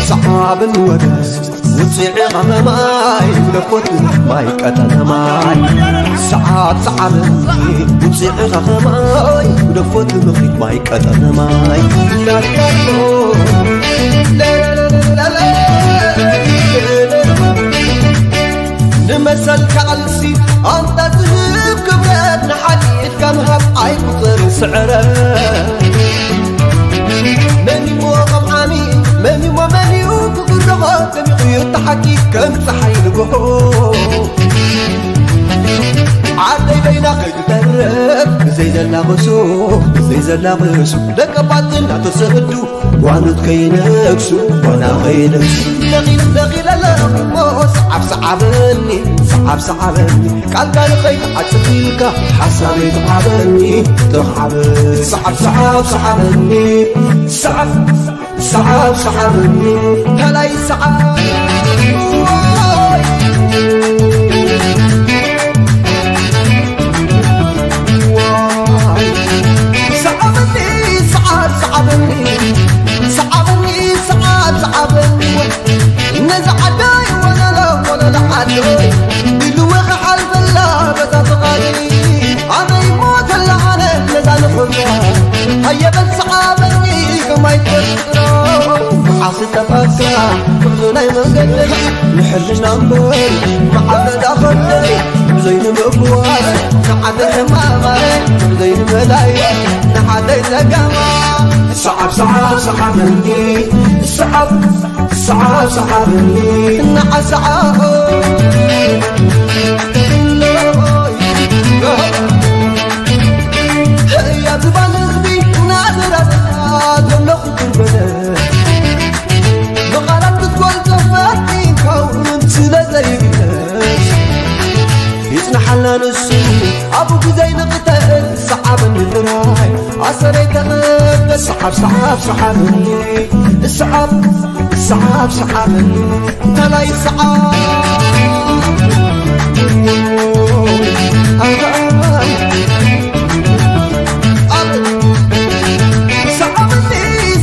ሰዓብን ወደስ ውፅዒ ኸኸማይ ደኮት ማይ ቀጠነ ማይ ሰዓብ ሰዓብን ውፅዒ ኸኸማይ ደኮት ምኽሪት ማይ ቀጠነ ማይ ንመሰል ካልሲ ኣንታ ዝህብ ክብረት ንሓድሕድካ ምሃብ ኣይቁፅር ስዕረት መን እሞ ከም ዓሚ መን እሞ መን እዩ ክግርኾ ደሚቑ እዩ ተሓቂ ከም ፀሓይ ንግሆ ዓደይ በይና ከይትተርፍ ብዘይ ዘላቕሱ ብዘይ ዘላቕሱ ደቀባት እናተሰዱ ጓኖት ከይነግሱ ጓና ከይነግሱ ነቒል ነቒል ኣለኹ እሞ ሰዓብ ሰዓበኒ ሰዓብ ሰዓበኒ ቃልካ ንኸይትዓጽፍ ኢልካ ሓሳበይ ተሓበኒ ተሓበ ሰዓብ ሰዓብ ሰዓበኒ ሰዓብ ሰዓብ ሰዓበኒ ከላይ ሰዓብ ሰዓበኒ ሰዓብ ሰዓበኒ ሰዓበኒ ሰዓብ ሰዓበኒ ነዛ ዓደይ ወለሎ ወለሎ ዓደይ ኢልወ ክሓልፈላ በዛ ፍቓደይ ኣበይ ሞተላ ኣነ ነዛ ንኹላ ሃየበል ሰዓበኒ ከማይ ትፈጥሮ መዓስ ጠፋካ ጉዕዞ ናይ መንገደይ ንሕልና እምበር መዓስ ነዛ ኸደይ ብዘይ ንምፍዋስ ንዓደ ሕማማይ ብዘይ ንመላይ ንዓደይ ጸገማ ሰዓብ ሰዓብ ሰዓበኒ ሰዓብ ሰዓብ ሰዓበኒ ንዓሰዓብ ህያ ዝባን ህዝቢ ናዝራስታ ዘለኹ ክርበለ ብቓላት ክትጎልቶ ፈቲንካውን ስለ ዘይግለጽ ይጽናሓልና ንሱ ኣብኡ ግዜ ንቕተል ሰዓበኒ ጥራይ ኣሰረይ ተቐበል ሰዓብ ሰዓብ ሰዓበኒ ሰዓብ ሰዓብ ሰዓበኒ እንተላይ ሰዓብ ሰዓበኒ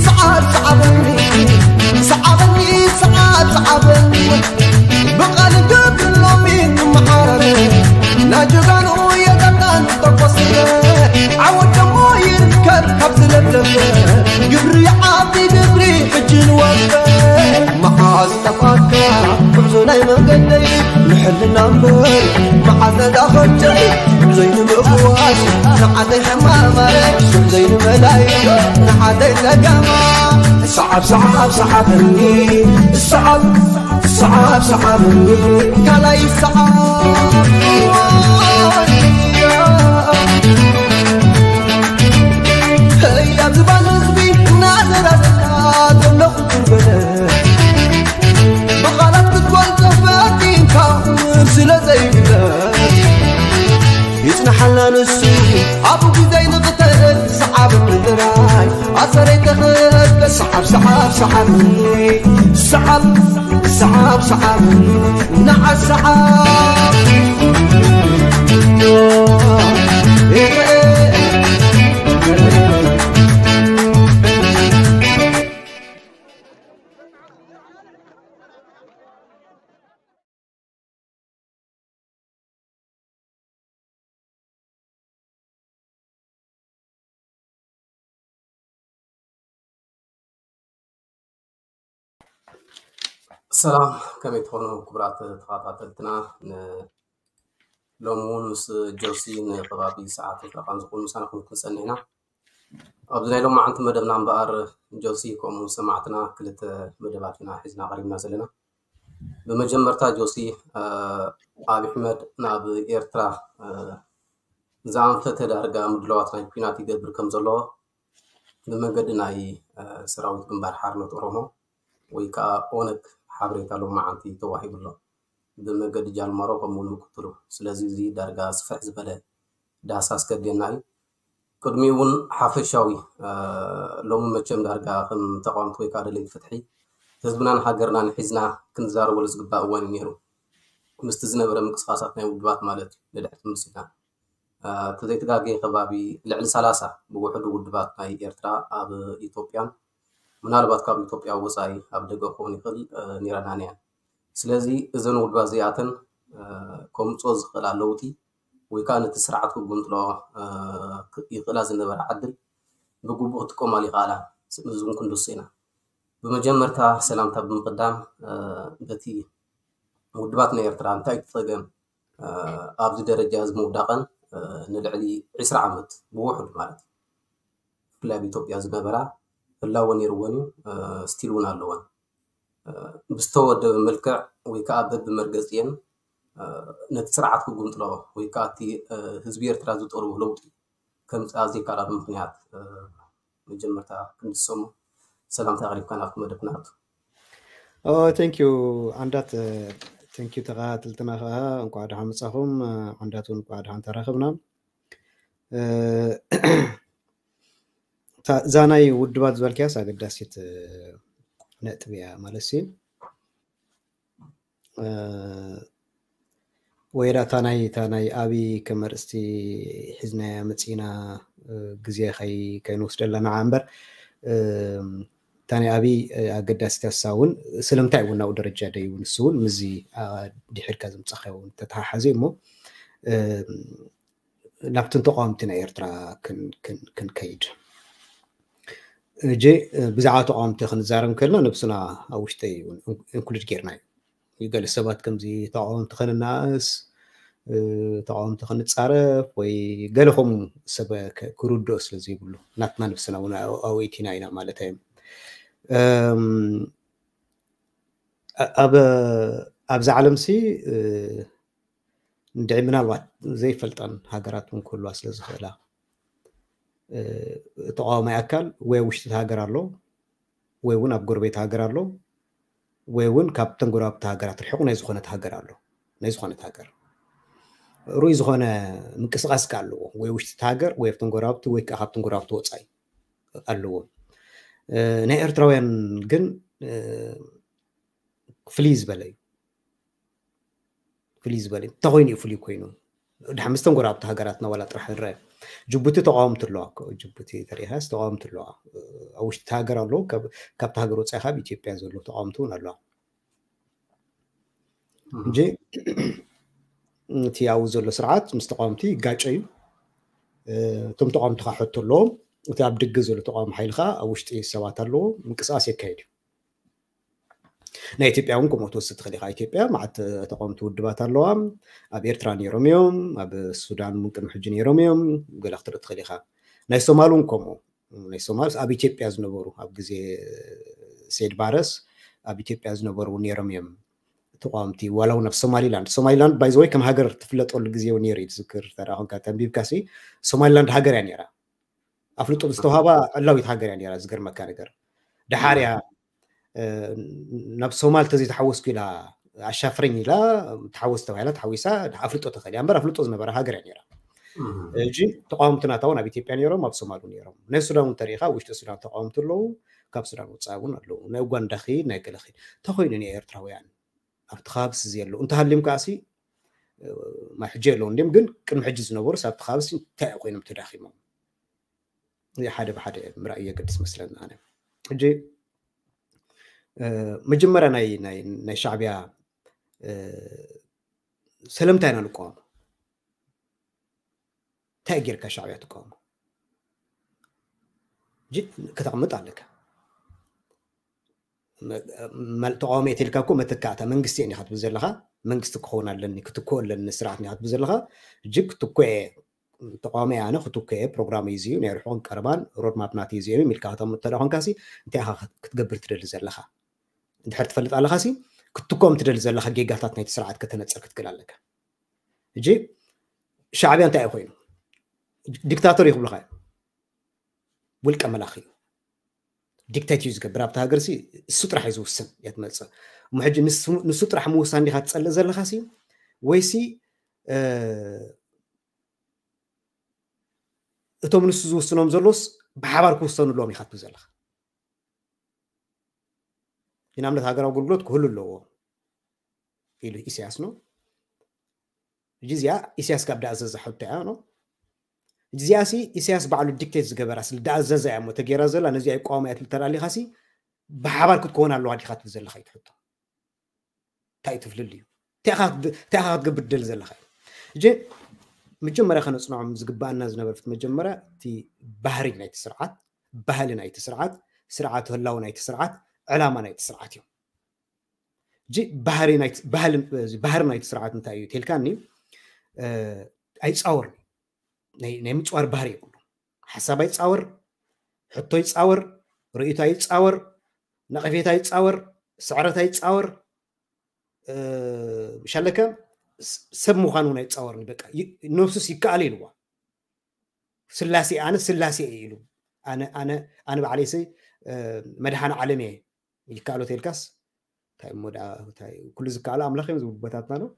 ሰዓብ ሰዓበኒ ሰዓበኒ ሰዓብ ሰዓበኒ ብቓል ገብር ሎሚ ንመዓራረ ናጀጋኑ የዛታን ተቆስረ ዓወት ደሞ ይርከብ ካብ ዝለብለበ ግብሪ ዓቢ ግብሪ ሕጂ ንወፈ መዓዝ ጠፋካ ጉዕዞ ናይ መንገደይ ንሕልና እምበር መዓዝ ነዛ ኸጀይ ጉዕዞይ ንምፍዋስ ንዓደይ ሕማማይ ጉዕዞይ ንመላይ ንዓደይ ጸገማ ሰዓብ ሰዓብ ሰዓበኒ ሰዓብ ሰዓብ ሰዓበኒ ካልኣይ ሰዓብ ህያ ዝባን ህዝቢ እናዘራዘርካ ዘለኹ ትርበለ ብቓላት ክትገልጾ ፈቲንካ ስለ ዘይግለጽ ይጽናሓልና ንሱ ኣብኡ ግዜ ንቕተል ሰዓብ ምድራይ ኣሰረይ ተኸበ ሰዓብ ሰዓብ ሰዓብ ሰዓብ ሰዓብ ሰዓብ ንዓ ሰዓብ ሰላም ከመይ ትኾኑ ክቡራት ተኸታተልትና። ሎሚ እውን ምስ ጆሲ ንከባቢ ሰዓትን ፈረቓን ዝኾኑ ምሳና ክንክን ጸኒሕና። ኣብዚ ናይ ሎማዓንቲ መደብና እምበኣር ጆሲ ከምኡ ሰማዕትና ክልተ መደባት ኢና ሒዝና ቀሪብና ዘለና። ብመጀመርታ ጆሲ፣ ኣቢ ኣሕመድ ናብ ኤርትራ ዝኣንፈተ ዳርጋ ምድላዋት ናይ ኲናት ይገብር ከም ዘሎ ብመንገዲ ናይ ሰራዊት ግንባር ሓርነት ኦሮሞ ወይ ከዓ ኦነግ ሓበሬታ ሎማዓንቲ ተዋሂቡ ኣሎ። ብመንገዲ ጃልመሮ ከምኡ እውን ምክትሉ። ስለዚ እዚ ዳርጋ ስፍሕ ዝበለ ዳህሳስ ከድልየና እዩ። ቅድሚኡ እውን ሓፈሻዊ ሎሚ መቸም ዳርጋ ከም ተቃወምቲ ወይ ከዓ ደለይቲ ፍትሒ ህዝብናን ሃገርናን ሒዝና ክንዛረበሉ ዝግባእ እዋን እዩ ነይሩ። ምስቲ ዝነበረ ምንቅስቃሳት ናይ ውድባት ማለት እዩ ንድሕሪት ምልስ ኢልና። ተዘይተጋግየ ከባቢ ልዕሊ ሰላሳ ብውሕዱ ውድባት ናይ ኤርትራ ኣብ ኢትዮጵያን ምናልባት ካብ ኢትዮጵያ ወፃኢ ኣብ ደገ ክኸውን ይኽእል፣ ኒረናን እያን። ስለዚ እዘን ውድባት እዚኣተን ከምፅኦ ዝኽእላ ለውጢ ወይ ከዓ ነቲ ስርዓት ክጉንጥሎ ይኽእላ ዝነበረ ዓድል ብግቡእ ክጥቀማሉ ይኽኣላ። እዚ እውን ክንድሱ ኢና። ብመጀመርታ ሰላምታ ብምቕዳም በቲ ውድባት ናይ ኤርትራ እንታይ እቲ ፀገም ኣብዚ ደረጃ እዚ ምውዳቐን ንልዕሊ ዕስራ ዓመት ብውሑድ ማለት እዩ ብፍላይ ኣብ ኢትዮጵያ ዝነበራ ህላወ ነይርወን እዩ፣ ስቲል እውን ኣለወን። ብዝተወደበ መልክዕ ወይ ከዓ በብመርገፂአን ነቲ ስርዓት ክጉንጥሎ ወይ ከዓ እቲ ህዝቢ ኤርትራ ዝጠልቦ ለውጢ ከምፅኣ ዘይከኣላሉ ምክንያት መጀመርታ ክንድሰሙ ሰላምታ ኣቕሪብካ ናብቲ መደብ ናቱ። ቴንክ ዩ ዓንዳት፣ ቴንክ ዩ ተኸታተልትና ከዓ እንኳዕ ደሓን መጻኹም። ዓንዳት እውን እንኳዕ ደሓን ተራኸብና። እዛ ናይ ውድባት ዝበልክያስ ኣገዳሲት ነጥቢ እያ ማለት ሲ ወይ ዳ እታ ናይ እታ ናይ ኣብይ ከም ኣርእስቲ ሒዝናያ መፂና ግዜ ከይንወስደላ ንዓ እምበር እታ ናይ ኣብይ ኣገዳሲት እያ። ንሳ እውን ስለምንታይ እውን ናብኡ ደረጃ ደይቡ ንሱ እውን ምስዚ ድሒርካ ዝምፃኻዮ እውን ተተሓሓዘ እሞ ናብትን ተቃወምቲ ናይ ኤርትራ ክንከይድ እጂ ብዛዕባ ተቃወምቲ ክንዛረብ ከልና ነብስና ኣብ ውሽጠ ኢንክሉድ ጌርና እዩ። ገለ ሰባት ከምዚ ተቃወምቲ ክንናእስ ተቃወምቲ ክንፃረፍ ወይ ገለ ከምኡ ሰብ ክርድኦ ስለ ዘይብሉ ናትና ነብስና እውን ኣውኢቲና ኢና ማለት እዩ። ኣብዚ ዓለም ሲ እንድዒ ምናልባት ዘይፈልጠን ሃገራት እውን ክህልዋ ስለ ዝኽእላ ተቃዋማይ ኣካል ወይ ኣብ ውሽጢ እቲ ሃገር ኣሎ ወይ እውን ኣብ ጎረቤት ሃገር ኣሎ ወይ እውን ካብተን ጎረባብቲ ሃገራት ርሕቑ ናይ ዝኾነት ሃገር ኣሎ ናይ ዝኾነት ሃገር ሩይ ዝኾነ ምንቅስቃስ ከ ኣለዎ ወይ ውሽጢ እቲ ሃገር ወይ ኣብተን ጎረባብቲ ወይ ከዓ ካብተን ጎረባብቲ ወፃኢ ኣለዎ። ናይ ኤርትራውያን ግን ፍልይ ዝበለ እዩ። ፍልይ ዝበለ እንተኮይኑ እዩ ፍልይ ኮይኑ ድሓ ምስተን ጎረባብቲ ሃገራትና ዋላ ጥራሕ ንረአ። ጅቡቲ ተቃወምቲ ኣለዋ እኮ ጅቡቲ ተሪኢኻስ ተቃወምቲ ኣለዋ። ኣብ ውሽጢ እቲ ሃገር ኣለዉ፣ ካብቲ ሃገር ወፃኢ ካብ ኢትዮጵያ ዘለዉ ተቃወምቲ እውን ኣለዋ። እንጂ እቲ ኣብኡ ዘሎ ስርዓት ምስ ተቃወምቲ ይጋጨ እዩ። እቶም ተቃወምቲ ከዓ ሕቶ ኣለዎም። እቲ ኣብ ደገ ዘሎ ተቃዋሚ ሓይሊ ከዓ ኣብ ውሽጢ ሰባት ኣለዎ፣ ምንቅስቃስ የካየድ እዩ። ናይ ኢትዮጵያ እውን ከምኡ ትወስድ ትኽእል ኢኻ። ኢትዮጵያ መዓት ተቃወምቲ ውድባት ኣለዋ። ኣብ ኤርትራ ነይሮም እዮም፣ ኣብ ሱዳን እውን ቅድሚ ሕጂ ነይሮም እዮም። ገለ ክትርኢ ትኽእል ኢኻ። ናይ ሶማል እውን ከምኡ። ናይ ሶማል ኣብ ኢትዮጵያ ዝነበሩ ኣብ ግዜ ሴድ ባረስ ኣብ ኢትዮጵያ ዝነበሩ እውን ነይሮም እዮም ተቃወምቲ ዋላ እውን ኣብ ሶማሊላንድ ሶማሊላንድ ባይዘወይ ከም ሃገር ትፍለጠሉ ግዜ እውን ነይሩ እዩ ትዝክር ተዳ ኮንካ ተንቢብካ ሲ ሶማሊላንድ ሃገር እያ ነይራ ኣፍልጦ ዝተውሃባ ዕላዊት ሃገር እያ ነይራ ዝገርመካ ነገር ድሓር እያ ናብ ሶማል ተዘይተሓወስኩ ኢላ ኣሻፍረኝ ኢላ ተሓወስ ተባሂላ ተሓዊሳ ኣፍልጦ ተኸእል እያ እምበር ኣፍልጦ ዝነበረ ሃገር እያ ነይራ እጂ ተቃወምቲ ናታ እውን ኣብ ኢትዮጵያ ነይሮም ኣብ ሶማል እውን ነይሮም ናይ ሱዳን እውን ተሪኢኻ ውሽጢ ሱዳን ተቃወምቲ ኣለዉ ካብ ሱዳን ወፃኢ እውን ኣለዉ ናይ ኡጋንዳ ኺድ ናይ ገለ ኺድ ተኮይኑ ናይ ኤርትራውያን ኣብቲ ከባቢ ሲ ዘየለዉ እንተሃልዮም ከዓ ሲ ማይ ሕጂ የለዉ እንዲም ግን ቅድሚ ሕጂ ዝነበሩ ስ ኣብቲ ከባቢ ሲ እንታይ ኮይኖም ተዳኺሞም ሓደ ብሓደ ምርኣይ የገድስ መስለኒ ኣነ ሕጂ መጀመርያ ናይ ሻዕብያ ስለምንታይ ኢና ንቃወሞ እንታይ ጌርካ ሻዕብያ ትቃወሞ ከተቕምጥ ኣለካ ተቃዋሚ እየ ተልካ እኮ መተካእታ መንግስቲ እየ ክትብል ዘለካ መንግስቲ ክኸውን ኣለኒ ክትክኦ ኣለኒ ስርዓት ክትብል ዘለካ እጅግ ክትኮ ተቃዋሚ ኣነ ክትኮ እየ ፕሮግራም እዩ ናይ ርሑቅን ቀረባን ሮድማፕ ናት እዩ ኢልካ ከተምጥ ተዳ ኮንካሲ እንታይ ኢኻ ክትገብር ትደሊ ዘለካ እንድሕር ትፈልጥ ኣለኻሲ ክትኮም ትደሊ ዘለካ ጌጋታት ናይቲ ስርዓት ከተነፅር ክትክእል ኣለካ እጂ ሻዕብያ እንታይ እዩ ኮይኑ ዲክታቶር እዩ ክብልካ እዩ ውልቀ መላኺ እዩ ዲክቴት እዩ ዝገብር ኣብቲ ሃገር ሲ እሱ ጥራሕ እዩ ዝውስን እያ ትመፅእ እሞ ሕጂ ንሱ ጥራሕ ምውሳን ዲካ ትፀልእ ዘለካ ሲ ወይሲ እቶም ንሱ ዝውስኖም ዘሎስ ብሓባር ክውሰኑ ኣለዎም ኢካ ትብል ዘለካ ንኣብነት ሃገራዊ ኣገልግሎት ክህሉ ኣለዎ ኢሉ ኢሳያስ ነው እጂ እዚኣ ኢሳያስ ካብ ዳኣዘዘ ሕቶ እያ ነው እዚኣ ሲ ኢሳያስ ባዕሉ ዲክቴት ዝገበራ ስለ ዳኣዘዘ እያ እሞ ተገይራ ዘላ ነዚኣ ይቋወማ እያ ትብል ተዳሊኻ ሲ ብሓባር ክትከውን ኣለዋ ዲኻ ትብል ዘለኻ እዩ ትሕቶ። እንታይ እዩ ትፍልል እዩ እንታይ ኢኻ ክትገብር ትደሊ ዘለኻ እዩ። እጂ መጀመርያ ከነፅንዖም ዝግባኣና ዝነበረ ፍት መጀመርያ እቲ ባህሪ ናይቲ ስርዓት፣ ባህሊ ናይቲ ስርዓት፣ ስርዓት ህላው ናይቲ ስርዓት፣ ዕላማ ናይቲ ስርዓት እዮም። እጂ ባህሪ ናይቲ ስርዓት እንታይ እዩ ተልካኒ፣ ኣይፃወር ናይ ምፅዋር ባህሪ የብሉ። ሓሳብ ኣይፃወር፣ ሕቶ ይፃወር፣ ርእይቶ ኣይፃወር፣ ነቐፌታ ይፃወር፣ ስዕረት ኣይፃወር፣ ሻለከ ሰብ ምዃኑ እውን ኣይፃወርን። በቃ ነብሱስ ይከኣል ኢልዋ። ስላሴ ኣነ ስላሴ እየ ኢሉ ኣነ ኣነ ኣነ ባዕለይሲ መድሓን ዓለም እየ ይከኣሎ ተልካስ እንታይ እሞ ደኣ እንታይ ኩሉ ዝከኣሎ ኣምላኽ እዮም ዝብሉ ቦታትና ነው።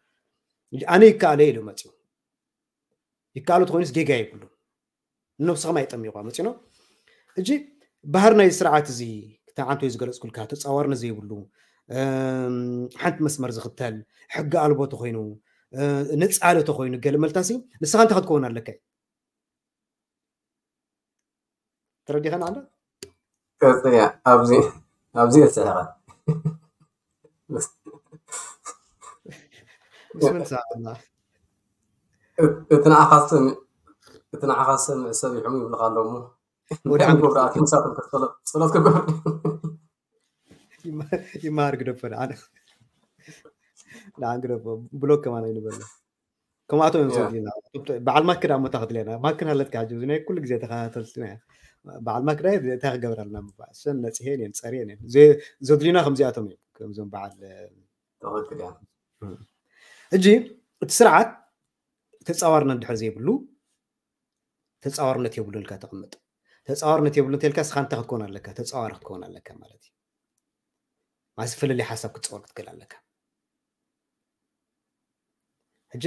ኣነ ይከኣሎ ኢሉ መፅኡ። ይከኣሎ ተኮይኑስ ጌጋ የብሉ። ነብስኻ ማይ ጠሚቋ መፂኖ እጂ ባህር ናይ ስርዓት እዚ ክተዓንቶ ዝገለፅኩልካ ተፃዋርነት ዘይብሉ ሓንቲ መስመር ዝኽተል ሕጊ ኣልቦ ተኮይኑ ነፃለ ተኮይኑ ገለ መልታሲ ንስኻ እንታይ ክትከውን ኣለካ እዩ። ተረዲኸን ኣለ ቀጽያ ኣብዚ ኣብዚ የስሕቐ ምስምን ሰኣና እቲ ንዓኻስን እቲ ንዓኻስን ሰብ ይሕሙ ይብልካ ኣሎ እሞ ወዲያ እንታይ ክገብሩ ኣትዮም ንሳቶም ከ ጸሎት ጸሎት ክገብሩ ይመሃር ግደፈ ንዓነ ንዓን ግደፈ ብሎክ ከማን ኣይንበሎ ከምኣቶም እዮም ዘድልና በዓል ማክ ዳ ሞታ ክትለና ማክን ሃለትካ ሕጂ ናይ ኩሉ ግዜ ተኸታተልትና በዓል ማክ ዳ እንታይ ክገብር ኣለና ምባል ሰን ነፅሄን እየን ፀርየን እየን ዘድልና ከምዚኣቶም እዮም ከምዞም በዓል ትኽክል እያ ሕጂ እቲ ስርዓት ተፃዋርነት ድሕር ዘይብሉ ተፃዋርነት የብሉ ኢልካ ተቐምጥ ተፃዋርነት የብሉ እንተልካ ስኻ እንታይ ክትከውን ኣለካ ተፃዋሪ ክትከውን ኣለካ ማለት እዩ ማለት ፍልልይ ሓሳብ ክትፀወር ክትክእል ኣለካ ሕጂ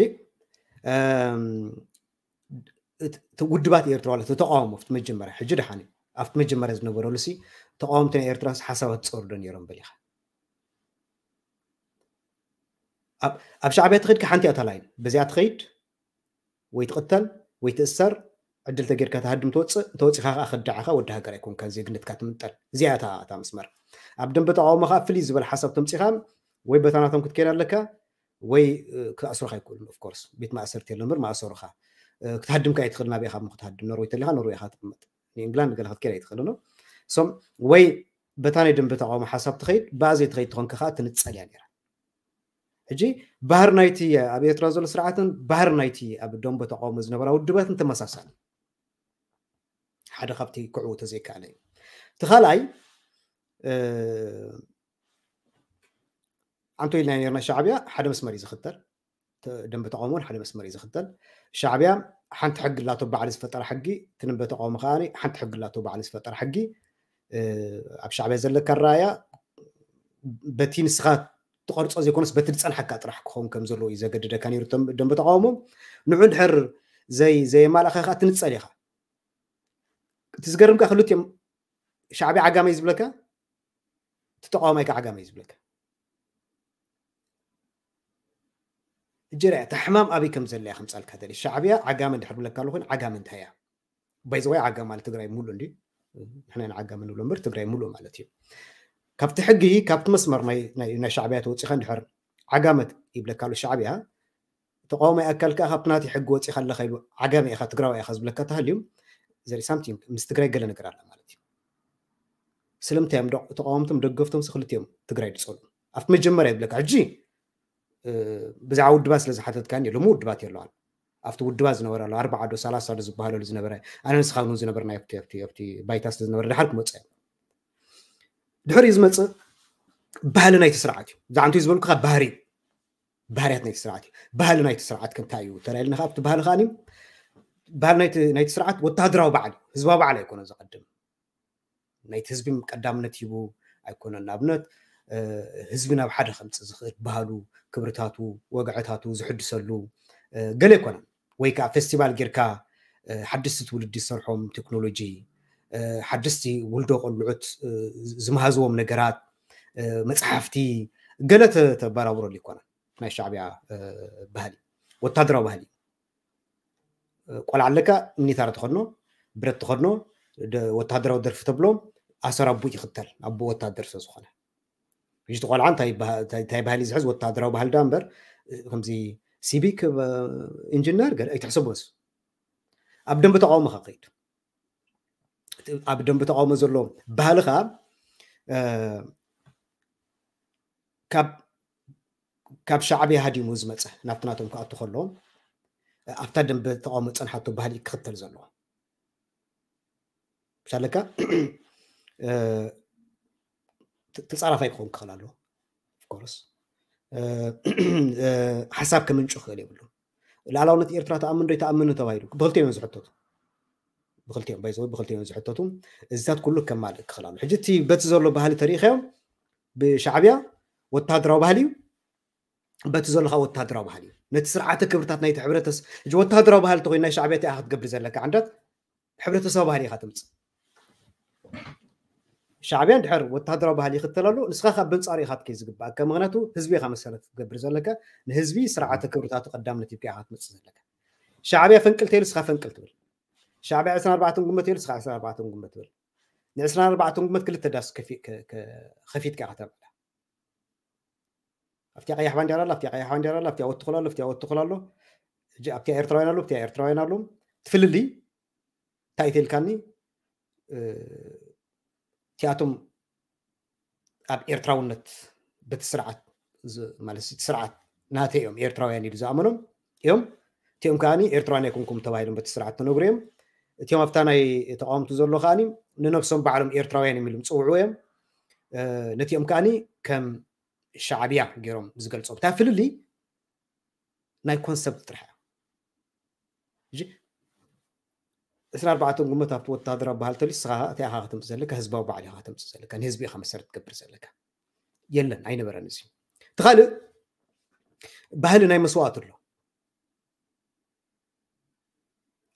ውድባት ኤርትራ ማለት ተቃውሞ ኣብቲ መጀመርያ ሕጂ ደሓን ኣብቲ መጀመርያ ዝነበረሉ ሲ ተቃወምቲ ናይ ኤርትራ ሓሳባት ዝፀወርዶ ነይሮም በሊኻ ኣብ ሻዕብያ ትኸይድ ሓንቲ ኣታ ላይን በዚኣ ትኸይድ ወይ ትቕተል ወይ ትእሰር ዕድል ተጌርካ ተሃድም ትወፅእ እንተወፂኻ ከዓ ከዳዕኻ ወዲ ሃገር ኣይኮንካ ዜግነትካ ትምንጠል እዚኣ እታ እታ መስመር ኣብ ደንበ ተቃውሞ ከዓ ፍልይ ዝበለ ሓሳብ ተምፂኻ ወይ በታናቶም ክትከይድ ኣለካ ወይ ክኣስሩኻ ኣይክእሉን ኦፍኮርስ ቤት ማእሰርቲ የሎ ምር ማእሰሩኻ ክትሃድምካ ኣይትኽእል ናበይ ካብ ክትሃድም ኖርወይ ተሊኻ ኖርወይ ኢኻ ትቕመጥ ንእንግላንድ ገለ ክትከይድ ኣይትኽእል ኖ ሶም ወይ በታ ናይ ደንበ ተቃውሞ ሓሳብ ትኸይድ ብኣ ዘይትኸይድ ትኾንካ ከዓ ትንፀል እያ ነራ ሕጂ ባህር ናይቲ ኣብ ኤርትራ ዘሎ ስርዓትን ባህር ናይቲ ኣብ ደንበ ተቃውሞ ዝነበራ ውድባትን ተመሳሳሊ ሓደ ካብቲ ክዕው ተዘይከኣለ እዩ እቲ ካልኣይ ኣንቶ ኢልና ነርና ሻዕብያ ሓደ መስመር እዩ ዝኽተል ደንበ ተቃውሞን ሓደ መስመር እዩ ዝኽተል ሻዕብያ ሓንቲ ሕጊ ላቶ ባዕሊ ዝፈጠረ ሕጊ ትንበ ተቃውሞ ከዓ ሓንቲ ሕጊ ላቶ ባዕሊ ዝፈጠረ ሕጊ ኣብ ሻዕብያ ዘለካ ራያ በቲ ንስኻ ትቐርፆ ዘይኮነስ በቲ ዝፀንሓካ ጥራሕ ክኸውን ከም ዘለዎ እዩ ዘገድደካ ነይሩ ደንበ ተቃውሞ ንዑ ድሕር ዘይ ዘየማልእካ ከዓ ትንፀል ኢኻ እቲ ዝገርምካ ክልቲኦም ሻዕብያ ዓጋመይ ዝብለካ እቲ ተቃዋማይ ከዓ ዓጋመይ ዝብለካ እጀራ እያ ሕማም ኣበይ ከም ዘለያ ከምፃልካ ደሊ ሻዕብያ ዓጋመ እንድሕር ብለካ ኣሎ ኮይኑ ዓጋመ እንታይ እያ ባይዘዋይ ዓጋመ ማለት ትግራይ ሙሉእ እንዲ ንሕና ኢና ዓጋመ ንብሎ እምበር ትግራይ ሙሉእ ማለት እዩ ካብቲ ሕጊ ካብቲ መስመር ናይ ሻዕብያ ተወፂኻ እንድሕር ዓጋመት ይብለካ ኣሎ ሻዕብያ ተቃዋማይ ኣካል ከዓ ካብቲ ናተይ ሕጊ ወፂኻ ኣለካ ኢሉ ዓጋመ ኢኻ ትግራዋይ ኢኻ ዝብለካ ተሃልዩ ዘርኢ ሳምቲንግ ምስ ትግራይ ገለ ነገር ኣላ ማለት እዩ ስለምንታይ እዮም ተቃወምቶም ደገፍቶም ክልቲኦም ትግራይ ዝፀሉ ኣብቲ መጀመርያ ይብለካ ሕጂ ብዛዕባ ውድባት ስለ ዝሓተትካኒ ሎሚ ውድባት የለዋን ኣብቲ ውድባት ዝነበረ ኣሎ ኣርባዓ ዶ ሰላሳ ዶ ዝበሃለሉ ዝነበረ ኣነ ንስኻ እውን ዝነበርና ኣብቲ ባይታ ስለ ዝነበረ ድሓር ክመፀ ድሕር እዩ ዝመፅእ ባህሊ ናይቲ ስርዓት እዩ ዝዓንቱ ዝበልኩካ ባህሪ ባህርያት ናይቲ ስርዓት እዩ ባህሊ ናይቲ ስርዓት ክንታይ እዩ ተላይልና ካብቲ ባህሊ ከዓኒ ባህሊ ናይቲ ስርዓት ወታደራዊ በዓል እዩ ህዝባዊ በዓል ኣይኮነ ዘቐድም ናይቲ ህዝቢ ቀዳምነት ሂቡ ኣይኮነን ንኣብነት ህዝቢ ናብ ሓደ ከምፅእ ዝኽእል ባህሉ ክብርታቱ ወግዕታቱ ዝሕድሰሉ ገለ ኣይኮነን ወይ ከዓ ፌስቲቫል ጌርካ ሓድስቲ ትውልዲ ዝሰርሖም ቴክኖሎጂ ሓድስቲ ውልዶ ቆልዑት ዝመሃዝዎም ነገራት መፅሓፍቲ ገለ ተበራብረሉ ይኮነን ናይ ሻዕብያ ባህሊ ወታደራዊ ባህሊ ቆልዓ ኣለካ ሚኒታር ተኸድኖ ብረት ተኸድኖ ወታደራዊ ደርፊ ተብሎ ኣሰር ኣቦ ይኽተል፣ ኣቦ ወታደር ስለ ዝኾነ። ሕጂ እቲ ቆልዓ እንታይ ይበሃ-፣ እንታይ እንታይ ባህሊ ዝሕዝ፣ ወታደራዊ ባህሊ ዳ እምበር፣ ከምዚ ሲቪክ፣ እ፣ ኢንጂነር ገለ ኣይትሕሰቦስ። ኣብ ደንበ ተቃውሞ ኸ ከይድ። ኣብ ደንበ ተቃውሞ ዘሎ ባህሊ ኸኣ፣ እ፣ ካብ ካብ ሻዕብያ ሃዲሙ ዝመጸ ናብቲ ናቶም ክኣቱ ከሎ ኣብታ ደንበ ተቃውሞ ዝጸንሓቶ ባህሊ ክኽተል ዘለዎ። ምሻለካ፣ እ፣ ተ-፣ ተጻራፋይ ክኸውን ክኽእል ኣለዎ። Of course፣ እ፣ እ፣ ሓሳብ ከምንጩ ክኽእል የብሉን። ልኣላውነት ኤርትራ ትኣምን ዶ ኣይትኣምን ተባሂሉ ብክልቲኦም እዮም ዝሕተቱ። ብክልቲኦም፣ by the way፣ ብክልቲኦም እዮም ዝሕተቱ። እዚታት ኩሉ ከማልእ ክኽእል ኣሎ። ሕጂ እቲ በቲ ዘሎ ባህሊ ተሪኢኻዮም፣ ብሻዕብያ ወታደራዊ ባህሊ እዩ፣ በቲ ዘሎ ኸኣ ወታደራዊ ባህሊ እዩ። ነቲ ስርዓተ ክብርታት ናይቲ ሕብረተስ-፣ ሕጂ ወታደራዊ ባህሊ ተኾይኑ ናይ ሻዕብያ እንታይ ኢኻ ክትገብር ዘለካ? ዓንዳት ሕብረተሰባዊ ባህሊ ኢኻ ተምጽእ። ሻዕብያ እንድሕር ወታደራዊ ባህሊ ይኽተል ኣሎ፣ ንስኻ ካብ በንጻሩ ኢኻ ክትከይድ ዝግባእካ። ምኽንያቱ ህዝቢ ኢኻ መሰረት ክትገብር ዘለካ፣ ንህዝቢ ስርዓተ ክብርታቱ ቀዳምነት ሂብካ ኢኻ ክትመጽእ ዘለካ። ሻዕብያ ፈንቅል ተይሉ ንስኻ ፈንቅል ትብል። ሻዕብያ ዕስራን ኣርባዕተን ጉንበት ተይሉ ንስኻ ዕስራን ኣርባዕተን ጉንበት ትብል። ን ዕስራን ኣርባዕተን ጉንበት ክልተ ዳስ ከፊ-፣ ከ-፣ ከ-፣ ከፊትካ ኢኻ ተብዕላ። ኣብቲያ ቀያሕ ባንዴራ ኣላ፣ ኣብቲያ ቀያሕ ባንዴራ ኣላ፣ ኣብቲያ ወትኹል ኣሎ፣ ኣብቲያ ወትኹል ኣሎ። ሕጂ ኣብቲያ ኤርትራውያን ኣሎ፣ ኣብቲያ ኤርትራውያን ኣሎ። እቲ ፍልልይ እንታይ እዩ ተልካኒ? እ፣ እቲኣቶም ኣብ ኤርትራውነት በቲ ስርዓት ዝ-፣ ማለት እቲ ስርዓት ናተይ እዮም፣ ኤርትራውያን ኢሉ ዝኣመኖም እዮም። እቲኦም ከኣ ኤርትራውያን ኣይኮንኩም ተባሂሎም በቲ ስርዓት ተነግሩ እዮም። እቲኦም ኣብታ ናይ ተቃወምቲ ዘሎ ከኣ ንነብሶም ባዕሎም ኤርትራውያን እዮም ኢሎም ዝጽውዑ እዮም። እ፣ ነቲኦም ከኣ ከም ሻዕብያ ገይሮም ዝገልጾም። እታ ፍልልይ ናይ ኮንሰፕት ጥራሕ እያ። ሕጂ ዕስራን ኣርባዕተን ጉንበት ኣብቲ ወታደራዊ ባህሊ ተልዩ፣ ንስኻ እንታይ ኢኻ ከተምጽእ ዘለካ? ህዝባዊ በዓል ኢኻ ከተምጽእ ዘለካ። ንህዝቢ ኢኻ መሰረት ትገብር ዘለካ። የለን፣ ኣይነበረን እዚ። እቲ ካልእ ባህሊ ናይ መስዋእቲ ኣሎ።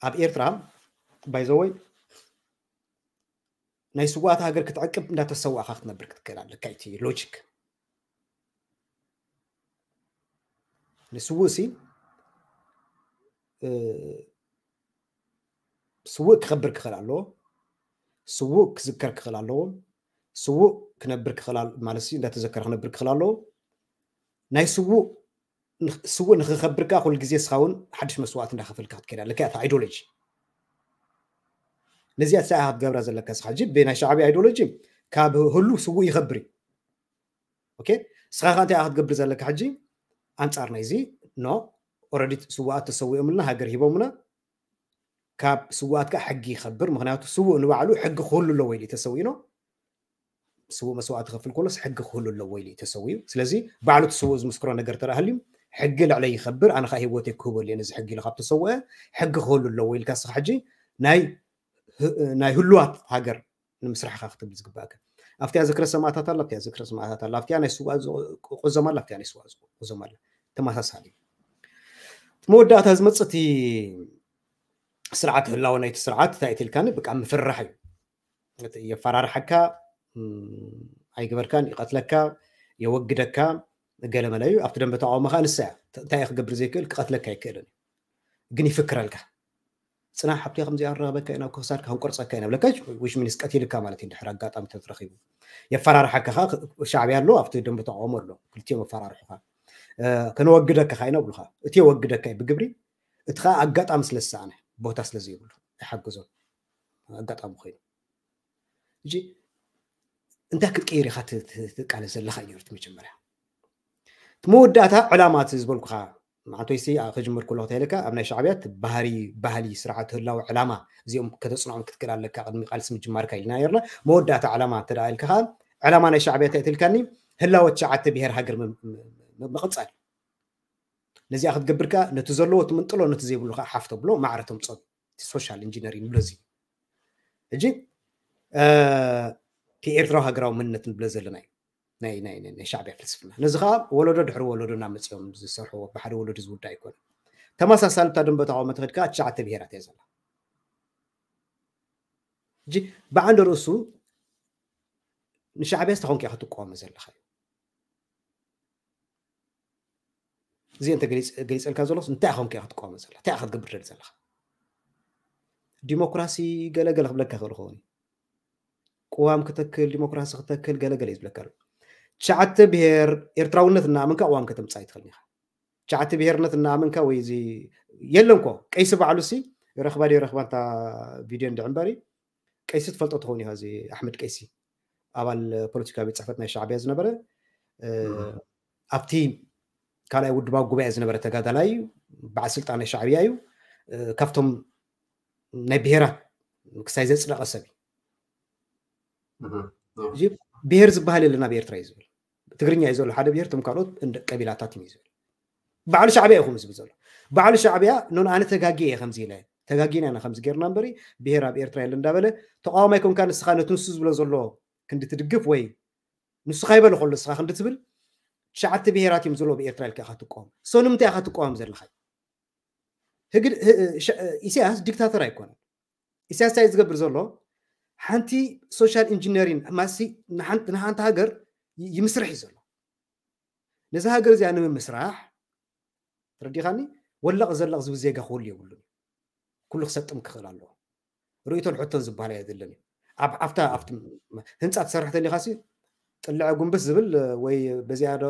ኣብ ኤርትራ፣ by the way፣ ናይ ስዋኣት ሃገር ክትዕቅብ እንዳተሰዋእካ ክትነብር ክትክእል ኣለካ። እቲ ሎጂክ ንስውእ ሲ፣ እ፣ ስውእ ክኸብር ክኽእል ኣለዎ። ስውእ ክዝከር ክኽእል ኣለዎ። ስውእ ክነብር ክኽእል ኣል-፣ ማለት ሲ እንዳተዘከረ ክነብር ክኽእል ኣለዎ። ናይ ስውእ ንኽ-፣ ስውእ ንኽኸብር ከኣ ኩሉ ግዜ ንስኻ እውን ሓድሽ መስዋእቲ እንዳኸፈልካ ክትከይድ ኣለካ። እታ ኣይዲዮሎጂ ነዚኣ ንሳ ኢኻ ክትገብራ ዘለካ። ንስኻ ሕጂ ብናይ ሻዕብያ ኣይዲዮሎጂ ካብ ህሉ ስውእ ይኸብር እዩ። ኦኬ፣ ንስኻ ከ እንታይ ኢኻ ክትገብር ዘለካ ሕጂ? ኣንጻር ናይዚ፣ ኖ፣ ኦረዲ ስውኣት ተሰዊኦምልና፣ ሃገር ሂቦምና፣ ካብ ስውኣት ከኣ ሕጊ ይኸብር። ምኽንያቱ ስውእ ንባዕሉ ሕጊ ክህሉ ኣለዎ ኢሉ እዩ ተሰዊኡ። ስውእ መስዋእቲ ክኸፍል ከሎስ ሕጊ ክህሉ ኣለዎ ኢሉ እዩ ተሰዊኡ። ስለዚ ባዕሉ እቲ ስውእ ዝምስክሮ ነገር ተደኣ ሃልዩ፣ ሕጊ ልዕለይ ይኸብር፣ ኣነ ከኣ ህይወተይ ክህበሉ እየ ነዚ ሕጊ ኢሉ ካብ ተሰወአ፣ ሕጊ ክህሉ ኣለዎ ኢልካ ንስኻ ሕጂ ናይ ህ-፣ ናይ ህሉዋት ሃገር ንምስራሕ ኢኻ ክትብል ዝግባእካ። ኣብቲኣ ዝክረ ሰማእታት ኣላ፣ ኣብቲኣ ዝክረ ሰማእታት ኣላ፣ ኣብቲኣ ናይ ስውኣት ቁ-፣ ቁዘማ ኣላ፣ ኣብቲኣ ናይ ስውኣት ቁዘማ ኣላ። ተመሳሳሊ እዩ። እቲ መወዳእታ ዝመጽእ እቲ ስርዓት ህላወ ናይቲ ስርዓት እንታይ እዩ ትልካኒ? በቃ ምፍርራሕ እዩ። እቲ የፈራርሓካ፣ እም፣ ኣይግበርካን፣ ይቐትለካ፣ የወግደካ፣ ገለመለ እዩ። ኣብቲ ደንበ ተቃውሞ ከኣ ንሳ እያ። ተ-፣ እንታይ እዩ ክገብር ዘይክእል? ክቐትለካ ኣይክእልን እዩ። ግን ይፍክረልካ። ጽናሕ፣ ሃብቲ ከምዚ ኣረኸበካ ኢና፣ ክሳድካ ክንቆርጸካ ኢና ብለካ፣ which means ቀቲልካ ማለት እዩ። ድሕሪ ኣጋጣሚ ተትረኺቡ የፈራርሓካ። ከኣ ሻዕብያ ኣሎ፣ ኣብቲ ደንበ ተቃውሞ ኣሎ፣ ክልቲኦም ኣፈራርሑኻ። እ፣ ከነወግደካ ከኣ ኢና ብሉኻ። እቲ የወግደካ እዩ ብግብሪ፣ እቲ ከኣ ኣጋጣሚ ስለ ዝሰኣነ፣ ቦታ ስለ ዘይብሉ፣ ኣይሓግዞን። ኣጋጣሚ ኮይኑ። ሕጂ እንታይ ክትቅይር ኢኻ ት-፣ ት-፣ ትቃለስ ዘለኻ እዩ እቲ መጀመርያ። እቲ መወዳእታ ዕላማ እቲ ዝበልኩኻ፣ መዓንቶይሲ፣ ኣ፣ ክጅምር ከሎ እንታይ ኢለካ፣ ኣብ ናይ ሻዕብያ እቲ ባህሪ፣ ባህሊ፣ ስርዓት፣ ህላወ፣ ዕላማ፣ እዚኦም ከተጽንዖም ክትክእል ኣለካ ቅድሚ ቃልሲ ምጅማርካ ኢልና ነርና። መወዳእታ ዕላማ እንተ ደኣ ኢልካ ከኣ፣ ዕላማ ናይ ሻዕብያ እንታይ ትልካኒ? ህላወ ትሽዓተ ብሄር ሃገር ም-፣ ም-፣ ም-፣ ምቕጻል። ነዚኣ ክትገብር ከኣ ነቲ ዘለዎ ትምንጥሎ፣ ነቲ ዘይብሉ ከኣ ሓፍ ተብሎ፣ ማዕረ ተምጽኦ። እቲ ሶሻል ኢንጂነሪንግ ንብሎ እዚ። ሕጂ፣ እ፣ እቲ ኤርትራዊ ሃገራዊ መንነት ንብሎ ዘለና እዩ። ናይ፣ ናይ፣ ናይ፣ ናይ ሻዕብያ ፍልስፍና። ነዚ ከኣ ወለዶ ድሕሪ ወለዶ እናመጽኦም ዝሰርሕዎ፣ ብሓደ ወለዶ ዝውዳእ ኣይኮነን። ተመሳሳሊ እታ ደንበ ተቃውሞ ተኸድካ ትሽዓተ ብሄራት እያ ዘላ። ሕጂ፣ ብዓንደ ርእሱ ንሻዕብያ እንታይ ኮንካ ኢኻ ትቃወሞ ዘለኻ እዩ። እዚ እንተ ገሊጽ-፣ ገሊጸልካ ዘሎስ እንታይ ኢኻ ኮንካ ኢኻ ትቃወሞ ዘለኻ? እንታይ ኢኻ ክትገብር ደሊ ዘለኻ? ዲሞክራሲ ገለ ገለ ክብለካ ይኽእል ይኸውን እዩ። ቅዋም ክተክል፣ ዲሞክራሲ ክተክል፣ ገለ ገለ እዩ ዝብለካ ኣሎ። ትሽዓተ ብሄር ኤርትራውነት እናኣመንካ ቅዋም ከተምጽእ ኣይትኽእልን ኢኻ። ትሽዓተ ብሄርነት እናኣመንካ ወይ እዚ የለን እኮ። ቀይሲ ባዕሉ ሲ ረኽባ ድዩ ረኽባ እንታ ቪድዮ እንድዒ እምበሪ፣ ቀይሲ ትፈልጦ ትኸውን ኢኻ። እዚ ኣሕመድ ቀይሲ ኣባል ፖለቲካዊ ቤት ጽሕፈት ናይ ሻዕብያ ዝነበረ፣ እ፣ እም። ኣብቲ ካልኣይ ውድባዊ ጉባኤ ዝነበረ ተጋዳላይ እዩ። በዓል ስልጣን ናይ ሻዕብያ እዩ። እ፣ ካብቶም ናይ ብሄራት ክሳይ ዘጽደቐ ሰብ እዩ። እም። እዚ ብሄር ዝበሃል የለን ኣብ ኤርትራ እዩ ዝብል። ትግርኛ እዩ ዘሎ ሓደ ብሄር፣ እቶም ካልኦት እንደ ቀቢላታት እዩ ዝብል። ባዕሉ ሻዕብያ ይኹም ዝብል ዘሎ። ባዕሉ ሻዕብያ፣ ኖን፣ ኣነ ተጋጊየ እየ ከምዚ ኢለ፣ ተጋጊና ኢና ከምዚ ጌርና እምበሪ፣ ብሄር ኣብ ኤርትራ የለን እንዳበለ፣ ተቃዋማይ ኮንካ ንስኻ ነቲ ንሱ ዝብሎ ዘሎ ክንዲ ትድግፍ ወይ ንሱ ካይበለ ከሎ ንስኻ ክንዲ ትብል፣ ትሽዓተ ብሄራት እዮም ዘለዎ ብኤርትራ ኢልካ ኢኻ ትቃወም። ሶ ንምንታይ ኢኻ ትቃወም ዘለኻ? ህግ-፣ ህ-፣ ሸ-፣ ኢሳያስ ዲክታተር ኣይኮነን። ኢሳያስ እንታይ ዝገብር ዘሎ? ሓንቲ ሶሻል ኢንጂነሪን ማሲ ንሓንቲ፣ ንሓንቲ ሃገር ይ-፣ ይምስርሕ እዩ ዘሎ። ነዚ ሃገር እዚኣ ንምምስራሕ፣ ተረዲኻኒ? ወለቕ ዘለቕ ዝብል ዜጋ ክህሉ የብሉን። ኩሉ ክሰጥም ክኽእል ኣለዎ። ርእይቶን ሕቶን ዝበሃል ኣይደለን እዩ። ኣብ፣ ኣብታ፣ ኣብቲ ህንጻ ትሰርሕ ተሊኻሲ፣ ጥልዐ ጉንብስ ዝብል ወይ በዚኣ ዶ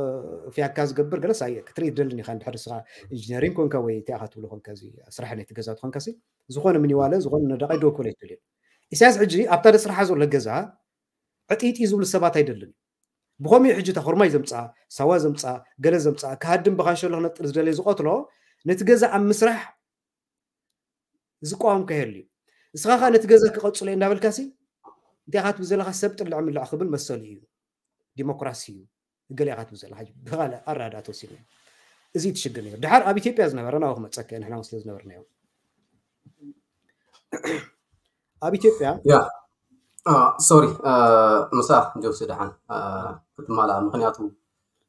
ፍያካ ዝገብር ገለስ ኣየ-፣ ክትርኢ ትደልን ኢኻ። እንድሕር ንስኻ ኢንጂነሪንግ ኮንካ ወይ እንታይ ኢኻ ትብሎ ኮንካ፣ እዚ ስራሕ ናይቲ ገዛ ትኾንካሲ፣ ዝኾነ ሚኒዋለ፣ ዝኾነ ነዳቕ ኣይዶ ክብል ኣይትደልን። ኢሳያስ ሕጂ ኣብታ ደስርሓ ዘሎ ገዛ ዕጥይጥይ ዝብሉ ሰባት ኣይደልን። ብኸምኡ ሕጂ እታ ኾርማይ ዘምጽኣ፣ ሳዋ ዘምጽኣ፣ ገለ ዘምጽኣ፣ ክሃድም ብኻንሸሎ ክነጥር ዝደለየ ዝቐትሎ፣ ነቲ ገዛ ኣብ ምስራሕ ዝቃወም ከይህሉ እዩ። ንስኻ ኸኣ ነቲ ገዛ ክቐጽሎ እየ እንዳበልካሲ፣ እንታይ ኢኻ ትብል ዘለኻ? ሰብ ጥልዕ ምልዕ ክብል መሰሉ እዩ። ዲሞክራሲ እዩ። ገለ ኢኻ ትብል ዘለኻ። ሕጂ ብኻልእ ኣረዳድኣ ተወሲድና። እዚ እዩ እቲ ሽግር ነይሩ። ድሓር ኣብ ኢትዮጵያ ዝነበረ ናብኡ ክመጸካ እየ፣ ንሕና እውን ስለ ዝነበርናዮ። ኣብ ኢትዮጵያ ያ፣ አ፣ ሶሪ፣ አ፣ ምሳእ ጆሲ ደሓን፣ አ፣ ክትማላእ፣ ምኽንያቱ፣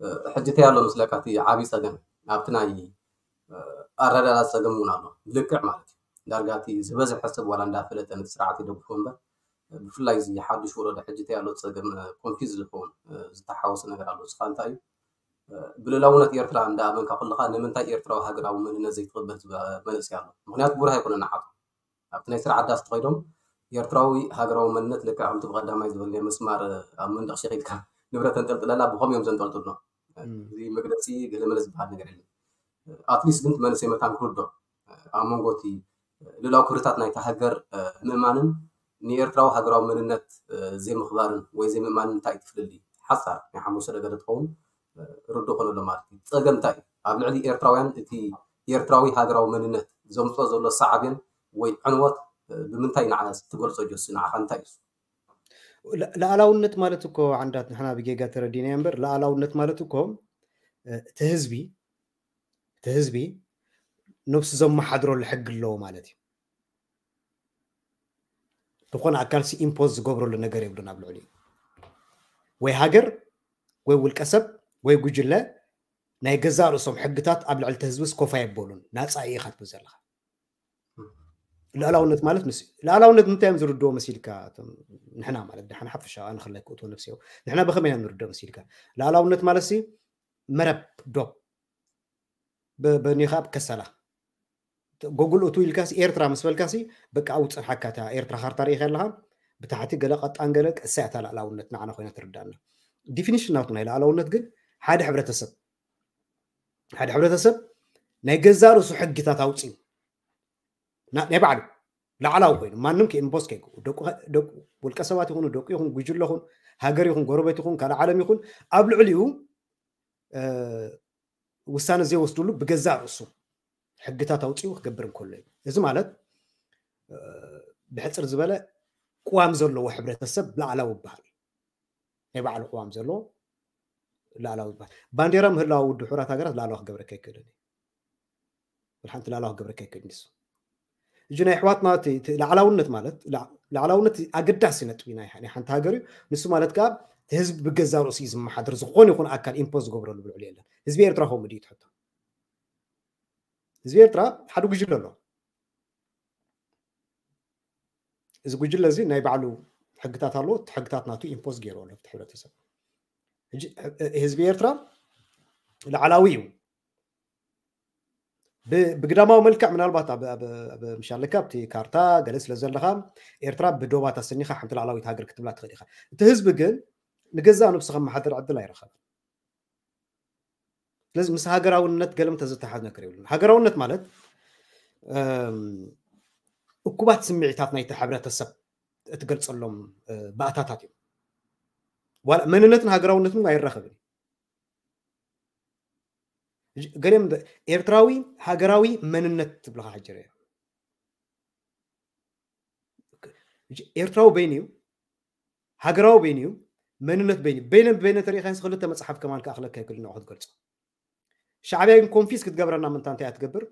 አ፣ ሕጂ እንታይ ኣሎ መስለካ፣ እቲ ዓብዪ ጸገም ኣብቲ ናይ፣ አ፣ ኣረዳድኣ ጸገም እውን ኣሎ። ልክዕ ማለት እዩ። ዳርጋ እቲ ዝበዝሐ ሰብ ዋላ እንዳፈለጠ ነቲ ስርዓት ይደግፎ እምበር፣ ብፍላይ እዚ ሓዱሽ ወለዶ ሕጂ እንታይ ኣሎ ጸገም፣ አ፣ ኮንፊዝ ዝኸውን፣ አ፣ ዝተሓወሰ ነገር ኣሎ። ንስኻ እንታይ እዩ፣ አ፣ ብልኡላውነት ኤርትራ እንዳኣመንካ ከለኻ ንምንታይ ኤርትራዊ ሃገራዊ መንነት ዘይትቕበል ዝበ-፣ መንእሰይ ኣሎ። ምኽንያቱ ብሩህ ኣይኮነን ንዓቱ። ኣብቲ ናይ ስራሕ ዓዳስ ተኸይዶም ኤርትራዊ ሃገራዊ መንነት ልክዕ ከምቲ ብቐዳማይ ዝበልናዮ መስማር ኣብ መንደቕ ሸኺልካ ንብረት ተንጠልጥለላ ብኸምኡ እዮም ዘንጠልጥሉና። እም። እዚ መግለጺ ገለመለ ዝበሃል ነገር የለን። ኣትሊስት ግን እቲ መንእሰይ መታን ክርድኦ ኣብ መንጎ እቲ ልኡላዊ ክብርታት ናይታ ሃገር ምእማንን ንኤርትራዊ ሃገራዊ መንነት ዘይምኽባርን ወይ ዘይምእማንን እንታይ እዩ እቲ ፍልልይ? ሓሳር ናይ ሓሙሽተ ነገደ ትኸውን ርዱእ ኮነ ኣሎ ማለት እዩ። ጸገም እንታይ እዩ? ኣብ ልዕሊ ኤርትራውያን እቲ ኤርትራዊ ሃገራዊ መንነት ዘምጽኦ ዘሎ ሳዕቤን ወይ ዕንወት፣ እ፣ ብምንታይ ንዓ ትገልጾ ጆሲ? ንዓኻ እንታይ እዩ? ል-፣ ልኣላውነት ማለት እኮ ዓንዳት ንሕና ብጌጋ ተረዲናዮ እምበር፣ ልኣላውነት ማለት እኮ፣ እ፣ እቲ ህዝቢ፣ እቲ ህዝቢ ነብሱ ዘመሓድረሉ ሕጊ ኣለዎ ማለት እዩ። ዝኾነ ኣካልሲ ኢምፖዝ ዝገብረሉ ነገር የብሉን ኣብ ልዕሊኡ። ወይ ሃገር፣ ወይ ውልቀ ሰብ፣ ወይ ጉጅለ ናይ ገዛእ ርእሶም ሕግታት ኣብ ልዕሊ እቲ ህዝብስ ኮፍ ኣየበሉን። ናጻ ኢኻ ትብል ዘለኻ። ልኣላውነት ማለት ንሱ እዩ። ልኣላውነት እንታይ እዮም ዝርድዎ መሲልካ? እቶም ንሕና ማለት ደሓን ሓፈሻ ኣነ ክላይ ክእትዎ ነብሲ እዮ። ንሕና ብኸመይ ኢና ንርድኦ መሲልካ? ልኣላውነት ማለትሲ መረብ ዶብ ብ-፣ በኒኻ ኣብ ከሰላ ጎግል እቱ ኢልካሲ ኤርትራ ምስ በልካሲ በቃ ኣብኡ ትጸንሓካ። እታ ኤርትራ ካርታ ርኢኻ ኣለኻ፣ ብታሕቲ ገለ ቀጣን ገለ ቀሳይ እታ ልኣላውነት ንዓና ኮይና ትርዳእና። ዲፊኒሽን ናቱ ናይ ልኣላውነት ግን ሓደ ሕብረተሰብ፣ ሓደ ሕብረተሰብ ናይ ገዛእ ርእሱ ሕግታት ኣውጺኡ ና-፣ ናይ ባዕሉ ላዕላዊ ኮይኑ ማንም ከኢምፖስ ከይገብሩ፣ ደቁ፣ ደቁ ውልቀ ሰባት ይኹኑ፣ ደቁ ይኹን፣ ጉጅለ ይኹን፣ ሃገር ይኹን፣ ጎረቤት ይኹን፣ ካልእ ዓለም ይኹን፣ ኣብ ልዕሊኡ፣ እ፣ ውሳነ ዘይወስድሉ ብገዛእ ርእሱ ሕግታት ኣውጺኡ ክገብር እንከሎ እዩ። እዚ ማለት፣ እ፣ ብሕጽር ዝበለ ቅዋም ዘለዎ ሕብረተሰብ ላዕላዊ ይበሃል። ናይ ባዕሉ ቅዋም ዘለዎ ላዕላዊ ይበሃል። ባንዴራ ምህላው ውድብ ሕቡራት ሃገራት ላዕላዊ ክገብረካ ኣይክእልን እዩ። ወላ ሓንቲ ላዕላዊ ክገብረካ ኣይክእልን እዩ። እዚ ናይ ኣሕዋትና እቲ፣ እቲ ላዕላውነት ማለት፣ ላ-፣ ላዕላውነት ኣገዳሲ ነጥቢ ናይ፣ ናይ ሓንቲ ሃገር እዩ። ንሱ ማለት ከኣ እቲ ህዝቢ ብገዛእ ርእሱ እዩ ዝመሓደር፣ ዝኾነ ይኹን ኣካል ኢምፖዝ ዝገብረሉ ብልዕሊ የለን። ህዝቢ ኤርትራ ከምኡ ድዩ ትሕቶ? ህዝቢ ኤርትራ ሓደ ጉጅለ ኣሎ። እዚ ጉጅለ እዚ ናይ ባዕሉ ሕግታት ኣለዎ። እቲ ሕግታት ናቱ ኢምፖዝ ገይሩ ኣሎ ኣብቲ ሕብረተሰብ። ሕጂ፣ ህ-፣ ህዝቢ ኤርትራ ላዕላዊ እዩ። ብግዳማዊ መልክዕ ምናልባት ኣብ ምሻለካ ኣብቲ ካርታ ገለ ስለ ዘለካ ኤርትራ ብዶባት ኣሰኒካ ሓንቲ ላዕላዊት ሃገር ክትብላ ትኽእል ኢኻ። እቲ ህዝቢ ግን ንገዛእ ነብሱ ከመሓድር ዕድል ኣይረኸበን። ስለዚ ምስ ሃገራውነት ገለም ተዘተሓዝ ነገር የብሉን። ሃገራውነት ማለት እኩባት ስምዒታት ናይቲ ሕብረተሰብ እትገልጸሎም ባእታታት እዮም። ዋላ መንነትን ሃገራውነትን ኣይራኸብን። ገለም ኤርትራዊ ሃገራዊ መንነት ትብልካ ሕጀረ ኤርትራዊ በይኑ እዩ፣ ሃገራዊ በይኑ እዩ፣ መንነት በይኑ እዩ። በይነ በይነ ተሪኢካ ክልተ መጽሓፍ ከማን ክኣኽለካ ይክእል ንዑ ክትገልጾ። ሻዕብያ ግን ኮንፊስ ክትገብረና ምንታ እንታይ እያ ትገብር?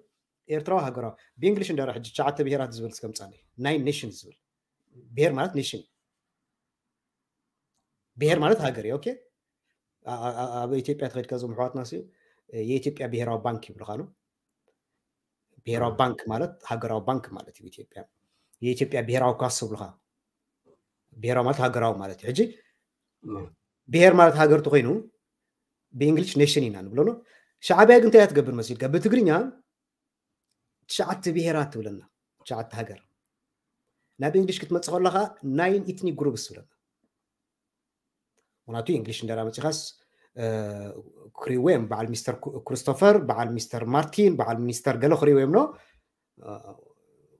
ኤርትራዊ ሃገራዊ ብእንግሊሽ እንዳረ ሕጂ ትሽዓተ ብሄራት ዝብል እስከምጻለይ ናይ ኔሽን ዝብል ብሄር ማለት ኔሽን ብሄር ማለት ሃገር እዩ። ኦኬ ኣብ ኢትዮጵያ ተኸድካ ዞም ኣሕዋትና ሲ የኢትዮጵያ ብሄራዊ ባንክ ይብልካ ነው። ብሄራዊ ባንክ ማለት ሃገራዊ ባንክ ማለት እዩ። ኢትዮጵያ የኢትዮጵያ ብሄራዊ ኳስ ይብልካ። ብሄራዊ ማለት ሃገራዊ ማለት እዩ። ሕጂ ብሄር ማለት ሃገር ተኮይኑ ብእንግሊሽ ኔሽን ኢና ንብሎ ነው። ሻዕብያ ግን እንታይ እያ ትገብር መሲልካ? ብትግርኛ ትሽዓተ ብሄራት ትብለና፣ ትሽዓተ ሃገር። ናብ እንግሊሽ ክትመጽእ ከለኻ ናይን ኢትኒክ ግሩፕስ ትብለና። ምክንያቱ እንግሊሽ እንደራ መጺኻስ ክሪዌም በዓል ሚስተር ክሪስቶፈር በዓል ሚስተር ማርቲን በዓል ሚስተር ገለ ክሪዌም ነው።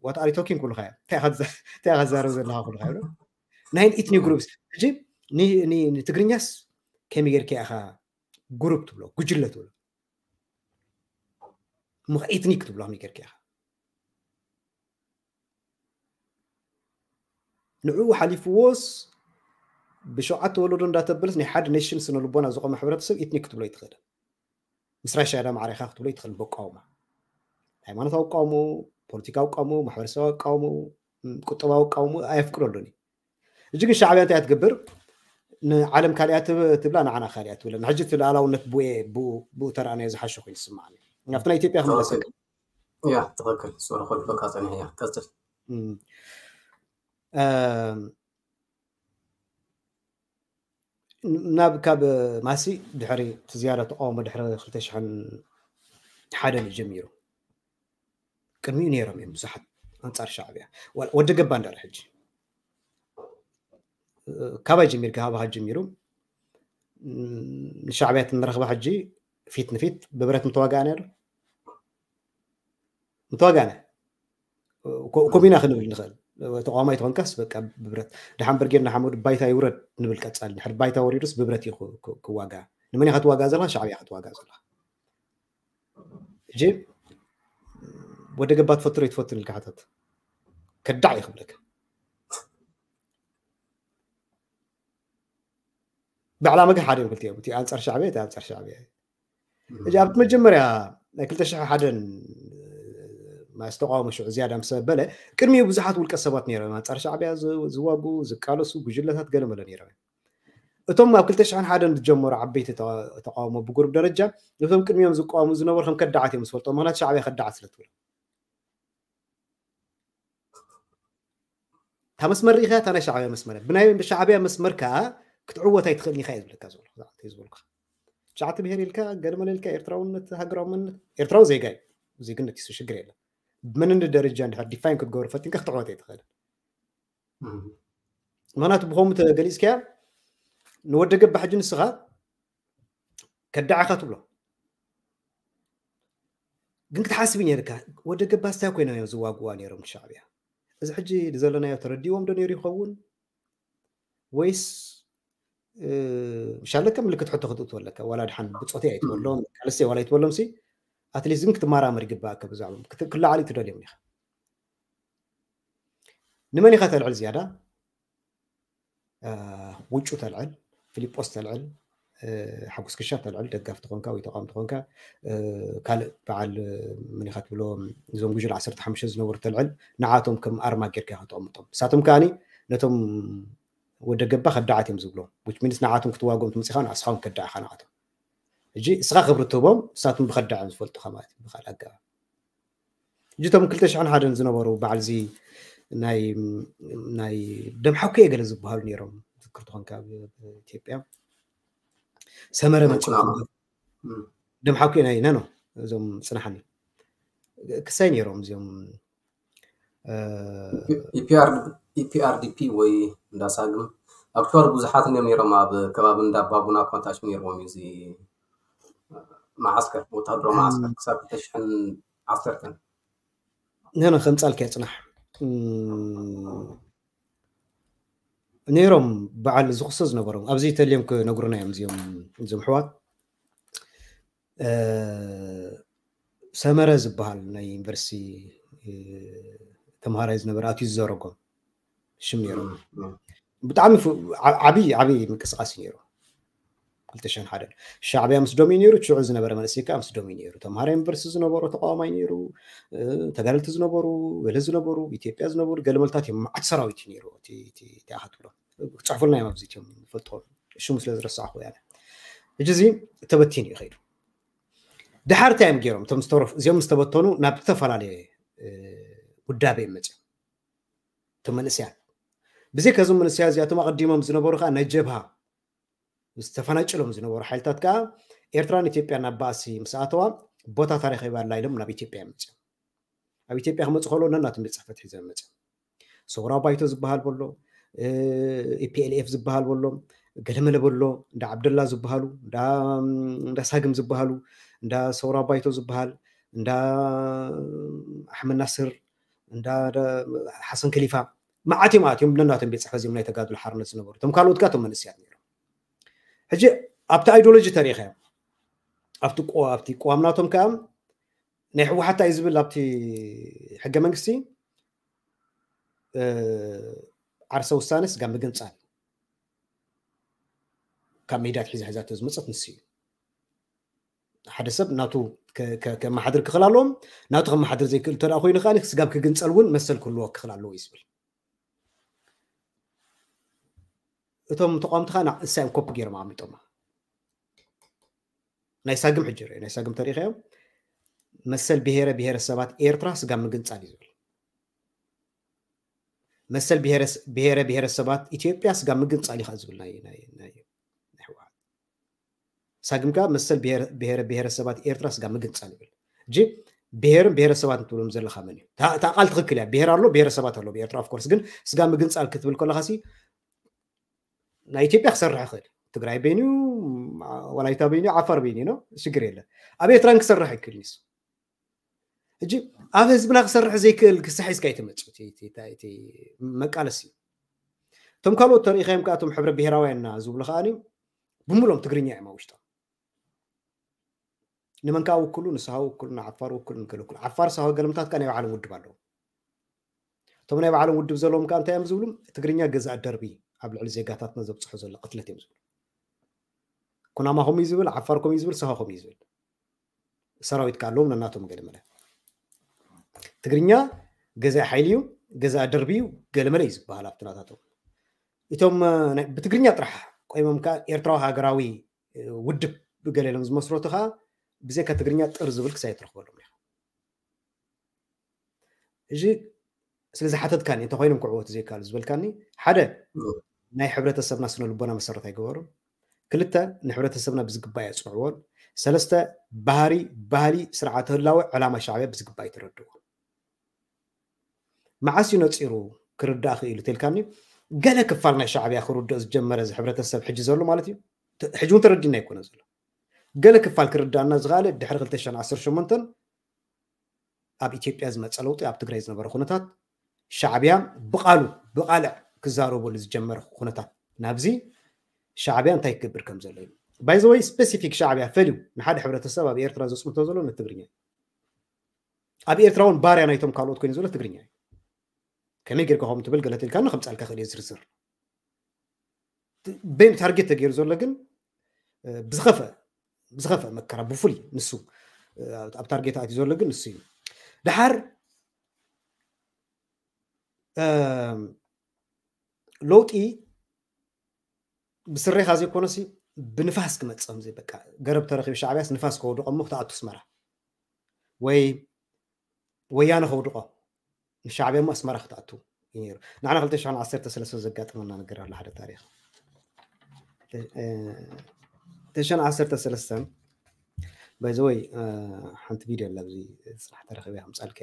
What are you talking ክብሉካ እዮም። እንታይ ከዛረብ ዘለካ ክብሉካ እዮም። ናይን ኢትኒክ ግሩፕስ ሕጂ ንትግርኛስ ከመይ ጌርካ ኢኻ ግሩፕ ትብሎ ጉጅለ ትብሎ ምኽ ኤትኒክ ትብሎ ከመይ ጌርካ ኢኻ ንዕኡ ሓሊፍዎስ ብሸውዓተ ወለዶ እንዳተበለስ ናይ ሓደ ኔሽን ስነ ልቦና ዝቆመ ሕብረተሰብ ኤትኒክ ክትብሎ ይትኽእል። ምስ ራሽያ ዳ ማዕሪኻ ክትብሎ ይትኽእል። በቃውማ ሃይማኖታዊ ቃውሞ፣ ፖለቲካዊ ቃውሞ፣ ማሕበረሰባዊ ቃውሞ፣ ቁጠባዊ ቃውሞ ኣየፍቅደሉን እዩ። እጂ ግን ሻዕብያ እንታይ ትገብር? ንዓለም ካሊኣ ትብላ ንዓና ካሊኣ ትብለና። ሕጂ እቲ ሉዓላውነት ብኡ ተረኣናዮ ዝሓሸ ኮይኑ ዝስማዓኒ። ኣብቲ ናይ ኢትዮጵያ ክመለሰ ያ ትኽክል። ሶሪ ኮልፈካ ጸኒሕ እያ ቀጽል። ናብ ካብ ማሲ ድሕሪ እቲ ዝያዳ ተቃውሞ ድሕሪ ክልተ ሽሕን ሓደን እዩ ጀሚሩ። ቅድሚኡ ነይሮም እዮም ብዙሓት ኣንጻር ሻዕብያ። ወዲ ገባ እንዳር ሕጂ ካባይ ጀሚርካ ሃባኻ ጀሚሩ ንሻዕብያ ትንረኽባ ሕጂ ፊት ንፊት ብብረት ምተዋጋእና ዶ ምተዋጋእና ኮሚና ክንብል ንኽእል። ተቃዋማይ ትኾንካስ በቃ ብብረት ድሓን ብርጌድ ንሓመዱ ባይታ ይውረድ ንብል ቀጻሊ። ድሕሪ ባይታ ወሪዱስ ብብረት እዩ ክዋጋ። ንመን ኢኻ ትዋጋ ዘለኻ? ሻዕብያ ክትዋጋ ዘለኻ። እጂ ወደ ገባ ትፈቱ ዶ ይትፈቱ ኢልካ ሓተት ከዳዕ እዩ ክብለካ። ብዕላማ ግን ሓደ እዮም ክልቲኦም፣ እቲ ኣንጻር ሻዕብያ፣ እቲ ኣንጻር ሻዕብያ። ሕጂ ኣብቲ መጀመርያ ናይ ክልተ ሽሕ ሓደን ዝተቃወሞ ሽዑ ዝያዳ ምስ በለ ቅድሚኡ ብዙሓት ውልቀ ሰባት ነይሮም ኣንጻር ሻዕብያ ዝዋጉ ዝቃለሱ ጉጅለታት ገለመለ ነይሮም። እቶም ኣብ ክልተ ሽሕን ሓደን ዝጀመሩ ዓበይቲ ተቃውሞ ብጉሩብ ደረጃ ነቶም ቅድሚኦም ዝቃወሙ ዝነበሩ ከም ከዳዓት እዮም ዝፈልጦም። ምክንያቱ ሻዕብያ ከዳዓት ስለ ትብሎ እታ መስመር ርኢኻ እታ ናይ ሻዕብያ መስመር ብናይ ሻዕብያ መስመር ከዓ ክትዕወት ኣይትኽእልን ኢኻ እየ ዝብለካ ዝበልካ። ትሽዓተ ብሄር ኢልካ ገለመለ ኢልካ ኤርትራውነት ሃገራዊ መንነት ኤርትራዊ ዜጋ እዩ። ዜግነት ይሱ ሽግር የለን። ብመንነት ደረጃ እንድሕር ዲፋይን ክትገብሩ ፈቲንካ ክትዕወት ኣይትኽእልን። ምክንያቱ ብኸምኡ ተገሊፅካያ ንወደ ገባ ሕጂ ንስኻ ከዳዕኻ ትብሎ ግን ክትሓስብ ነርካ ወደ ገባ ስታይ ኮይኖም እዮም ዝዋግዋ ነይሮም ሻዕብያ። እዚ ሕጂ ዘለናዮ ተረዲዎም ዶ ነይሩ ይኸውን ወይስ ምሻለከ ምልክት ሕቶ ክትእትወ ኣለካ። ዋላ ድሓን ብፆተይ ኣይትበሎም ካልሰይ ዋላ ኣይትበሎም ሲ ኣትሊስት ግን ክትመራመር ይግባእካ። ብዛዕባ ክለዓሊ ትደልዮም ኢኻ። ንመን ኢኻ ተልዕል ዝያዳ? ውጩ ተልዕል፣ ፊሊጶስ ተልዕል፣ ሓጎስ ክሻ ተልዕል፣ ደጋፍ ትኾንካ ወይ ተቃውም ትኾንካ ካልእ በዓል ምን ኢኻ ትብሎ እዞም ጉጅል ዓሰርተ ሓሙሽተ ዝነበሩ ተልዕል ንዓቶም ከም ኣርማ ጌርካ ኢኻ ተቐምጦም። ንሳቶም ከዓኒ ነቶም ወደ ገባ ከዳዓት እዮም ዝብሎም። ዊች ሚንስ ንዓቶም ክትዋጎም ትምፅኻ ንስኻውን ከዳዕኻ ንዓቶም። ሕጂ እስኻ ክብሪ ትህቦም ንሳቶም ብኸዳዕ እዮም ዝፈልጡኻ ማለት እዩ ብካልእ ኣገባብ። እቶም ክልተ ሽሕን ሓደን ዝነበሩ በዓልዚ ናይ ደምሓኩ ገለ ዝበሃሉ ነይሮም ዝክር ትኾንካ ኢትዮጵያ ሰመረ መፅኡ ደምሓኩ ናይ ነኖ እዞም ፅናሓኒ ክሳይ ነይሮም እዚኦም ኢፒአርዲፒ ወይ እንዳሳግም ኣክቹዋሊ ብዙሓት እዮም ነይሮም ኣብ ከባቢ እንዳባጉና ኮንታች ነይርዎም እዩ እዚ መዓስከር ወታደራዊ መዓስከር ክሳብ ክልተ ሽሕን ዓሰርተን ነነ ከምፃልካ ይፅናሕ ነይሮም በዓል ዝኽሰ ዝነበሮም ኣብዚ ተልዮም ክነግሩና እዮም እዚኦም እዞም ኣሕዋት ሰመረ ዝበሃል ናይ ዩኒቨርሲቲ ተምሃራይ ዝነበረ ኣትዩ ዝዘረጎም ሽም ነይሮም ብጣዕሚ ዓብይ ዓብይ ምንቅስቃስ እዩ ነይሩ ክልተ ሽሕን ሓደን ሻዕብያ ምስ ዶም እዩ ነይሩ ሽዑ ዝነበረ መንእሰይ ከዓ ምስ ዶም እዩ ነይሩ ተምሃራይ ዩኒቨርሲቲ ዝነበሩ ተቃዋማይ ነይሩ ተጋደልቲ ዝነበሩ ገለ ዝነበሩ ኢትዮጵያ ዝነበሩ ገለ መልታት እዮም መዓት ሰራዊት እዩ ነይሩ ኣኻትብሎ ክፅሕፉልና እዮም ኣብዚ እዮም ፈልጥዎም ሽሙ ስለ ዝረሳዕኹ ያለ ሕጂ እዚ ተበቲኑ እዩ ከይዱ ድሓር እንታይ እዮም ገይሮም እቶም ዝተረፉ እዚኦም ዝተበተኑ ናብ ዝተፈላለየ ውዳቤ እዮም መፅኦም እቶም መንእሰያት ብዘይ ከዞም መንእሰያት እዚኣቶም ኣቐዲሞም ዝነበሩ ከዓ ናይ ጀብሃ ዝተፈናጭሎም ዝነበሩ ሓይልታት ከዓ ኤርትራን ኢትዮጵያን ናብ ባእሲ ምስ ኣተዋ ቦታ ታሪኽ ይባላ ኢሎም ናብ ኢትዮጵያ እዮም መፅኦም ኣብ ኢትዮጵያ ክመፁ ከሎ ነናቶም ቤት ፅሕፈት ሒዞም መፅኦም ሰውራ ባይቶ ዝበሃል በሎ ኢፒኤልኤፍ ዝበሃል በሎ ገለመለ በሎ እንዳ ዓብደላ ዝበሃሉ እንዳ ሳግም ዝበሃሉ እንዳ ሰውራ ባይቶ ዝበሃል እንዳ ኣሕመድ ናስር እንዳ ሓሰን ከሊፋ መዓት እዮም ኣትዮም ነናቶም ቤት ፅሕፈት ዚም ናይ ተጋድሎ ሓርነት ዝነበሩ እቶም ካልኦት ጋቶም መንእስያት ነይሮም ሕጂ ኣብቲ ኣይዲዮሎጂ ተሪኸ ኣብቲ ኣብቲ ቅዋም ናቶም ከዓ ናይ ህወሓት እዩ ዝብል ኣብቲ ሕገ መንግስቲ ዓርሰ ውሳነ ስጋ ምግንፃል ካብ ሜዳ ትሒዛ ሒዛቶ ዝመፀት ንስ እዩ ሓደ ሰብ ናቱ ከመሓድር ክኽእል ኣለዎም ናቱ ከመሓድር ዘይክእል እንተ ኮይኑ ከዓ ስጋብ ክግንፀል እውን መሰል ክህልዎ ክኽእል ኣለዎ እዩ ዝብል እቶም ተቋምቲ ከዓ እሳ እዮም ኮፒ ገይሮም ኣሚጦማ ናይ ሳግም ሕጂ ርእ ናይ ሳግም ተሪኸዮም መሰል ብሄረ ብሄረሰባት ኤርትራ ስጋብ ምግንፃል እዩ ዝብል መሰል ብሄረ ብሄረሰባት ኢትዮጵያ ስጋብ ምግንፃል እዩ ዝብል ናይ ህወሓት ሳግም ከዓ መሰል ብሄረ ብሄረሰባት ኤርትራ ስጋብ ምግንፃል ይብል እጂ ብሄርን ብሄረሰባት እንትብሎም ዘለካ መን እዩ እታ ቃል ትክክል እያ ብሄር ኣሎ ብሄረሰባት ኣሎ ብኤርትራ ኦፍኮርስ ግን ስጋ ምግንፃል ክትብል ከለካ ሲ ናይ ኢትዮጵያ ክሰርሕ ይኽእል ትግራይ በይኑ ወላይታ በይኑ ዓፋር በይኑ ነው ሽግር የለ ኣብ ኤርትራን ክሰርሕ ይክእል ኒስ እጂ ኣብ ህዝብና ክሰርሕ ዘይክእል ክሳሒዝካ ይትመፅእ መቃለሲ እቶም ካልኦት ተሪኢኻዮም ከኣቶም ሕብረ ብሄራውያንና ዝብሉ ከኣ ብምሎም ትግርኛ እዮም ኣብ ውሽጦም ንመን ከዓ ውክሉ ንስሃ ውክሉ ንዓፋር ውክሉ ንገለኩሉ ዓፋር ሳሆ ገለምታት ከዓ ናይ ባዕሎም ውድብ ኣለዎም እቶም ናይ ባዕሎም ውድብ ዘለዎም ከዓ እንታይ እዮም ዝብሉ ትግርኛ ገዛእ ደርቢ ኣብ ልዕሊ ዜጋታትና ዘብፅሖ ዘሎ ቅትለት እዮም ዝብሉ ኩናማ ከምኡ እዩ ዝብል ዓፋር ከምኡ እዩ ዝብል ሳሆ ከምኡ እዩ ዝብል ሰራዊት ከዓ ኣለዎም ነናቶም ገለመለ ትግርኛ ገዛእ ሓይሊ እዩ ገዛእ ደርቢ እዩ ገለመለ እዩ ዝበሃል ኣብቲ ናታቶም እቶም ብትግርኛ ጥራሕ ቆይሞም ከዓ ኤርትራዊ ሃገራዊ ውድብ ብገለ ኢሎም ዝመስረቱ ከዓ ብዘይካ ትግርኛ ጥር ዝብል ክሳይ ትረክበሎም ኢኻ እዚ ስለ ዝሓተትካኒ እንተኮይኖም ክዕወቱ ዘይከኣሉ ዝበልካኒ ሓደ ናይ ሕብረተሰብና ስነ ልቦና መሰረት ኣይገበሩን ክልተ ንሕብረተሰብና ብዝግባእ የፅንዕዎን ሰለስተ ባህሪ ባህሊ ስርዓተ ህላወ ዕላማ ሻዕብያ ብዝግባእ ይተረድዎ መዓስ እዩ ነፂሩ ክርዳእ ክኢሉ ተልካኒ ገለ ክፋል ናይ ሻዕብያ ክርድኦ ዝጀመረ እዚ ሕብረተሰብ ሕጂ ዘሎ ማለት እዩ ሕጂ እውን ተረዲና ይኮነ ዘሎ ገለ ክፋል ክርዳእና ዝኽኣለ ድሕሪ ክልተ ሽሕን ዓሰርተ ሸሞንተን ኣብ ኢትዮጵያ ዝመፀ ለውጢ ኣብ ትግራይ ዝነበረ ኩነታት ሻዕብያ ብቃሉ ብቃልዕ ክዛረበሉ ዝጀመረ ኩነታት ናብዚ ሻዕብያ እንታይ ክገብር ከም ዘሎ እዩ ባይዘወይ ስፔሲፊክ ሻዕብያ ፈልዩ ንሓደ ሕብረተሰብ ኣብ ኤርትራ ዘፅንቶ ዘሎ ንትግርኛ እዩ ኣብ ኤርትራ እውን ባርያ ናይቶም ካልኦት ኮይኑ ዘሎ ትግርኛ እዩ ከመይ ጌርካ ከም ትብል ገለ ትልካ ከምፃልካ ክእል ዝርዝር በይኑ ታርጌት ተገይሩ ዘሎ ግን ብዝኸፈ ብዝኸፈ መከራ ብፍሉይ ንሱ ኣብ ታርጌት ኣትዩ ዘሎ ግን ንሱ እዩ ድሓር ለውጢ ብስሬኻ ዘይኮነሲ ብንፋስ ክመፅእ ከምዚ በቃ ገረብ ተረኪቡ ሻዕብያስ ንፋስ ከውድቆ እሞ ክትኣቱ ኣስመራ ወይ ወያነ ከውድቆ ንሻዕብያ እሞ ኣስመራ ክትኣቱ እዩ ነይሩ ንሕና ክልተ ሽሕን ዓሰርተ ሰለስተ ዘጋጠመና ነገር ኣሎ ሓደ ታሪክ ክልተ ሽሕን ዓሰርተ ሰለስተ By the way, ሓንቲ ቪድዮ ኣላ ኣብዚ ጽናሕ ተረኺበ ከምጻልካ።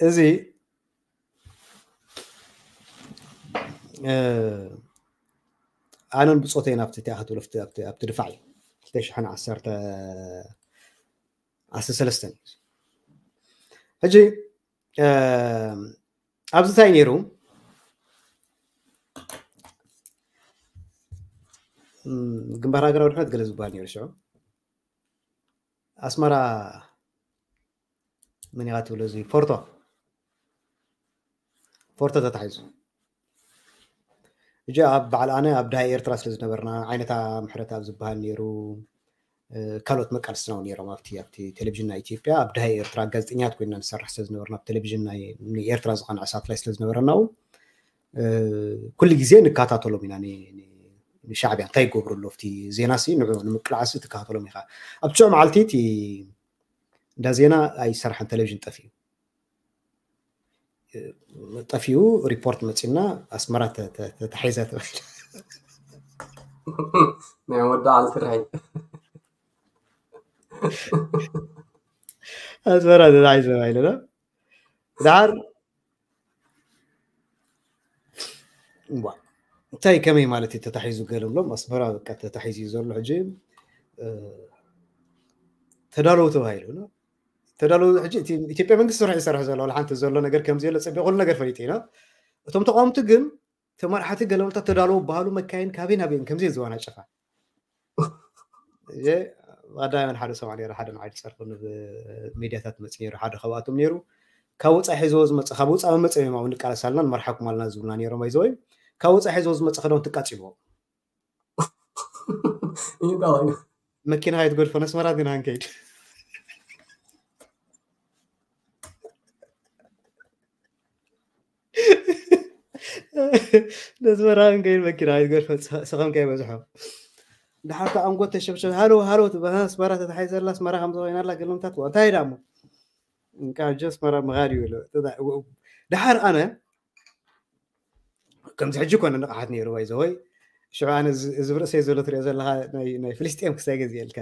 እዚ ኣነን ብጾተይን ኣብቲ ትኣኸትብሎ ኣብቲ ድፋዕ እዩ። ክልተ ሽሕን ዓሰርተ ዓሰርተ ሰለስተን እዩ። ሕጂ ኣብዚ እንታይ ነይሩ? ግንባር ሃገራዊ ድሕነት ገለ ዝበሃል ነይሩ ሽዑ። ኣስመራ መን ኢኻ ትብሎ? እዚ ፎርቶ፣ ፎርቶ ተታሒዙ። እጂ ኣብ በዓል ኣነ ኣብ ደሃይ ኤርትራ ስለ ዝነበርና ዓይነታ ምሕረት ኣብ ዝበሃል ነይሩ። ካልኦት መቃልስትና እውን ነይሮም ኣብቲ ኣብቲ ቴሌቪዥን ናይ ኢትዮጵያ። ኣብ ደሃይ ኤርትራ ጋዜጠኛት ኮይና ንሰርሕ ስለ ዝነበርና፣ ኣብ ቴሌቪዥን ናይ ኤርትራ ዝቐንዐ ሳትላይ ስለ ዝነበረና እውን ኩሉ ግዜ ንከታተሎም ኢና። ንሻዕብያ እንታይ ይገብሩ ኣሎ ኣብቲ ዜና ሲ ንዑ ንምቅላዕሲ ትከታተሎም ኢኻ። ኣብ ትሽዑ መዓልቲ እቲ እንዳ ዜና ኣይሰርሐን፣ ቴሌቪዥን ጠፊኡ። ጠፊኡ ሪፖርት መፂና ኣስመራ ተታሒዛ ተባሂሉ። ናይ ወዲ ዓሊ ስርሐይ ኣስመራ ተታሒዛ ተባሂሉ። ድሓር እንታይ ከመይ ማለት እዩ ተታሒዙ ገለ ብሎም ኣስመራ በቃ ተታሒዙ እዩ ዘሎ ሕጂ ተዳለዉ ተባሂሉ። ተዳለዉ ሕጂ ኢትዮጵያ መንግስቲ ስራሕ ይሰርሕ ዘሎ ሓንቲ ዘሎ ነገር ከምዚ የለ ፀቢቑ ኩሉ ነገር ፈሊጡ ኢና። እቶም ተቃወምቲ ግን ተመራሕቲ ገለመልታ ተዳለዉ በሃሉ መካይን ካበይ ናበይን ከምዚ ዝዋና ጨፋ ቀዳመን ሓደ ሰብዓ ነይሩ ሓደ ንዓዲ ፀርፉ ሚዲያታት መፅ ነይሩ ሓደ ካብኣቶም ነይሩ። ካብ ወፃኢ ሒዝዎ ዝመፀ ካብ ወፃኢ መመፀ እዮም ንቃለሳልና ንመርሓኩም ኣልና ዝብሉና ነይሮም ኣይዘወይ ካብ ወፃኢ ሒዝዎ ዝመፀ ክዳውንቲ ቃፂልዎ። መኪና ኣይትጎድፎ ነስመራ ዲና ንከይድ ነስመራ ንከይድ መኪና ኣይትጎድፎ። ስኸም ከይበዝሖ ድሓር ከ ኣንጎት ተሸብሸብ ሃሎ ሃሎ ትበሃል ኣስመራ ተታሒዘላ ኣስመራ ከም ዝኾይናላ ገለምታት እንታይ ዳሞ እንቃ ጀ ኣስመራ ምኻድ ይብሎ። ድሓር ኣነ ከምዚ ሕጂ ኮነ ንቕሓት ነይሩ ወይ ዘወይ ሽዑ ኣነ እዚ ብርእሰይ ዘሎ ትሪኦ ዘለካ ናይ ፍልስጤም ክሳይ ገዚኤልካ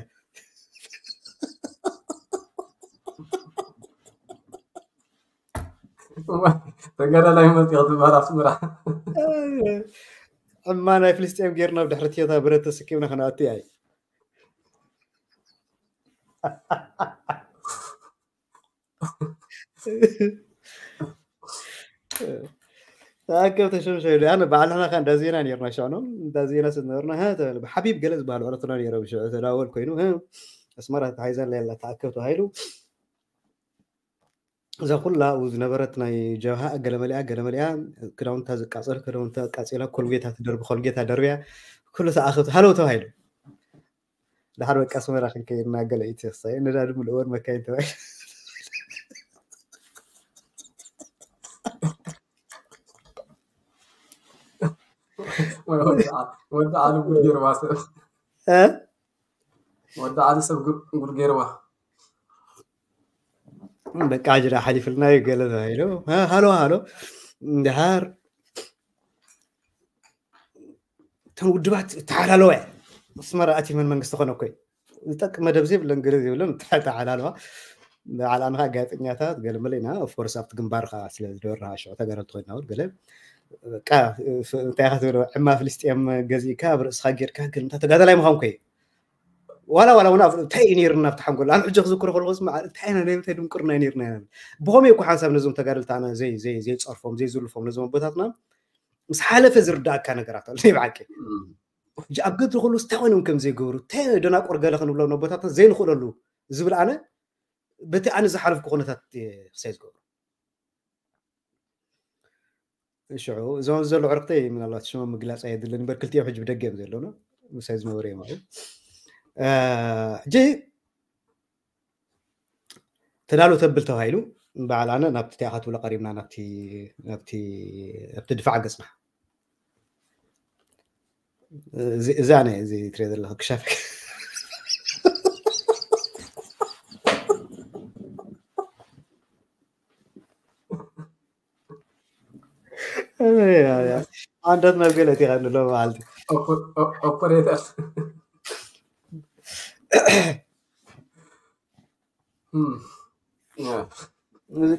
ተጋዳላይ መፂኦ ዝበሃል ኣስመራ እማ ናይ ፍልስጤም ጌርና ብድሕሪ ትዮታ ብረት ተሰኪምና ከነኣቲ ኣይ ተኣከብ ተሸምሸ ኣነ ባዕልና ከ እንዳ ዜና ነርና ሸዕኖም እንዳ ዜና ስነበርና ብሓቢብ ገለ ዝበሃል ዕረትና ነይሮም ሽዑ ተዳወል ኮይኑ ኣስመራ ተታሒዛ ኣላ ተኣከብ ተባሂሉ እዛ ኩላ ኣብኡ ዝነበረት ናይ ጀብሃ ገለመሊኣ ገለመሊኣ ክዳውንታ ዝቃፀል ክዳውንታ ቃፂላ ኮልጌታ ትደርቢ ኮልጌታ ደርብያ ኩሉ ተኣኸብቲ ሃለው ተባሂሉ። ድሓር በቃ ኣስመራ ክንከይድና ገለ ኢትክሳይ ነዳዲ ምልእወን መካይን ተባሂሉ። ወዲ ዓሊ ጉድ ገይርዋ ሰብ ወዲ ዓሊ ሰብ ጉድ ገይርዋ። በቃ ጅራ ሓሊፍልና እዩ ገለ ተባሂሉ ሃሎ ሃሎ እንድሃር እተን ውድባት ተሓላለዋ ኣስመራ ኣቲ መን መንግስቲ ኮነ ኮይ ዝጠቅ መደብ ዘይብለን ገለ ዘይብለን ተሓላለዋ። በዓል ኣንኻ ጋዜጠኛታት ገለመለ ኢና ኦፍኮርስ ኣብቲ ግንባር ከዓ ስለ ዝደበርና ሽዑ ተጋደልቲ ኮይና እውን ገለ እንታይ ኢኻ ትብሎ ዕማ ፍልስጥኤም ገዚእካ ኣብ ርእስኻ ጌርካ ገለ እንታይ ተጋዳላይ ምዃን ኮይ ዋላ ዋላ እውን እንታይ እዩ ነይርና ኣብቲ ሓንጎል ኣነ ሕጂ ክዝክሮ ከለኹ ስማ እንታይ ኢና ናይ ምንታይ ድንቁርና እዩ ነይርና ኢና ብኸመይ እኮ ሓንሳብ ነዞም ተጋደልቲ ኣነ ዘይ ዘይ ዘይፀርፎም ዘይዝልፎም ነዞም ኣቦታትና ምስ ሓለፈ ዝርዳእካ ነገራት ኣሎ ናይ ብሓቂ ሕጂ ኣብ ገድሪ ከሉ እንታይ ኮይኖም ከም ዘይገብሩ እንታይ ደናቁር ገለ ክንብሎም ኣቦታትና ዘይንኽእለሉ ዝብል ኣነ በቲ ኣነ ዝሓለፍኩ ኩነታት ክሳይ ዝገብሩ ሽዑ እዞም ዘሎ ዕርክተይ ምናልባት ሽሞም ምግላፅ ኣየድልን እምበር ክልቲኦም ሕጂ ብደገ እዮም ዘለውና ምሳይ ዝነበሩ እዮም ኣሉ ሕጂ ተዳሉ ተብል ተባሂሉ በዓል ኣነ ናብቲ ቲኣኻ ትብሎ ቀሪብና ናብቲ ድፋዕ ገፅና እዛ ናይ እዚ ትሪኦ ዘለካ ክሻፈ ኣንዳት ናብ ገለ እቲኻ ንሎ በዓልቲ ኦፐሬተር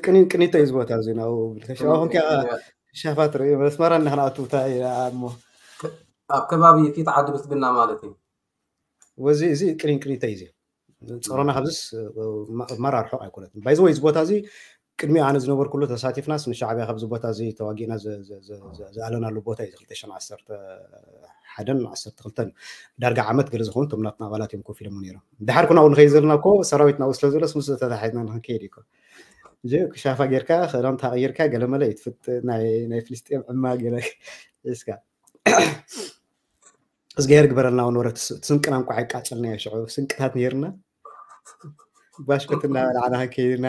ቅኒን ቅኒቶ እዩ ዝቦታ እዚ ናብኡ ከሻኹም ከ ሻፋት ርኢ መስመራ እናክንኣቱ እሞ ኣብ ከባቢ ፊት ዓዲ ብልጽግና ማለት እዩ። ወዚ እዚ ቅኒን ቅኒቶ እዩ እዚ ጸሮና ካብዚስ ማራ ርሑቕ ኣይኮነትን። ባይዘ ወይ እዚ ቦታ እዚ ቅድሚ ኣነ ዝነበርኩሉ ተሳቲፍናስ ንሻዕብያ ካብዚ ቦታ እዚ ተዋጊእና ዝኣለናሉ ቦታ እዩ ክልተ ሽሕን ዓሰርተ ሓደን ዓሰርተ ክልተን ዳርጋ ዓመት ገለ ዝኸውን እቶም ናትና ኣባላት እዮም ኮፍ ኢሎም ነይሮም። ድሓር ኩናው ንኸይ ዘለና እኮ ሰራዊት ናብኡ ስለ ዘሎ ምስ ተታሒዝና ንክንከይድ እዩ እኮ። እዚ ክሻፋ ጌርካ ክዳን ተቐይርካ ገለ መለ እዩ ትፍጥ ናይ ናይ ፍልስጤም ዕማ ገለ እስካ እዝግሄር ግበረልና እውን ወረ ስንቅና እንኳ ኣይቃጸልናዮ ሽዑ ስንቅታት ነይርና ባሽኮት እናበላዕና ከይድና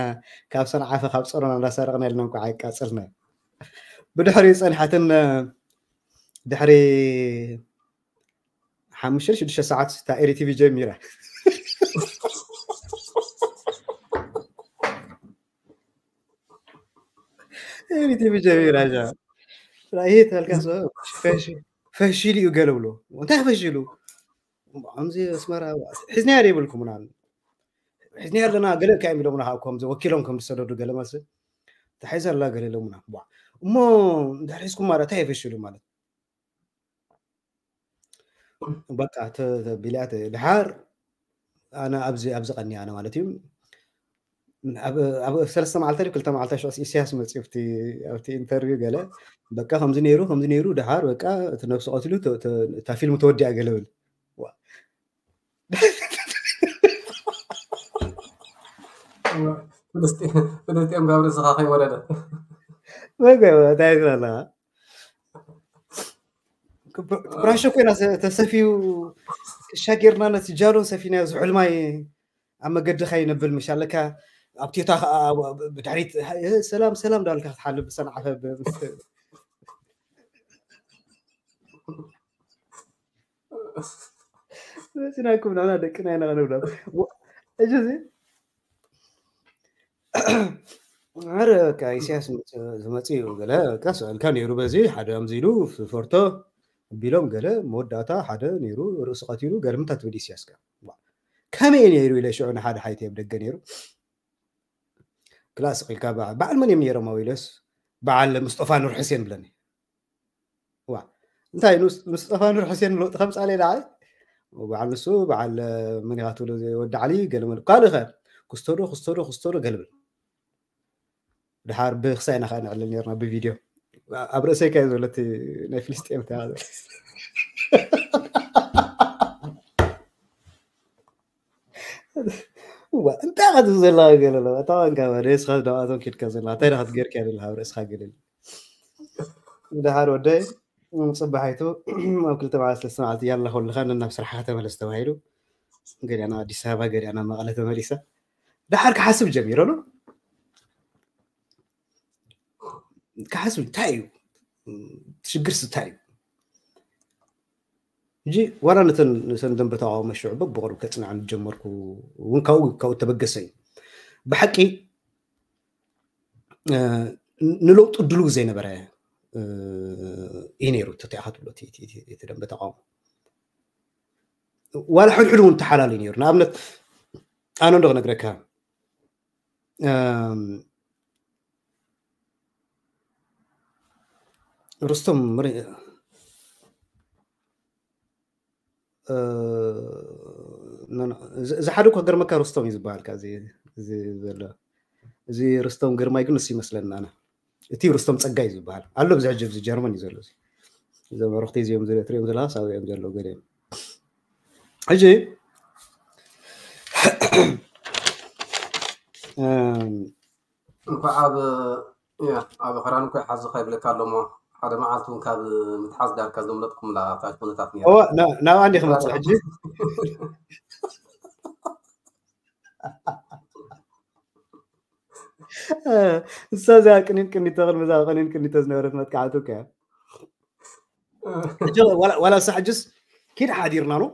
ካብ ሰንዓፈ ካብ ጸሮና እንዳሰረቕና ኢልና እንኳ ኣይቃጸልና ብድሕሪኡ ጸንሐትን ድሕሪ ሓሙሽተ ሽዱሽተ ሰዓት እታ ኤሪ ቲቪ ጀሚራ ኤሪ ቲቪ ጀሚራ ሻ ራእይ ተልካ ፈሽሉ እዩ ገለ ብሎ እንታይ ፈሽሉ ከምዚ ኣስመራ ሒዝናያ ዘይብልኩምና ሒዝናያ ኣለና ገለ እንታይ እዮም ኢሎምና ከዓ ከምዚ ወኪሎም ከም ዝሰደዱ ገለ መስል ተሒዛ ኣላ ገለ ኢሎምና እሞ እንድሕር ሒዝኩም ማለት እንታይ የፈሽሉ ማለት በቃ ተቢልያ ድሓር ኣነ ኣብዚ ኣብዚ ቀኒ ኣነ ማለት እዩ ኣብ ሰለስተ መዓልቲ ክልተ መዓልቲ ሽዑ ኢሳያስ መፅኡ ኣብቲ ኢንተርቪው ገለ በቃ ከምዚ ነይሩ ከምዚ ነይሩ ድሓር በቃ እቲ ነብሲ ቀትሉ እታ ፊልም ተወዲኣ ገለ ብል ፍልስጤም ካብ ርእስኻ ከይወረደ መገበ እንታይ ኣለካ ብራሾ ኮይና ተሰፊዩ ክሻ ጌርና ነቲ ጃሎ ሰፊና ዝሑልማይ ኣብ መገዲ ከይነብል ምሽ ኣለካ ኣብ ቴታ ከዓ ብድሕሪት ሰላም ሰላም ዳልካ ክትሓልፍ ብሰንዓፈ መፂናኩም ንሕና ደቅና ኢና ክንብሎም ሕጂ እዚ ኣረ በቃ ኢሳያስ ዝመፅእ እዩ ገለ በቃ ስእልካ ነይሩ በዚ ሓደ ኣምዚ ኢሉ ፈርቶ ቢሎም ገለ መወዳእታ ሓደ ነይሩ ርእሱ ቀቲሉ ገለ ምንታ ትብል ኢሳያስ ከ ከመይ ነይሩ ኢለ ሽዑ ንሓደ ሓይቲ ኣብ ደገ ነይሩ ክላስ ኢልካ በዓል መን እዮም ነይሮም ኣብ ኢለስ በዓል ምስጦፋ ኑር ሕሴን ብለኒ ዋ እንታይ ምስጠፋ ኑር ሕሴን ለውጢ ከምፃለ ኢላ በዓል ንሱ በዓል መን ኢኻ ትብሎ ወዲ ዓሊ ገለመል ካልእ ኸ ክስቶ ዶ ክስቶ ዶ ክስቶ ዶ ገልብል ድሓር ብክሳይ ኢና ከዓ ንዕልል ነርና ብቪድዮ ኣብ ርእሰይ ከ ዘለቲ ናይ ፍልስጤም እንታይ እንታይ ኸ ትብል ዘለካ ገለ ኣለዋ እታ ንካ ደስኻ ደባቶም ኬድካ ዘለካ እንታይ ዳኸ ትገርካ ዘለካ ኣብ ርእስኻ ገለል ድሓር ወደይ ፅባሒቱ ኣብ ክልተ መዓልቲ ሰለስተ መዓልቲ ያላ ከለካ ነናብ ስራሕካ ተመለስ ተባሂሉ ገሊኣና ኣዲስ ኣበባ ገሊኣና መቐለ ተመሊሳ ድሓር ክሓስብ ጀሚረ ሎ ክሓስብ እንታይ እዩ ሽግርስ እንታይ እዩ ሕጂ ዋላ ነተን ነተን ደንበ ተቃውሞ ሽዑ በብቕሩብ ከፅንዐን ጀመርኩ እውን ካብኡ ካብኡ ተበገሰ እዩ ብሓቂ ንለውጡ ድልው ዘይነበረ እዩ ነይሩ ተቲኣኻ ትብሎ እቲ ደንበ ተቃውሞ ዋላ ሕድሕድ እውን ተሓላሉ ነይሩ ንኣብነት ኣነ እንዶ ክነግረካ ርስቶም እዚ ሓደ እኮ ገርመካ ርስቶም እዩ ዝበሃል እዚ ዘሎ እዚ ርስቶም ግርማይ ግን ንሱ ይመስለኒ ኣነ እቲ ርስቶም ፀጋይ ዝበሃል ኣሎ ብዚ ሕጂ ኣብዚ ጀርመን እዩ ዘሎ እዚ መረኽቲ እዚኦም ትሪኦም ዘለካ ሳብኦም ዘለዉ ገለ ሕጂ እንኳዕ ኣብ ኣብ ክራን እኮ ሓዚ ከይብለካ ኣሎ ሞ ሓደ መዓልቲ እውን ካብ ምትሓዝ ዳርካ ዘምለጥኩምላ እታ ኩነታት ነይራ ናብኣ እንዲ ክመፅእ ሕጂ ንሳ እዚኣ ቅኒን ቅኒቶ ቅድሚ እዛ ቅኒን ቅኒቶ ዝነበረት መጥቃዕቲ እኮ እያ ዋላ እሳ ሕጅስ ኪድ ሓዲርና ነው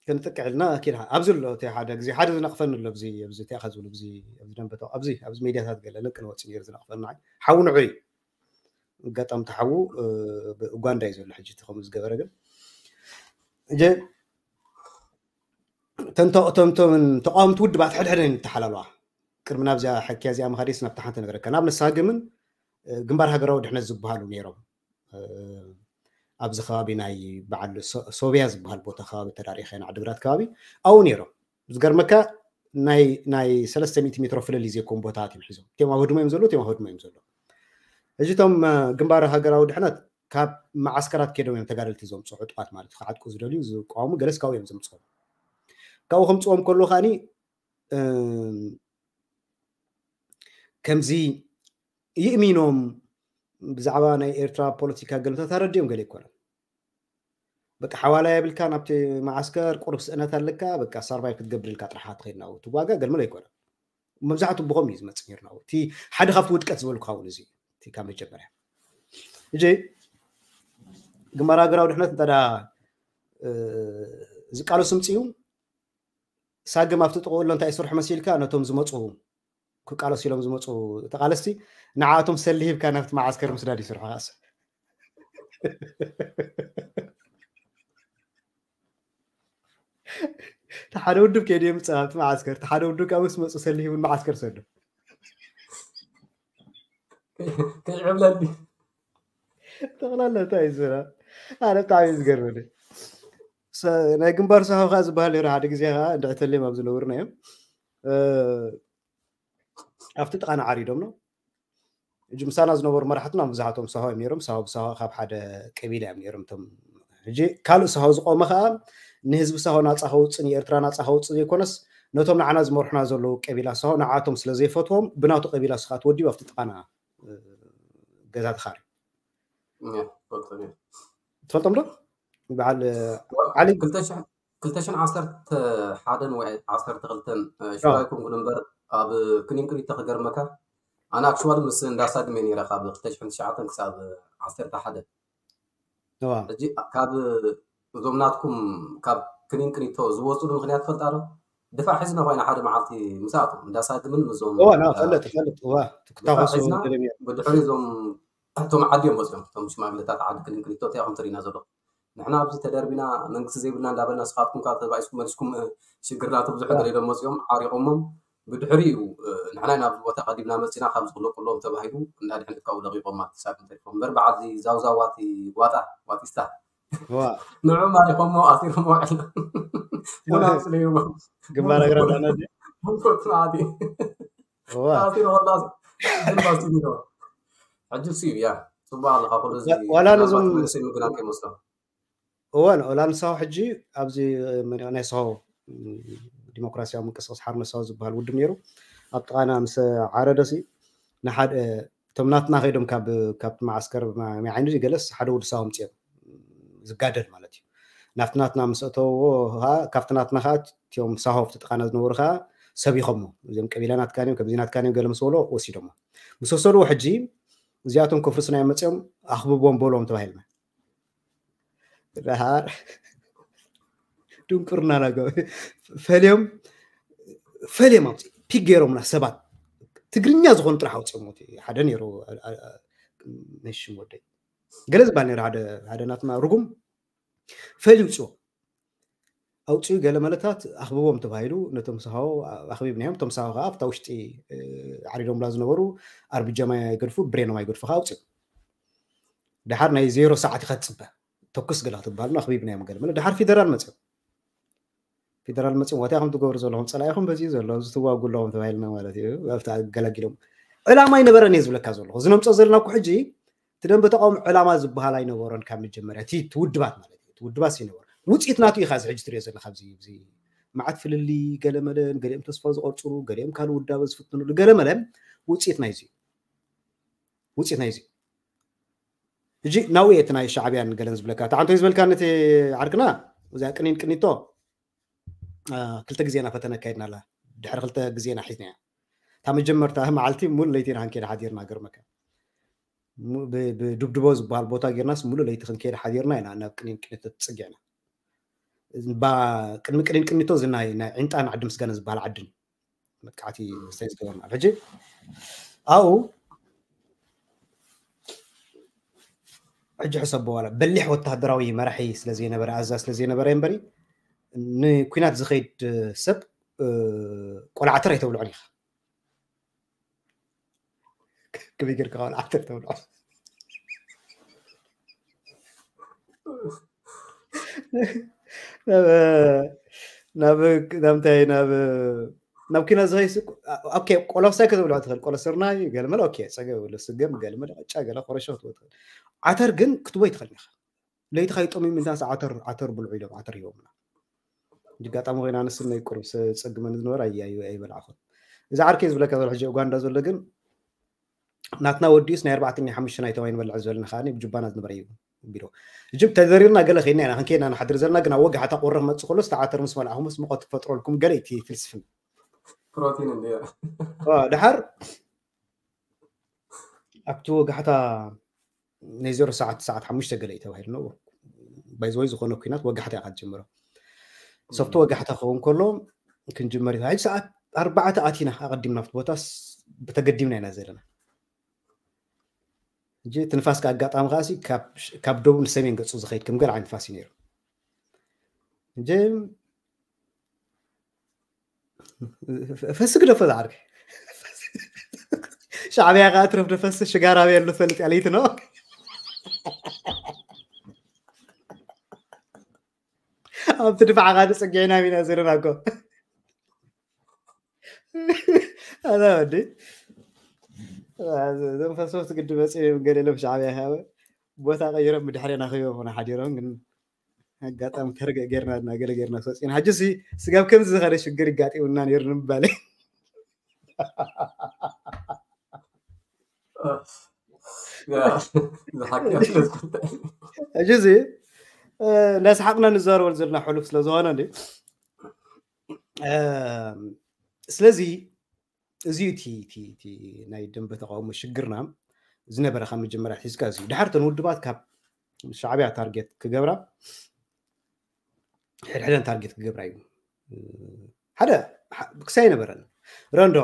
ክንጥቅዕ ኢልና ኪድ ኣብዚ ኣሎ እቲ ሓደ ግዜ ሓደ ዝነቕፈኒ ኣሎ ኣብዚ ኣብዚ እንታይ ኢኻ ዝብሉ ኣብዚ ኣብዚ ደንበ ኣብዚ ኣብዚ ሜድያታት ገለ ለቅነ ወፂ ነይሩ ዝነቕፈኒ ሓው ንዑ እዩ ኣጋጣሚ ተሓዉ ኡጋንዳ እዩ ዘሎ ሕጂ እቲ ከምኡ ዝገበረ። ግን እጀ ተንተቕቶምቶምን ተቃወምቲ ውድባት ሕድሕደን ይተሓላለዋ። ቅድሚ ናብዚኣ ሕክያ እዚኣ ምኻደስ ናብታ ሓንቲ ነገረካ ናብ ንሳግምን ግንባር ሃገራዊ ድሕነት ዝበሃሉ ነይሮም። ኣብዚ ከባቢ ናይ በዓል ሶብያ ዝበሃል ቦታ ከባቢ ተዳሪኸ ዓድግራት ከባቢ ኣብኡ ነይሮም። ዝገርመካ ናይ ናይ ሰለስተ ሚእቲ ሜትሮ ፍልልይ ዘይኮን ቦታታት እዮም ሒዞም። እቲኦም ኣብ ህድሞ እዮም ዘለዉ፣ እቲኦም ኣብ ህድሞ እዮም ዘለዉ። ሕጂ እቶም ግንባር ሃገራዊ ድሕነት ካብ መዓስከራት ከይዶም እዮም ተጋደልቲ ዘምፅኡ ዕጡቓት ማለት ክዓጥቁ ዝደልዩ ዝቃወሙ ገለስ ካብኡ እዮም ዘምፅኦም። ካብኡ ከምፅዎም ከሎ ከዓኒ ከምዚ ይእሚኖም ብዛዕባ ናይ ኤርትራ ፖለቲካ ገለታት ኣረዲኦም ገለ ይኮነን። በቃ ሓዋላ የብልካ ናብቲ መዓስከር ቁሩብ ስእነት ኣለካ በቃ ሳርቫይቭ ክትገብር ኢልካ ጥራሓ ትኸይድ ናብኡ ትዋጋ ገልመለ ኣይኮነን። መብዛሕቱ ብኸም እዩ ዝመፅእ ነይሩ ናብኡ። እቲ ሓደ ካብቲ ውድቀት ዝበሉ ክኸውን እዚ እቲ ካብ መጀመርያ እጂ ግንባር ሃገራዊ ድሕነት እንተ ዝቃለሱ ምፅኡ ሳግም ኣብቲ ጥቕኡ ኣሎ እንታይ ይስርሑ መሲልካ ነቶም ዝመፁ ክቃለሱ ኢሎም ዝመፁ ተቃለስቲ ንዓኣቶም ሰሊ ሂብካ ናብቲ መዓስከር ምስዳድ ይስርሑ። ሓደ ውድብ ከይደ ምፅእ ኣብቲ መዓስከር ሓደ ውድብ ካብ ምስ መፁ ሰሊ ሂቡን መዓስከር ሰዱ ከይዕብለኒ ጠቕላላ እንታይ እዩ ዝብላ ኣነ ብጣዕሚ እዩ ዝገርመኒ። ናይ ግንባር ሳሆ ከዓ ዝበሃል ነሩ ሓደ ግዜ ከዓ እንድዕተልዮም ኣብ ዝነብርና እዮም ኣብቲ ጥቃና ዓሪዶም ነው። እጂ ምሳና ዝነበሩ መራሕትና ብዙሓቶም ሳሆ እዮም ነሮም። ሳሆ ብሳሆ ካብ ሓደ ቀቢላ እዮም ነሮም። እቶም ሕጂ ካልእ ሳሆ ዝቆመ ከዓ ንህዝቢ ሳሆ ናፃ ከውፅእ ንኤርትራ ናፃ ከውፅእ ዘይኮነስ ነቶም ንዓና ዝመርሑና ዘለዉ ቀቢላ ሳሆ ንዓቶም ስለ ዘይፈትዎም ብናቱ ቀቢላ ስኻ ትወዲቡ ኣብቲ ጥቃና ገዛ ተኻሪ ትፈልጦም ዶ? በዓል ዓሊ ክልተ ሽሕን ዓሰርተ ሓደን ወይ ዓሰርተ ክልተን ሽራይ ኮንኩን እምበር ኣብ ክኒንቅሪቶ ክገርመካ ኣነ ኣክሽዋሊ ምስ እንዳሳግመ ነይረ ካብ ክልተ ሽሕን ትሽዓተን ክሳብ ዓሰርተ ሓደ ሕጂ ካብ እዞም ናትኩም ካብ ክኒንቅሪቶ ዝወፅሉ ምክንያት ትፈልጣ ዶ? ድፋዕ ሒዝና ኮይና ሓደ መዓልቲ ምስኣቶም እንዳሳግምን ምዞም ፈልጥ ፈልጥ ክትታኮሱ ብድሕሪ እዞም እቶም ዓዲ እዮም መፅኦም እቶም ሽማግለታት ዓዲ ክልንክሊቶ እንታይ ኢኹም ትሪና ዘለኹም ንሕና ኣብዚ ተደርቢና መንግስቲ ዘይብልና እንዳበልና ስኻትኩም ካብ ተባኢስኩም መሊስኩም ሽግርና ትብዝሑ ገለ ኢሎም መፅኦም ዓሪቆሞም ብድሕሪ እዩ ንሕና ናብዚ ቦታ ቀዲምና መፂና ካብ ዝክለቁሎም ተባሂሉ እንዳ ድሕነት ካብኡ ለቂቆም ማለት ሳግም ተሪፎም እምበር በዓል ዛውዛዋቲ ዋጣ ዋጢስታ ንዑ ማሪኾሞ ኣሲሮሞ ውዕል ቡና ኣስለዩሞ ግንባር ኣግራብ ኣነ መንኮት ማዕዲ ኣሲሮ ወላ ሕጂ ሱ እዩ ያ ፅቡቅ ኣለካ ኩሉ ዋላ ነዞም ምግናን ከይመስሎ እዋን ኦላ ንሳው ሕጂ ኣብዚ ናይ ሳው ዲሞክራሲያዊ ምንቅስቃስ ሓርነት ሳው ዝበሃል ውድብ ነይሩ ኣብ ጥቃና ምስ ዓረደሲ ንሓደ እቶም ናትና ከይዶም ካብ ካብቲ መዓስከር ማይ ዓይኒ ገለስ ሓደ ወዲ ሳው ምፅኦም ዝጋደል ማለት እዩ ናብቲ ናትና ምስ ኣተውዎ ከዓ ካብቲ ናትና ከዓ እቲኦም ሳሆ ኣብቲ ጥቃና ዝነበሩ ከዓ ሰቢኾሞ እዚኦም ቀቢላ ናትካ እዮም ከምዚ ናትካ እዮም ገለ ምስ በሎ ወሲዶሞ ምስ ወሰድዎ ሕጂ እዚኣቶም ከፍርስና እዮም መፅኦም ኣኽብቦም በሎም ተባሂልና ድሓር ድንቁርና ናገ ፈልዮም ፈልዮም ኣውፅኡ ፒክ ገይሮምና ሰባት ትግርኛ ዝኾኑ ጥራሕ ኣውፅኦም ሓደ ነይሩ ናይ ሽም ወደይ ገለ ዝበሃል ነይሩ ሓደ ናትና ርጉም ፈልዩ ውፅኦ ኣውፅኡ ገለ መለታት ኣኽብቦም ተባሂሉ ነቶም ሳሆ ኣኽቢብናዮም እቶም ሳሆ ከዓ ኣብታ ውሽጢ ዓሪዶምላ ዝነበሩ ኣርብጃማ ይገድፉ ብሬኖም ኣይገድፉ ከዓ ኣውፅኡ ድሓር ናይ ዜሮ ሰዓት ኢኻ ትፅበ ተኩስ ገለ ክትበሃልና ኣኽቢብናዮም ገለ መለ ድሓር ፌደራል መፅኦም ፌደራል መፅኦም ዋታ ኢኹም ትገብሩ ዘለኹም ፀላኢኹም በዚ ዘሎ ኣብዚ ትዋጉ ኣለኹም ተባሂልና ማለት እዩ ኣብቲ ኣገላጊሎም ዕላማ ኣይነበረን እየ ዝብለካ ዘለኹ እዚ ነምፅኦ ዘለና እኮ ሕጂ እቲ ደንበ ተቃውሞ ዕላማ ዝበሃል ኣይነበሮን ካብ መጀመርያ እቲ ውድባት ማለት እዩ ውድባት ይነበሩ ውፅኢት ናቱ ኢኻ እዚ ሕጂ ትሪኦ ዘለካ ኣብዚ እዚ መዓት ፍልልይ ገለመለን ገሊኦም ተስፋ ዝቆርፅሉ ገሊኦም ካልእ ውዳበ ዝፍትንሉ ገለመለ ውፅኢት ናይዚ ውፅኢት ናይዚ ሕጂ ናብኡ እቲ ናይ ሻዕብያን ገለን ዝብለካ እቲ ዓንቶ ዝበልካ ነቲ ዓርክና እዚኣ ቅኒን ቅኒቶ ክልተ ግዜና ፈተነ ኣካይድና ኣላ ድሕሪ ክልተ ግዜና ሒዝና እያ እታ መጀመርታ መዓልቲ ሙሉ ለይቲ ኢና ክንከይድ ሓዲርና ገርመካ ብድብድቦ ዝበሃል ቦታ ጌርናስ ሙሉ ለይቲ ክንከይድ ሓዲርና ኢና ናብ ቅኒን ቅኒቶ ትፅጊዕና ቅድሚ ቅኒን ቅኒቶ እዚ ናይ ዕንጣን ዓዲ ምስጋና ዝበሃል ዓድን መጥቃዕቲ ስታይ ዝገበርና ሕጂ ኣብኡ ሕጂ ሕሰቦ፣ ዋላ በሊሕ ወታደራዊ መራሒ ስለ ዘይነበረ፣ ኣዛዝ ስለ ዘይነበረ እምበሪ፣ ንኲናት ዝኸይድ ሰብ ቆልዓ ዓተር ኣይተብልዖን ኢኻ። ከመይ ጌርካ ቆልዓ ዓተር ተብልዖ? ናብ ናብ እንታይ ናብ ናብ ኪና ዝኸይስ። ኦኬ፣ ቆሎ ሳይ ከተብልዖ ትኽእል፣ ቆሎ ስርናይ ገለመለ። ኦኬ፣ ጸገብ የብሉ። ስገም ገለመለ፣ ቅጫ ገለ፣ ኮረሾ ክትበል ትኽእል። ዓተር ግን ክትቦይ ትኽእል ኢኻ። ለይቲ ከይጠምዩ ምንታስ ዓተር ዓተር ብልዑ ኢሎም ዓተር ሂቦምና። ኣጋጣሚ ኮይና ንስና ይቁርብ ጸግመን ዝነበረ ኣይበልዓኹን። እዚ ዓርከይ ዝብለካ ዘሎ ሕጂ ኡጋንዳ ዘሎ ግን ናትና ወዲኡስ ናይ ኣርባዕተኛ ሓሙሽተ ናይ ተባይ ንበልዕ ዝበልና ከዓኒ ብጁባና ዝነበረ እዩ። ቢሮ እጅም ተዘሪርና ገለ ከይና ኢና ክንከይና ንሓድር ዘለና። ግን ኣብ ወጋሕታ ቁረ ክመጽእ ከሎ ዝተዓተር ምስ መልኣኹምስ ሙቐት ክፈጥረልኩም ገለ እቲ ፍልስፍና። ፕሮቲን እንዲ ድሓር ኣብቲ ወጋሕታ ናይ ዜሮ ሰዓት ሰዓት ሓሙሽተ ገለ እዩ ተባሂሉ ነው። ባይዘወይ ዝኾነ ኩናት ወጋሕታ ኢኻ ትጀምሮ። ሶፍቲ ወጋሕታ ክኸውን ከሎ ክንጅመር እዩ። ሕጂ ሰዓት ኣርባዕተ ኣቲና ኣቐዲምና ኣብቲ ቦታስ ብተገዲምና ኢና ዘለና። ሕጂ እቲ ንፋስ ኣጋጣሚ ከዓሲ ካብ ደቡብ ንሰሜን ገፁ ዝኸይድ ከም ገለ ዓይነት ንፋስ እዩ ነይሩ። ሕጂ ፈሲ ግደፎ ዝዓርከይ። ሻዕብያ ከዓ ትረፍ ደፈሲ ሽጋራ ቤሉ ፈልጥ ያለይት ነው። ኣብቲ ድፋዕ ካ ንፅግዕና ኢና ዘለና እኮ። ኣዛ ወዲ እዞም ፈሰፍቲ ግዲ መፅኦም ገለ ኢሎም ሻዕብያ ካብ ቦታ ቀይሮም ብድሕሬና ከይቦም ሓዲሮም ግን ኣጋጣሚ ተርገ ጌርና እና ገለ ጌርና ክወፅና። ሕጂ ሲ ስጋብ ከምዚ ዝኸደ ሽግር ይጋጢሙና ነይሩ ንምባል። ሕጂ እዚ እንዳሰሓቅና ንዛረበሉ ዘለና ሕሉፍ ስለዝኾነ እንዲ ስለዚ እዚ እቲ ናይ ደንበ ተቃውሞ ሽግርና ዝነበረ ካብ መጀመርያ ሒዝካ እዚ ድሓር ተን ውድባት ካብ ሻዕብያ ታርጌት ክገብራ ሕድሕደን ታርጌት ክገብራ እዩ። ሓደ ክሳይ ነበረን ረንዶ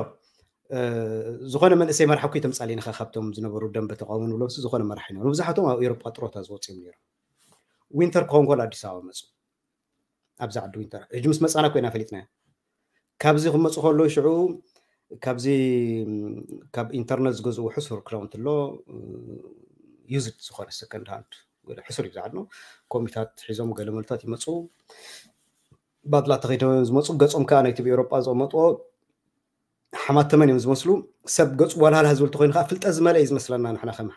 ዝኾነ መንእሰይ መራሕ እኮ ተምጻሊና ካብቶም ዝነበሩ ደንበ ተቃውሞ ንብሎም ዝኾነ መራሕ ይነበሩ። መብዛሕቶም ኣብ ኤሮጳ ጥሮታ ዝወፅኦም ነይሮም። ዊንተር ክኸውን ከሎ ኣዲስ ኣበባ መፁ። ኣብዚ ዓዲ ዊንተር ሕጂ ምስ መፃና ኮይና ፈሊጥና። ካብዚ ክመፁ ከሎ ሽዑ ካብዚ ካብ ኢንተርነት ዝገዝኡ ሕሱር ክዳውንቲ ኣሎ፣ ዩዝድ ዝኾነ ሰከንድ ሃንድ ሕሱር እዩ ዝዓድኖ። ኮሚታት ሒዞም ገለመልታት ይመፁ። ባድላ ተኸይዶ ዝመፁ ገፆም ከዓ ናይቲ ብኤሮጳ ዘቐመጥዎ ሓማተመን እዮም ዝመስሉ። ሰብ ገፁ ዋላሃላ ዝብል ተኮይኑ ከዓ ፍልጠት ዝመልአ እዩ ዝመስለና ንሕና ከም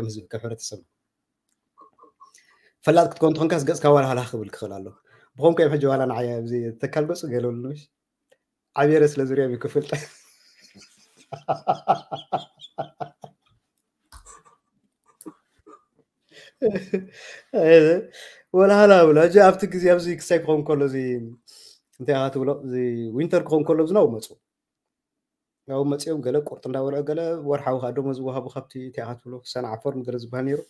ህዝቢ ከም ሕብረተሰብ። ፈላጥ ክትኮን ትኾንካስ ገፅካ ዋላሃላ ክብል ክኽእል ኣሎ። ብኾንኩ እዮም ሕጂ ዋላ ንዓይ ኣብዚ ተካል ገፁ ገለሉ ዓብየረ ስለ ዙርያ ክፍልጠ ወላሃላ ብሎ ሕጂ ኣብቲ ግዜ ኣብዚ ክሳይ ክኸውን ከሎ እዚ እንታይ ኢኻ ትብሎ እዚ ዊንተር ክኸውን ከሎ ዝናው መፁ። ያው መፅኦም ገለ ቁርጥ እንዳበልዑ ገለ ወርሓዊ ከዓ ደሞዝ ዝወሃቡ ካብቲ እንታይ ኢኻ ትብሎ ሰንዓ ፎርም ገለ ዝበሃል ነይሩ።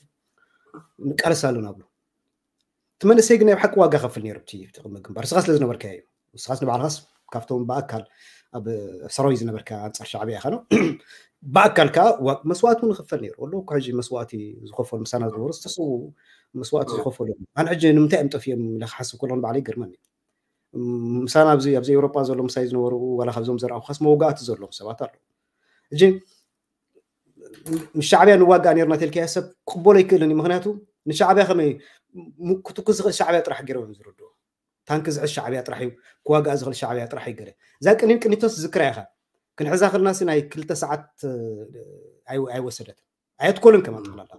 ንቃለስ ኣለና ብሎ እቲ መንእሰይ ግን ናይ ብሓቂ ዋጋ ከፍል ነይሩ። እቲ ቅድሚ ግንባር ንስኻ ስለ ዝነበርካ እዩ። ንስኻስ ንባዕልኻስ ካብቶም ብኣካል ኣብ ሰራዊት ዝነበርካ ኣንፃር ሻዕብያ ኢኻ ነው። ብኣካል ከዓ መስዋእቲ እውን ይኽፈል ነይሩ። ወሎ እኮ ሕጂ መስዋእቲ ዝኸፈሉ ምሳና ዝነበሩ ዝተሰዉ መስዋእቲ ዝኸፈሉ ኣነ ሕጂ ንምንታይ እዮም ጠፊኦም ኢለ ክሓስብ ከሎ ንባዕለይ ይገርመኒ። ምሳና ኣብዚ ኣብዚ ኤውሮጳ ዘሎ ምሳይ ዝነበሩ ዋላ ካብዞም ዘርኣኹኻስ መወጋእቲ ዘለዎም ሰባት ኣለዉ። ሕጂ ምስ ሻዕብያ ንዋጋእ ነርና ተልካዮ ሰብ ክቕበሎ ኣይክእልን እዩ። ምክንያቱ ንሻዕብያ ከመይ ክትኩስ ዝኽእል ሻዕብያ ጥራሕ ገይሮም እዮም ዝርድዎ። ታንኪ ዝሕዝ ሻዕብያ ጥራሕ እዩ፣ ክዋጋእ ዝኽእል ሻዕብያ ጥራሕ እዩ። ገለ እዛ ቅኒን ቅኒቶስ ዝክራ ኢኻ ክንሕዛ ክልና ሲ ናይ ክልተ ሰዓት ኣይወሰደትን ኣየትኮልን ከማ ጠቕላላ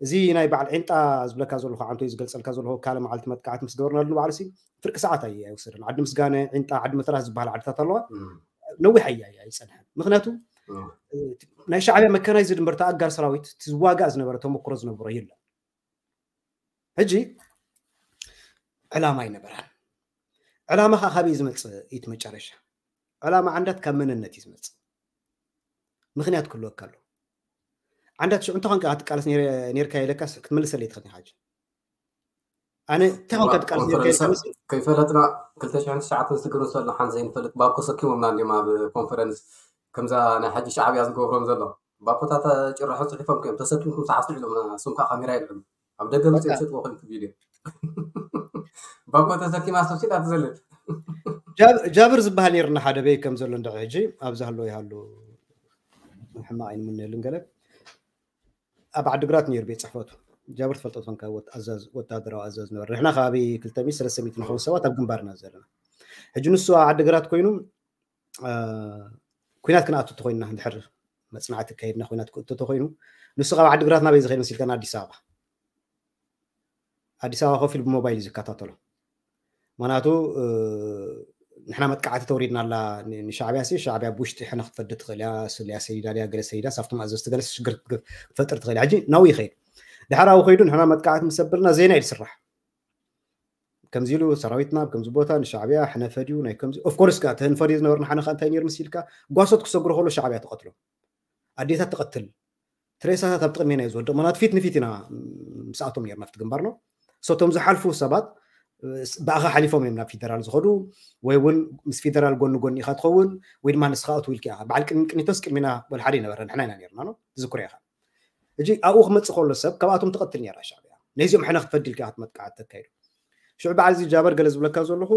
እዚ ናይ በዓል ዒንጣ ዝብለካ ዘለኹ ዓንቶ ዝገልፀልካ ዘለኹ ካልእ መዓልቲ መጥቃዕቲ ምስ ገበርናሉ ንባዕሉ ሲ ፍርቂ ሰዓት ኣይ ኣይወሰደን። ዓዲ ምስጋነ ዒንጣ ዓዲ መተራስ ዝበሃል ዓድታት ኣለዋ ነዊሕ ኣይ ኣይፀንሐን። ምክንያቱ ናይ ሻዕብያ መካናይዝድ እምበር ተኣጋር ሰራዊት ዝዋጋእ ዝነበረ ተመክሮ ዝነበሮ የለን። ሕጂ ዕላማ ኣይነበራን። ዕላማ ከዓ ካበይ ዝመፅእ እዩ መጨረሻ? ዕላማ ዓንዳት ካብ መንነት እዩ ዝመፅእ። ምክንያት ክህልወካ ኣሎ። ዓንዳት ሽዑ እንተኾንካ ክትቃለስ ነርካ ኢለካስ ክትመልሰለይ ትኽእል ኢኻ። ኣነ እንታይ ኮንካ ትቃለስ ነርካ ኢለካ ከይፈለጥና ክልተ ሽሕን ትሽዓተን ዝትግርሰሉ ሓን ዘይንፈልጥ ባኮ ሰኪሞምና እንዲም ኣብ ኮንፈረንስ ከምዛ ናይ ሓጂ ሻዕብያ ዝገብሮም ዘሎ ባኮታት ጭርሖ ፅሒፎም እዮም ተሰኪምኩም ሰዓስዑ ኢሎም እሱም ከዓ ካሜራ የልዕሉ ኣብ ደገ መፅእ ትሸጥዎ ኮንክ ቪድዮ ባኮ ተሰኪማ ሰብሲዳ ትዘልል። ጃብር ዝበሃል ነርና ሓደ በይ ከም ዘሎ እንደ ሕጂ ኣብዚ ሃሎ ይሃሉ ሕማቕ ኣይንምነሉን ገለ ኣብ ዓድግራት ነይሩ ቤት ፅሕፈቱ። ጃብር ትፈልጦ ትኾንካ፣ ወታደራዊ ኣዛዝ ነበር። ንሕና ከባቢ ክልተ ሚእቲ ሰለስተ ሚእቲ ንኸውን ሰባት ኣብ ግንባርና ዘለና። ሕጂ ንሱ ኣብ ዓድግራት ኮይኑ ኩናት ክንኣቱ ተኮይንና፣ ድሕር መፅናዕቲ ከይድና ኩናት ክእቱ ተኮይኑ፣ ንሱ ካብ ዓድግራት ናበይ ዝኸይድ መሲልካ? ኣዲስ ኣበባ። ኣዲስ ኣበባ ኮፍ ኢሉ ብሞባይል እዩ ዝከታተሎ። ምክንያቱ ንሕና መጥቃዕቲ ተውሪድና ኣላ ንሻዕብያ ሲ፣ ሻዕብያ ብውሽጢ ሕነ ክትፈዲ ትኽእል እያ፣ ስልያ ሰይዳ ድያ፣ ገለ ሰይዳ፣ ሳብቶም ኣዘዝቲ ገለ ሽግር ክትፈጥር ትኽእል እያ። ሕጂ ናብኡ ይኸይድ። ድሓር ኣብኡ ከይዱ ንሕና መጥቃዕቲ ምስ ኣበልና ዜና እዩ ዝስራሕ። ከምዚ ኢሉ ሰራዊትና ኣብ ከምዚ ቦታ ንሻዕብያ ሕነ ፈድዩ ናይ ከምዚ። ኦፍኮርስ ከ ተህንፈድዩ ዝነበርና ሓነ ከ እንታይ ነይሩ ምስ ኢልካ፣ ጓሶት ክሰግሩ ከሎ ሻዕብያ ትቐትሎ፣ ኣዴታት ትቐትል፣ ትሬሳታት ኣብ ጥቕሜና እዩ ዝወድቕ። ምክንያቱ ፊት ንፊት ኢና ምስኣቶም ነርና ኣብቲ ግንባር ነው። ሶቶም ዝሓልፉ ሰባት ብኣኻ ሓሊፎም እዮም ናብ ፊደራል ዝኸዱ፣ ወይ እውን ምስ ፊደራል ጎኒ ጎኒ ኢኻ ትኸውን፣ ወይ ድማ ንስኻ ኣትው ኢልካ ኢኻ። በዓል ቅድሚ ቅኒቶስ ቅድሚና ወላ ሓደ ይነበረ፣ ንሕና ኢና ነርና ነው፣ ትዝክሮ ኢኻ። ሕጂ ኣብኡ ክመፅእ ከሎ ሰብ ካብኣቶም ትቐትል ነራ ሻዕብያ። ነዚኦም ሕነ ክትፈዲ ኢልካ ኢኻ መጥቃዕቲ ተካይዱ። ሽዑ በዓል እዚ ጃበር ገለ ዝብለካ ዘለኹ፣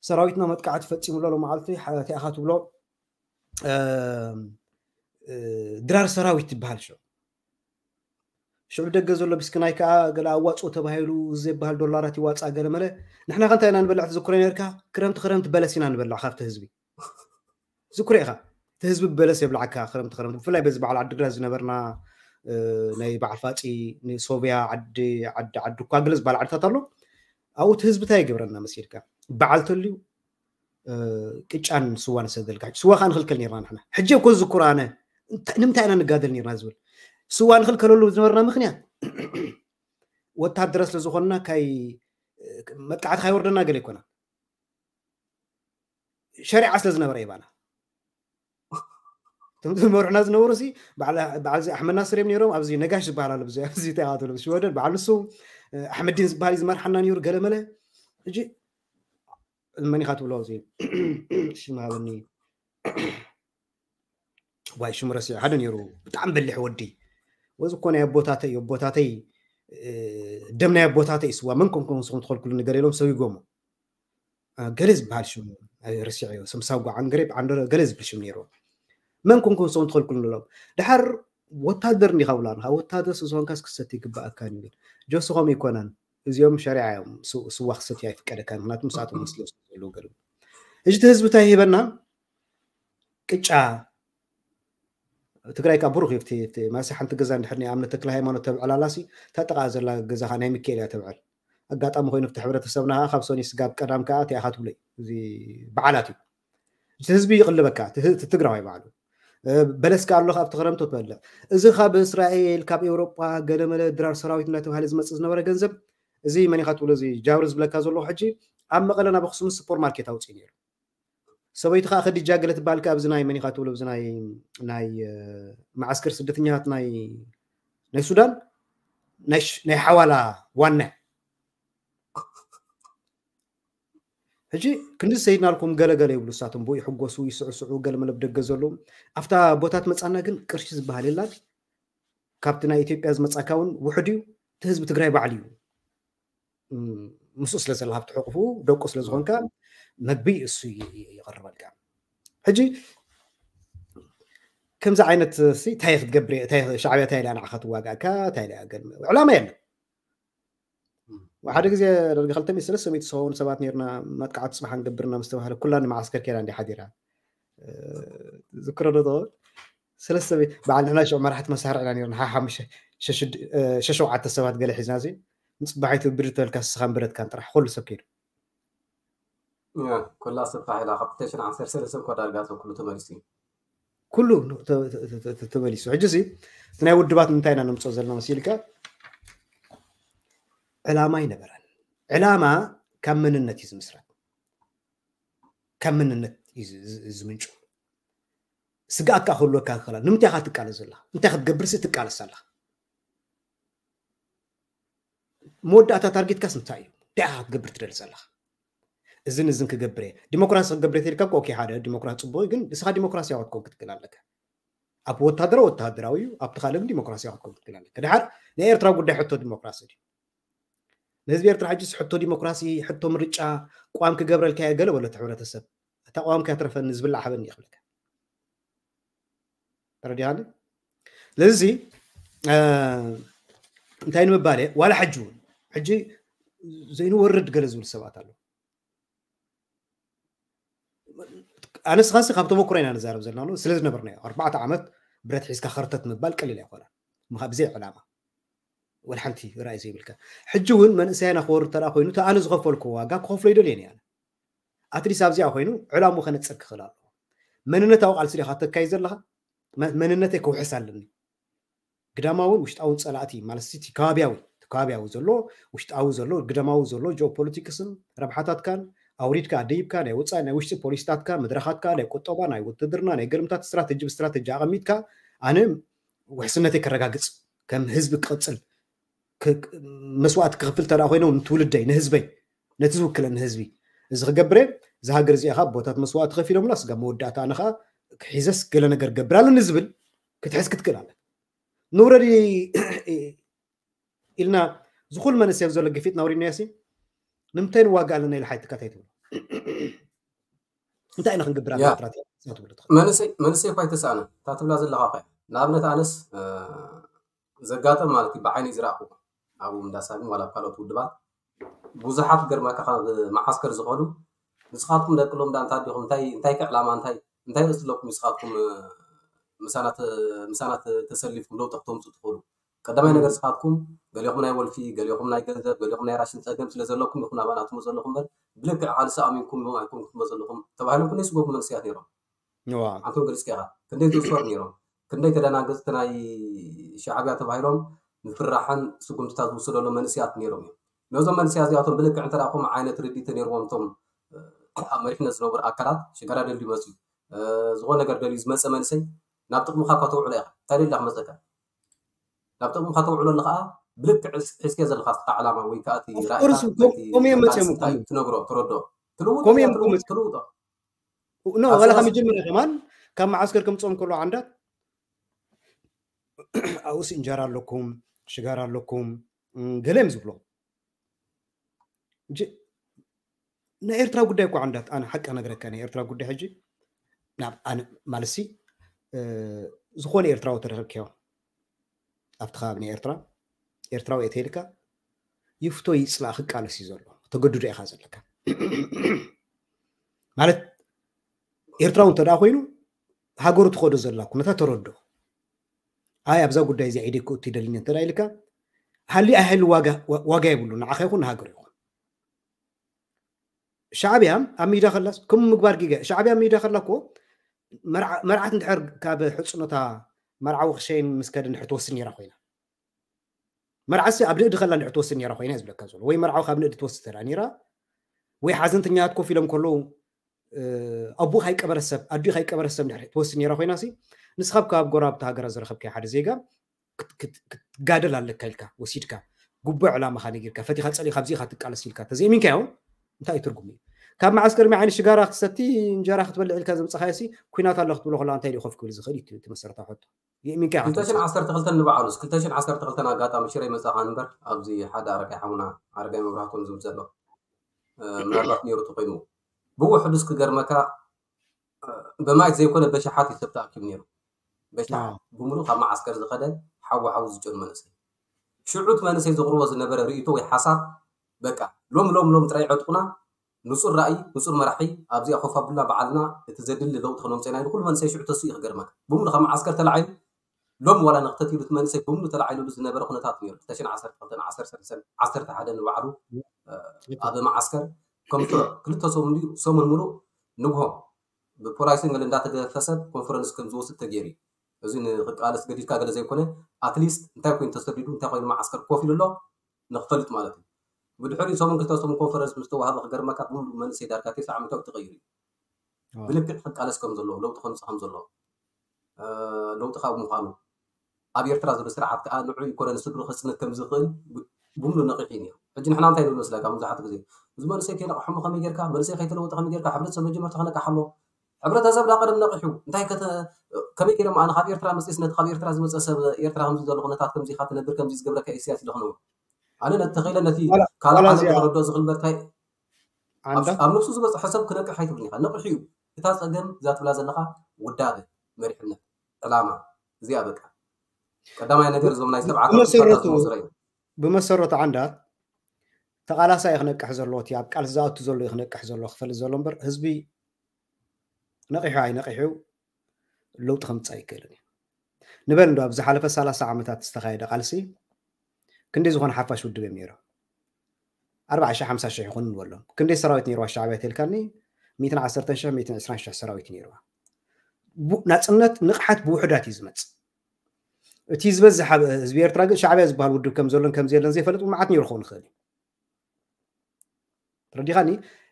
ሰራዊትና መጥቃዕቲ ፈፂሙ ኣሎ መዓልቲ፣ እቲኣኻ ትብሎ ድራር ሰራዊት ትበሃል። ሽዑ ሽዑ ደገ ዘሎ ብስክናይ ከዓ ገለ ኣዋፅኦ ተባሂሉ ዘይበሃል ዶላራት ይዋፃ ገለ መለ። ንሕና ከ እንታይ ኢና ንበልዕ ትዝክሮ ነርካ? ክረምቲ ክረምቲ በለስ ኢና ንበልዕ ካብቲ ህዝቢ። ዝክሮ ኢኻ፣ እቲ ህዝቢ በለስ የብልዓካ። ክረምቲ ክረምቲ ብፍላይ በዚ በዓል ዓዲግራት ዝነበርና ናይ በዓል ፋፂ ንሶብያ ዓዲ ዓዲ ዓዲ እኳ ገለ ዝበሃል ዓድታት ኣሎ። ኣብኡ እቲ ህዝቢ እንታይ ይገብረና መሲልካ? በዓል ተልዩ ቅጫን ስዋን ሰደልካ። ስዋ ከዓ ንክልከል ነርና ንሕና። ሕጂ እኮ ዝክሮ ኣነ ንምንታይ ኢና ንጋደል ነርና ዝብል ስዋ ንክልከለሉ ዝነበርና ምክንያት ወታደረ ስለዝኮንና ካይ መጥቃዕቲ ካይወርደና ገለ ይኮና ሸሪዓ ስለ ዝነበረ ይባና እቶም ዝመርሑና ዝነበሩ ሲ በዓል ኣሕመድ ናስር እዮም ነይሮም። ኣብዚ ነጋሽ ዝበሃል ኣሎ ኣብዚ ተያትሎ ሽወደን በዓል ንሱ ኣሕመዲን ዝበሃል ዝመርሓና ነይሩ ገለመለ። ሕጂ መን ኢኻ ትብሎ እዚ ሽም ሃበኒ ዋይ ሽሙ ረሲዐ ሓደ ነይሩ ብጣዕሚ በሊሕ ወዲ ወዚ እኮ ናይ ኣቦታተይ ኣቦታተይ ደም ናይ ኣቦታተይ ስዋ መን ኮንኩም ንስኹም ትኸልኩሉ ነገር ኢሎም ሰዊጎሞ ገለ ዝበሃል ሽሙ ርሲዐዮ ሰምሳው ጓዓን ገሬብ ዓንደረ ገለ ዝብል ሽም ነይሩ መን ኮንኩም ንስኹም ትኸልኩሉ ንብሎም ድሓር ወታደር እንዲኻ ብላ ንኻ ወታደር ስዝኾንካስ ክሰት ይግባኣካ ይብል ጆሲ ከምኡ ይኮነን እዚኦም ሸሪዓ እዮም ስዋ ክሰት ኣይፍቀደካ ምክንያቱ ምስኣቶም መስሎ ዘለዉ ገለ ሕጂ እቲ ህዝቢ እንታይ ሂበና ቅጫ ትግራይ ካብ ብሩክ እዩ ማለሲ ሓንቲ ገዛ እንድሕር ናይ ኣምነት ተክለ ሃይማኖት ተብዕላላሲ እታ ጥቃ ዘላ ገዛኻ ናይ ሚካኤል እያ ተብዕል ኣጋጣሚ ኮይኑ እቲ ሕብረተሰብና ከዓ ካብ ሰኒ ስጋብ ቀዳም ከዓ እቲኣኻ ትብሎ እዩ እዚ በዓላት እዩ እቲ ህዝቢ ይቅልበካ እቲ ትግራዋይ በዓሉ በለስ ከዓ ኣሎ ካብቲ ክረምቲ ትበልዕ እዚ ካብ እስራኤል ካብ ኤውሮጳ ገለመለ ድራር ሰራዊት እንዳተባሃለ ዝመፅእ ዝነበረ ገንዘብ እዚ መን ኢካ ትብሎ እዚ ጃብሪ ዝብለካ ዘለኹ ሕጂ ኣብ መቐለ ናብ ኣክሱም ሱፐርማርኬት ኣውፅኡ ነይሩ ሰበይቱ ከዓ ከዲጃ ገለ ትበሃል ከዓ ኣብዚ ናይ መን ኢካ ትብሎ ኣብዚ ናይ ናይ ማዓስከር ስደተኛታት ናይ ናይ ሱዳን ናይ ሓዋላ ዋና ሕጂ ክንዲ ሰይድናልኩም ገለገለ ይብሉ እሳቶም ብኡ ይሕጎሱ ይስዕስዑ ገለ መለብ ደገ ዘለዉ ኣብታ ቦታ ትመፃና ግን ቅርሺ ዝበሃል የላን ካብቲ ናይ ኢትዮጵያ ዝመፃካ እውን ውሕድ እዩ እቲ ህዝቢ ትግራይ ባዕሉ እዩ ምስኡ ስለ ዘለካ ኣብቲ ሕቁፉ ደቁ ስለ ዝኾንካ መግቢ እሱ ይቐርበልካ ሕጂ ከምዚ ዓይነት እንታይ ክትገብር ሻዕብያ እንታይ ኢላ ንዓኻ ትዋጋእካ እንታይ ኢላ ዕላማ የለን ሓደ ግዜ ደርጊ ክልተ ሚእቲ ሰለስተ ሚእቲ ዝኸውን ሰባት ነርና መጥቃዕቲ ፅባሕ ንገብርና ምስ ተባህለ ኩላ ንመዓስከር ከይዳ እንዲ ሓዲራ ዝክሮ ዶ ሰለስተ በዓል ንሕና ሽዑ መራሕቲ መሳርዕ ኢና ነርና ሓሓሙሽተ ሸሸውዓተ ሰባት ገለ ሒዝና እዚ ንፅባሒቱ ብድር ተበልካ ስኻን ብረትካን ጥራሕ ኩሉ ሰብ ከይዱ ኩላ ሰብ ታሒላ ካብ ክልተ ሽሕን ዓሰርተ ሰለስተን እኮ ዳርጋ ሰብ ኩሉ ተመሊሱ እዩ ኩሉ ተመሊሱ ሕጂ ሲ እቲ ናይ ውድባት ንምንታይ ኢና ንምፅኦ ዘለና መሲልካ ዕላማ ይነበረን ዕላማ ካብ መንነት እዩ ዝምስረት ካብ መንነት እዩ ዝምንጩ ስግኣት ከዓ ክህልወካ ይኽእላ ንምንታይ ኢኻ ትቃለስ ዘለኻ እንታይ ክትገብርሲ ትቃለስ ኣለኻ መወዳእታ ታርጌትካስ እንታይ እዩ እንታይ ኢኻ ክትገብር ትደሊ ዘለኻ እዝን እዝን ክገብር እየ ዲሞክራሲ ክገብር እየ ተልካ ኦኬ ሓደ ዲሞክራሲ ፅቡቅ ግን ንስኻ ዲሞክራሲያዊ ክትከውን ክትክእል ኣለካ ኣብ ወታደራዊ ወታደራዊ እዩ፣ ኣብቲ ካልእ ግን ዲሞክራሲያዊ ክትከውን ትክእል ኣለካ። ድሓር ናይ ኤርትራ ጉዳይ ሕቶ ዲሞክራሲ ድዩ? ንህዝቢ ኤርትራ ሕጅስ ሕቶ ዲሞክራሲ፣ ሕቶ ምርጫ፣ ቅዋም ክገብረልካ እየ ገለ በሎ እቲ ሕብረተሰብ። እታ ቅዋም ከይትረፈኒ ዝብላዕ ሃበኒ እዩ ክብለካ። ተረዲኻኒ? ስለዚ እንታይ ንምባል እየ፣ ዋላ ሕጂ እውን ሕጂ ዘይንወርድ ገለ ዝብሉ ሰባት ኣለዉ። ኣነስኻሲ ካብ ተመክሮ ኢና ንዛረብ ዘለና ስለ ዝነበርናዮ ኣርባዕተ ዓመት ብረት ሒዝካ ከርተት ምባል ቀሊል ኣይኮነን። ምኻ ብዘይ ዕላማ ወላ ሓንቲ ራእይ ዘይብልካ። ሕጂ እውን መንእሰያና ክወርድ ተደኣ ኮይኑ እቲ ኣነ ዝኸፈልኩ ዋጋ ክኸፍሎ ይደልየን እየ። ኣትሊስ ኣብዚኣ ኮይኑ ዕላሙ ከነፅር ክኽእል ኣለዎ። መንነታዊ ቃልሲ ዲኻ ተካይድ ዘለኻ? መ- መንነተይ ክውሕስ ኣለኒ። ግዳማውን ውሽጣውን ፀላእቲ ማለት እቲ ከባቢያዊ እቲ ከባቢያዊ ዘሎ ውሽጣዊ ዘሎ ግዳማዊ ዘሎ ጂኦፖለቲክስን ረብሓታትካን ኣውሪድካ ኣደይብካ ናይ ወፃኢ ናይ ውሽጢ ፖሊሲታትካ መድረኻትካ ናይ ቁጠባ ናይ ውትድርና ናይ ገልምታት ስትራተጂ ብስትራተጂ ኣቐሚጥካ ኣነ ውሕስነተይ ከረጋግፅ ከም ህዝቢ ክቕፅል መስዋእቲ ክኽፍል ተዳ ኮይኖም ንትውልደይ ንህዝበይ ነቲ ዝውክለኒ ህዝቢ እዚ ክገብረ እዚ ሃገር እዚኣ ካብ ቦታት መስዋእቲ ከፊሎምላ ስጋ መወዳእታ ኣነ ከዓ ክሒዘስ ገለ ነገር ገብር ኣለኒ ዝብል ክትሕዝ ክትክእል ኣለ ንውረድ ኢልና ዝኹል መንስብ ዘሎ ግፊት ናውሪድናዮ ሲ ንምንታይ ንዋጋ ኣለና ኢለ ሓይትካ እንታይ ትብሎ እንታይ ኢና ክንገብር ኣለና ትብሎ መንስብ እኳ ኣይተሰኣነ እታ ትብላ ዘለካ ኸ ንኣብነት ኣነስ ዘጋጠም ማለት እዩ ብዓይነይ ዝረኣኹ ኣብ እንዳሳግም ዋላ ኣብ ካልኦት ውድባት ብዙሓት ገርመካ ካብ መዓስከር ዝኸዱ ንስኻትኩም ደቂ ሎምዳ እንታይ ዲኹም እንታይ እንታይ ዕላማ እንታይ እንታይ ርእሲ ኣለኩም ንስኻትኩም ምሳና ምሳና ተሰሊፍኩም ለውጢ ክተምፁ ትኽእሉ ቀዳማይ ነገር ንስኻትኩም ገሊኹም ናይ ወልፊ ገሊኹም ናይ ገንዘብ ገሊኹም ናይ ራሽን ፀገም ስለ ዘለኩም ኢኹም ኣባና ትመፁ ዘለኹም በር ብልክዕ ቃልሲ ኣሚንኩም ኣይኮንኩም ትመፁ ዘለኹም ተባሂሎም ክንደይ ስጎጉ መንስያት ነይሮም ኣንቶም ገሊፅካ ኢኻ ክንደይ ዝእሰሩ ነይሮም ክንደይ ተደናገፅቲ ናይ ሻዕብያ ተባሂሎም ምፍራሕን ስጉምትታት ዝውሰደሎም መንእስያት ነይሮም እዮም ነዞም መንእስያ እዚኣቶም ብልክዕ እንተ ከምኡ ዓይነት ርድኢት ተነይርዎም እቶም ኣብ መሪሕነት ዝነበሩ ኣካላት ሽጋራ ደልዩ መፅዩ ዝኾነ ነገር ደልዩ ዝመፀ መንእሰይ ናብ ጥቕምኻ እኳ ተውዕሎ ኢኻ እንታይ ደልያ ክመፀካ ናብ ጥቕምኻ ተውዕሎ ኣለኻ ብልክዕ ሒዝከ ዘለኻ ስኻ ዕላማ ወይ ከዓ እቲ ራእይታትነግሮ ትረድኦ ትልውጦ ኖ ወላ ካብ መጀመርያ ከማን ካብ መዓስከር ከምፅኦም ከሎ ዓንዳት ኣብኡስ እንጀራ ኣለኩም ሽጋር ኣለኩም ገለ እዮም ዝብሎ ናይ ኤርትራ ጉዳይ እኳ ዓንዳት ኣነ ሓቂ ነግረካ ናይ ኤርትራ ጉዳይ ሕጂ ናብ ኣነ ማለትሲ ዝኾነ ኤርትራዊ ተረከብክዮ ኣብቲ ከባቢ ናይ ኤርትራ ኤርትራዊ እየ ተይልካ ይፍቶ ይፅላእ ክቃለስ እዩ ዘሎ ተገድዶ ኢኻ ዘለካ ማለት ኤርትራዊ እንተ ኮይኑ ሃገሩ ትኸዶ ዘላ ኩነታት ተረዶ ኣይ ኣብዛ ጉዳይ እዚ ኢደይ ክእቱ ይደልኒ እንተ ኢልካ ሃሊ ኣይሃሊ ዋጋ የብሉ ንዓኻ ይኹን ንሃገሩ ይኹን ሻዕብያ ኣብ ሚዳ ከላስ ከም ምግባር ጊጋ ሻዕብያ ኣብ ሚዳ ከላ እኮ መርዓት እንድሕር ካብ ሕፅኖታ መርዓዊ ክሸይን ምስ ከደ እንድሕር ትወስድ ነይራ ኮይና መርዓሲ ኣብ ንእዲ ከላ እንድሕር ትወስድ ነይራ ኮይና ዝብለካ ዘሎ ወይ መርዓዊ ካብ ንእዲ ትወስድ ተላ ነይራ ወይ ሓዘንተኛታት ኮፍ ኢሎም ከለዉ ኣቡ ካይቀበረ ሰብ ኣዱ ካይቀበረ ሰብ እንድሕር ትወስድ ነይራ ኮይና ሲ ንስኻ ካብ ጎረባብቲ ሃገራት ዝረኸብካዮ ሓደ ዜጋ ክትጋደል ኣለካ ኢልካ ወሲድካ ጉቡእ ዕላማኻ ነጊርካ ፈቲኻ ፀሊእካ ኣብዚኻ ትቃለስ ኢልካ ተዘይሚንካዮ እንታይ እዩ ትርጉም እዩ ካብ መዓስከር መዓይኒ ሽጋራ ክትሰቲ እንጀራ ክትበልዕ ኢልካ ዘምፀኻዮ ሲ ኩናት ኣሎ ክትብሎ ከለዋ እንታይ ኮፍ ክብል ዝኽእል እዩ እቲ መሰረታዊ ሕቶ የእሚንካ ኢኻ ክልተ ሽሕን ዓሰርተ ክልተን ንባዕሉስ ክልተ ሽሕን ዓሰርተ ክልተን ኣጋጣሚ ሽረ መፃኻ ንበር ኣብዚ ሓደ ኣረጋይ ሓሙና ኣረጋይ መብራህቶም ዝብል ዘሎ ምናልባት ነይሩ ተኮይኑ ብውሕዱስ ክገርመካ ብማየት ዘይኮነ በሽሓት እዩ ሰብ ተኣኪቡ ነይሩ በሽሓት ብምሉእ ካብ መዓስከር ዝኸደ ሓዊ ሓዊ ዝጨኑ መንእሰይ ሽዑት መንእሰይ ዘቕርቦ ዝነበረ ርእይቶ ወይ ሓሳብ በቃ ሎም ሎም ሎም ጥራይ ዕጥቁና ንጹር ራእይ ንጹር መራሒ ኣብዚኣ ኮፍ ኣቡልና በዓልና እቲ ዘድሊ ለውጢ ክነምፀና ኢሉ ኩሉ መንእሰይ ሽዑ ተስኡ ክገርመካ ብምሉእ ካብ መዓስከር ተላዒሉ ሎም ዋላ ንክተት ኢሉ እቲ መንእሰይ ብምሉእ ተላዒሉሉ ዝነበረ ኩነታት ነይሩ ክልተ ሽሕን ዓሰርተ ክልተን ዓሰርተ ሰለስተን ዓሰርተ ሓደን ንባዕሉ ኣብ መዓስከር ከም ስሩዕ ክልተ ሰሙን ድዩ ሰሙን ምሉእ ንግሆ ብፖላይስን ገለ እንዳተገፈሰ ኮንፈረንስ ከም ዝወስድ ተገይሩ እዩ እዚ ንክቃለስ ገዲድካ ገለ ዘይኮነ ኣትሊስት እንታይ ኮይኑ ተሰዲዱ እንታይ ኮይኑ መዓስከር ኮፍ ኢሉ ኣሎ ንክፈልጥ ማለት እዩ ብድሕሪ ሰሙን ክልተ ሰሙን ኮንፈረንስ ምስ ተዋሃበ ክገርመካ ብምሉእ መንእሰይ ዳርጋ ተስዓ ዓመታዊ ተቀይሩ እዩ ብልክዕ ክቃለስ ከም ዘለዎ ለውጢ ከምፅእ ከም ዘለዎ ለውጢ ካብ ምኳኑ ኣብ ኤርትራ ዘሎ ስርዓት ከዓ ንዑ ይኮነ ንስድሩ ከፅንት ከም ዝኽእል ብምሉ ነቂሑ እዩ ሕጂ ንሕና እንታይ ንብል መስለካ መብዛሕትኡ ግዜ እዚ መንእሰይ ከይነቕሖሞ ከመይ ጌርካ መንእሰይ ከይተለወጠ ከመይ ጌርካ ሕብረተሰብ መጀመርታ ክነቅሓ ኣሎ ሕብረተሰብ ዳ ቀደም ነቂሑ እንታይ ከተ ከመይ ገይሮም ኣነ ካብ ኤርትራ መፅስ ነቲ ካብ ኤርትራ ዝመፀ ሰብ ኤርትራ ከምዚ ዘሎ ኩነታት ከምዚ ኢኻ ትነብር ከምዚ ዝገብረካ ኢሳያስ ኢለ ክነብር ኣነ ነቲ ተኸኢለ ነቲ ካልእ ዓለም ዝረዶ ዝኽልበርታይ ኣብ ነብሱ ዝበፅሐ ሰብ ክነቅሕ ኣይትብልን ኢኻ ነቂሑ እዩ እታ ፀገም እዛ ትብላ ዘለኻ ውዳበ መሪሕነት ዕላማ እዚኣ በቃ ቀዳማይ ነገር እዞም ናይ ሰብዓ ብመሰረቱ ዓንዳት ተቓላሳይ ክነቅሕ ዘለዎ እቲ ኣብ ቃልሲ ዝኣቱ ዘሎ ክነቅሕ ዘሎ ክፈልጥ ዘሎ እምበር ህዝቢ ነቂሑ ኣይነቂሑ ለውጢ ከምፅእ ኣይክእልን እዩ ንበል እንዶ ኣብ ዝሓለፈ ሰላሳ ዓመታት ዝተኻየደ ቃልሲ ክንደይ ዝኾነ ሓፋሽ ውድብ እዮም ነይሮም ኣርባዓ ሺሕ ሓምሳ ሺሕ ይኹን ንበሎም ክንደይ ሰራዊት ነይርዋ ሻዕብያ ተልካኒ ሚእትን ዓሰርተን ሺሕ ሚእትን ዕስራን ሺሕ ሰራዊት ነይርዋ ናፅነት ንቕሓት ብውሕዳት እዩ ዝመፅእ እቲ ዝበዝሕ ህዝቢ ኤርትራ ግን ሻዕብያ ዝበሃል ውድብ ከም ዘሎን ከም ዘየለን ዘይፈልጥ መዓት ነይሩ ክኸውን ይኽእል እዩ ተረዲኻኒ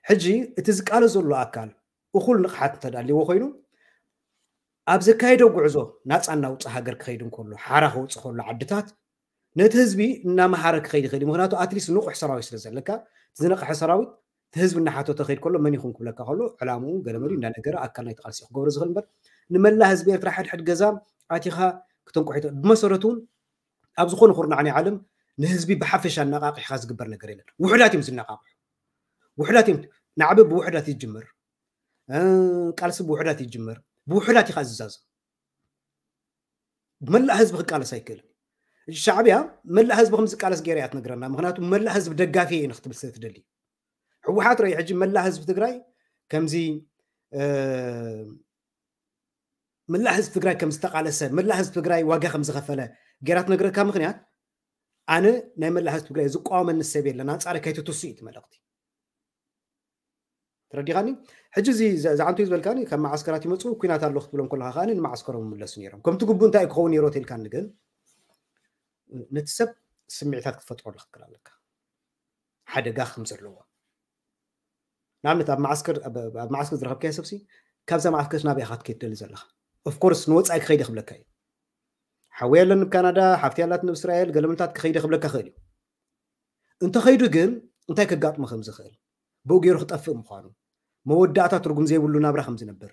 ሕጂ እቲ ዝቃለስ ዘሎ ኣካል እኹል ንቕሓት እንተዳልዎ ኮይኑ ኣብ ዘካየዶ ጉዕዞ ናፃ እናውፅእ ሃገር ክኸይድ እንከሎ ሓራ ከውፅእ ከሎ ዓድታት ነቲ ህዝቢ እናመሃረ ክኸይድ ይኽእል ምክንያቱ ኣትሊስት ንቑሕ ሰራዊት ስለ ዘለካ ዝነቕሐ ሰራዊት ህዝቢ እናሓተተ ከይድ ከሎ መን ይኹን ክብለካ ከሎ ዕላምኡ ገለመሪ እንዳነገረ ኣካል ናይ ተቃልሲ ክገብሮ ዝኽእል እምበር ንመላ ህዝቢ ኤርትራ ሕድሕድ ገዛ ኣቲኻ ክተንቁሕ ብመሰረቱ እውን ኣብ ዝኾነ ኩርናዕ ናይ ዓለም ንህዝቢ ብሓፈሻ ኣነቃቂሕካ ዝግበር ነገር የለን ውሕዳት እዮም ዝነቃቅሑ ውሕዳት እዮም ናዕቢ ብውሕዳት ይጅምር ቃልሲ ብውሕዳት ይጅምር ብውሕዳት ኢኻ ዝዛዘም መላእ ህዝቢ ክቃለስ ኣይክእልን ሻዕብያ መላእ ህዝቢ ከም ዝቃለስ ገይራ እያ ትነግረና ምክንያቱ መላእ ህዝቢ ደጋፊ እየ ንክትብል ስለ ትደሊ ህወሓት ረይ ሕጂ መላእ ህዝቢ ትግራይ ከምዚ መላእ ህዝቢ ትግራይ ከም ዝተቃለሰ መላእ ህዝቢ ትግራይ ዋጋ ከም ዝኸፈለ ገይራ ትነግረካ ምክንያት ኣነ ናይ መላእ ህዝቢ ትግራይ ዝቋወመኒ ሰብ የለን ኣንፃሪ ከይትትሱ እዩ መልእክቲ ተረዲኻኒ ሕጂ እዚ ዝዓንቱ ዝበልካኒ ካብ መዓስከራት ይመፁ ኩናት ኣሎ ክትብሎም ከለካ ከዓ ንመዓስከሮም ምለሱ ነይሮም ከምቲ ግቡ እንታይ ክኸውን ነይሮ ተልካኒ ግን ነቲ ሰብ ስምዒታት ክትፈጥረሉ ክትክእል ኣለካ ሓደጋ ከም ዘለዎ ንኣብነት ኣብ መዓስከር ኣብ መዓስከር ዝረከብካዮ ሰብሲ ካብዛ መዓስከር ናበይ ኢኻ ክትከይድ ደሊ ዘለካ ኦፍኮርስ ንወፃኢ ክኸይደ ክብለካ እዩ ሓወይ ኣለኒ ካናዳ ሓፍቲ ያላት ንእስራኤል ገለምንታት ክኸይደ ክብለካ ክእል እዩ እንተኸይዱ ግን እንታይ ከጋጥሞ ከም ዝኽእል ብኡ ገይሩ ክጠፍእ ምዃኑ መወዳእታ ትርጉም ዘይብሉ ናብራ ከም ዝነብር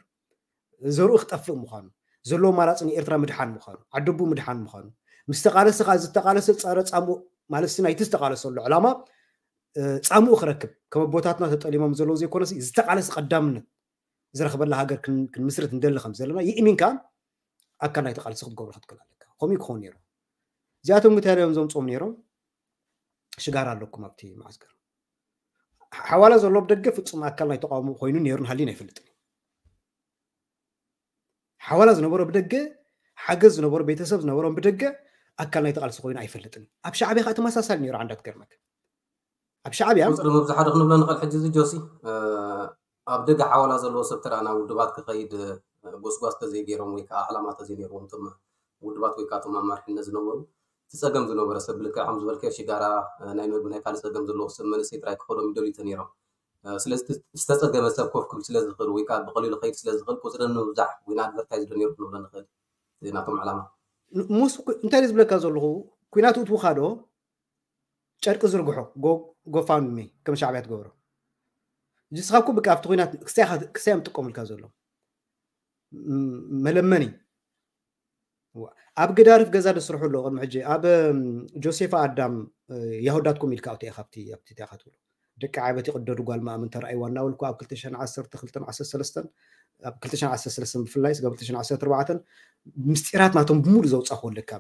ዘርኡ ክጠፍእ ምዃኑ ዘለዎ ኣማራፂ ንኤርትራ ምድሓን ምዃኑ ዓደቡ ምድሓን ምዃኑ ምስ ተቃለሰ ከዓ ዝተቃለሰ ፀረ ፃምኡ ማለት ናይቲ ዝተቃለሰሉ ዕላማ ፃምኡ ክረክብ ከም ኣቦታትና ተጠሊሞም ዘለዉ ዘይኮነሲ ዝተቃለሰ ቀዳምነት ዝረክበላ ሃገር ክንምስርት እንደሊ ከም ዘለና ይእሚንካ ኣካል ናይቲ ቃልሲ ክትገብሮ ክትክእል ኣለካ ከምኡ ክኸውን ነይሩ እዚኣቶም እንታይ እዮም ዘምፅኦም ነይሮም ሽጋራ ኣለኩም ኣብቲ መዓስከር ሓዋላ ዘሎ ብደገ ፍፁም ኣካል ናይ ተቃውሞ ኮይኑ ነይሩን ሃሊን ኣይፈልጥን ሓዋላ ዝነበሮ ብደገ ሓገዝ ዝነበሮ ቤተሰብ ዝነበሮም ብደገ ኣካል ናይ ተቃልሲ ኮይኑ ኣይፈልጥን ኣብ ሻዕብያ ከዓ ተመሳሳሊ ነይሩ ዓንዳት ገርመክ ኣብ ሻዕብያ ቁፅሪ ምብዛሓ ዶ ክንብሎ ንኽእል ሕጂ እዚ ጆሲ ኣብ ደገ ሓዋላ ዘለዎ ሰብ ተራ ናብ ውድባት ክኸይድ ጎስጓስ ተዘይገይሮም ወይ ከዓ ዕላማ ተዘይነይርዎም እቶም ውድባት ወይ ከዓ እቶም ኣማርሕነት ዝነበሩ እቲ ፀገም ዝነበረ ሰብ ብልክዕ ከም ዝበልከ ሽጋራ ናይ መግቢ ናይ ካልእ ፀገም ዘለዎ ሰብ መንእሰይ ጥራይ ክኸዶም ይደልዩ ተነይሮም ስለዚ ዝተፀገመ ሰብ ኮፍ ክብል ስለ ዝኽእል ወይ ከዓ ብቀሊሉ ከይድ ስለ ዝኽእል ቁፅሪ ንምብዛሕ ወይ ንኣድቨርታይዝ ዶ ነይሩ ክንብሎ ንኽእል ናቶም ዕላማ ሙስ እንታይ ዝብለካ ዘለኹ ኩናት እትውካ ዶ ጨርቂ ዝርግሖ ጎፋንሚ ከም ሻዕብያ ትገብሮ ንስኻኩ ብቃ ኣብቲ ኩናት ክሳይ ምጥቀሙልካ ዘሎ መለመኒ ኣብ ገዳርፍ ገዛ ደስርሑ ኣሎ ቅድሚ ሕጂ ኣብ ጆሴፋ ኣዳም ያሁዳትኩም ኢልካ ኣብቲ ኢኻ ኣብቲ ኣብቲ ኢኻ ትብሎ ደቂ ዓበቲ ቅደዱ ጓል ማእምን ተረኣይዋ እናበልኩ ኣብ ክልተ ሽሕን ዓሰርተ ክልተን ዓሰርተ ሰለስተን ኣብ ክልተ ሽሕን ዓሰርተ ሰለስተን ብፍላይ ስጋብ ክልተ ሽሕን ዓሰርተ ኣርባዕተን ምስጢራት ናቶም ብምሉእ ዘውፃእኩ ኣለካ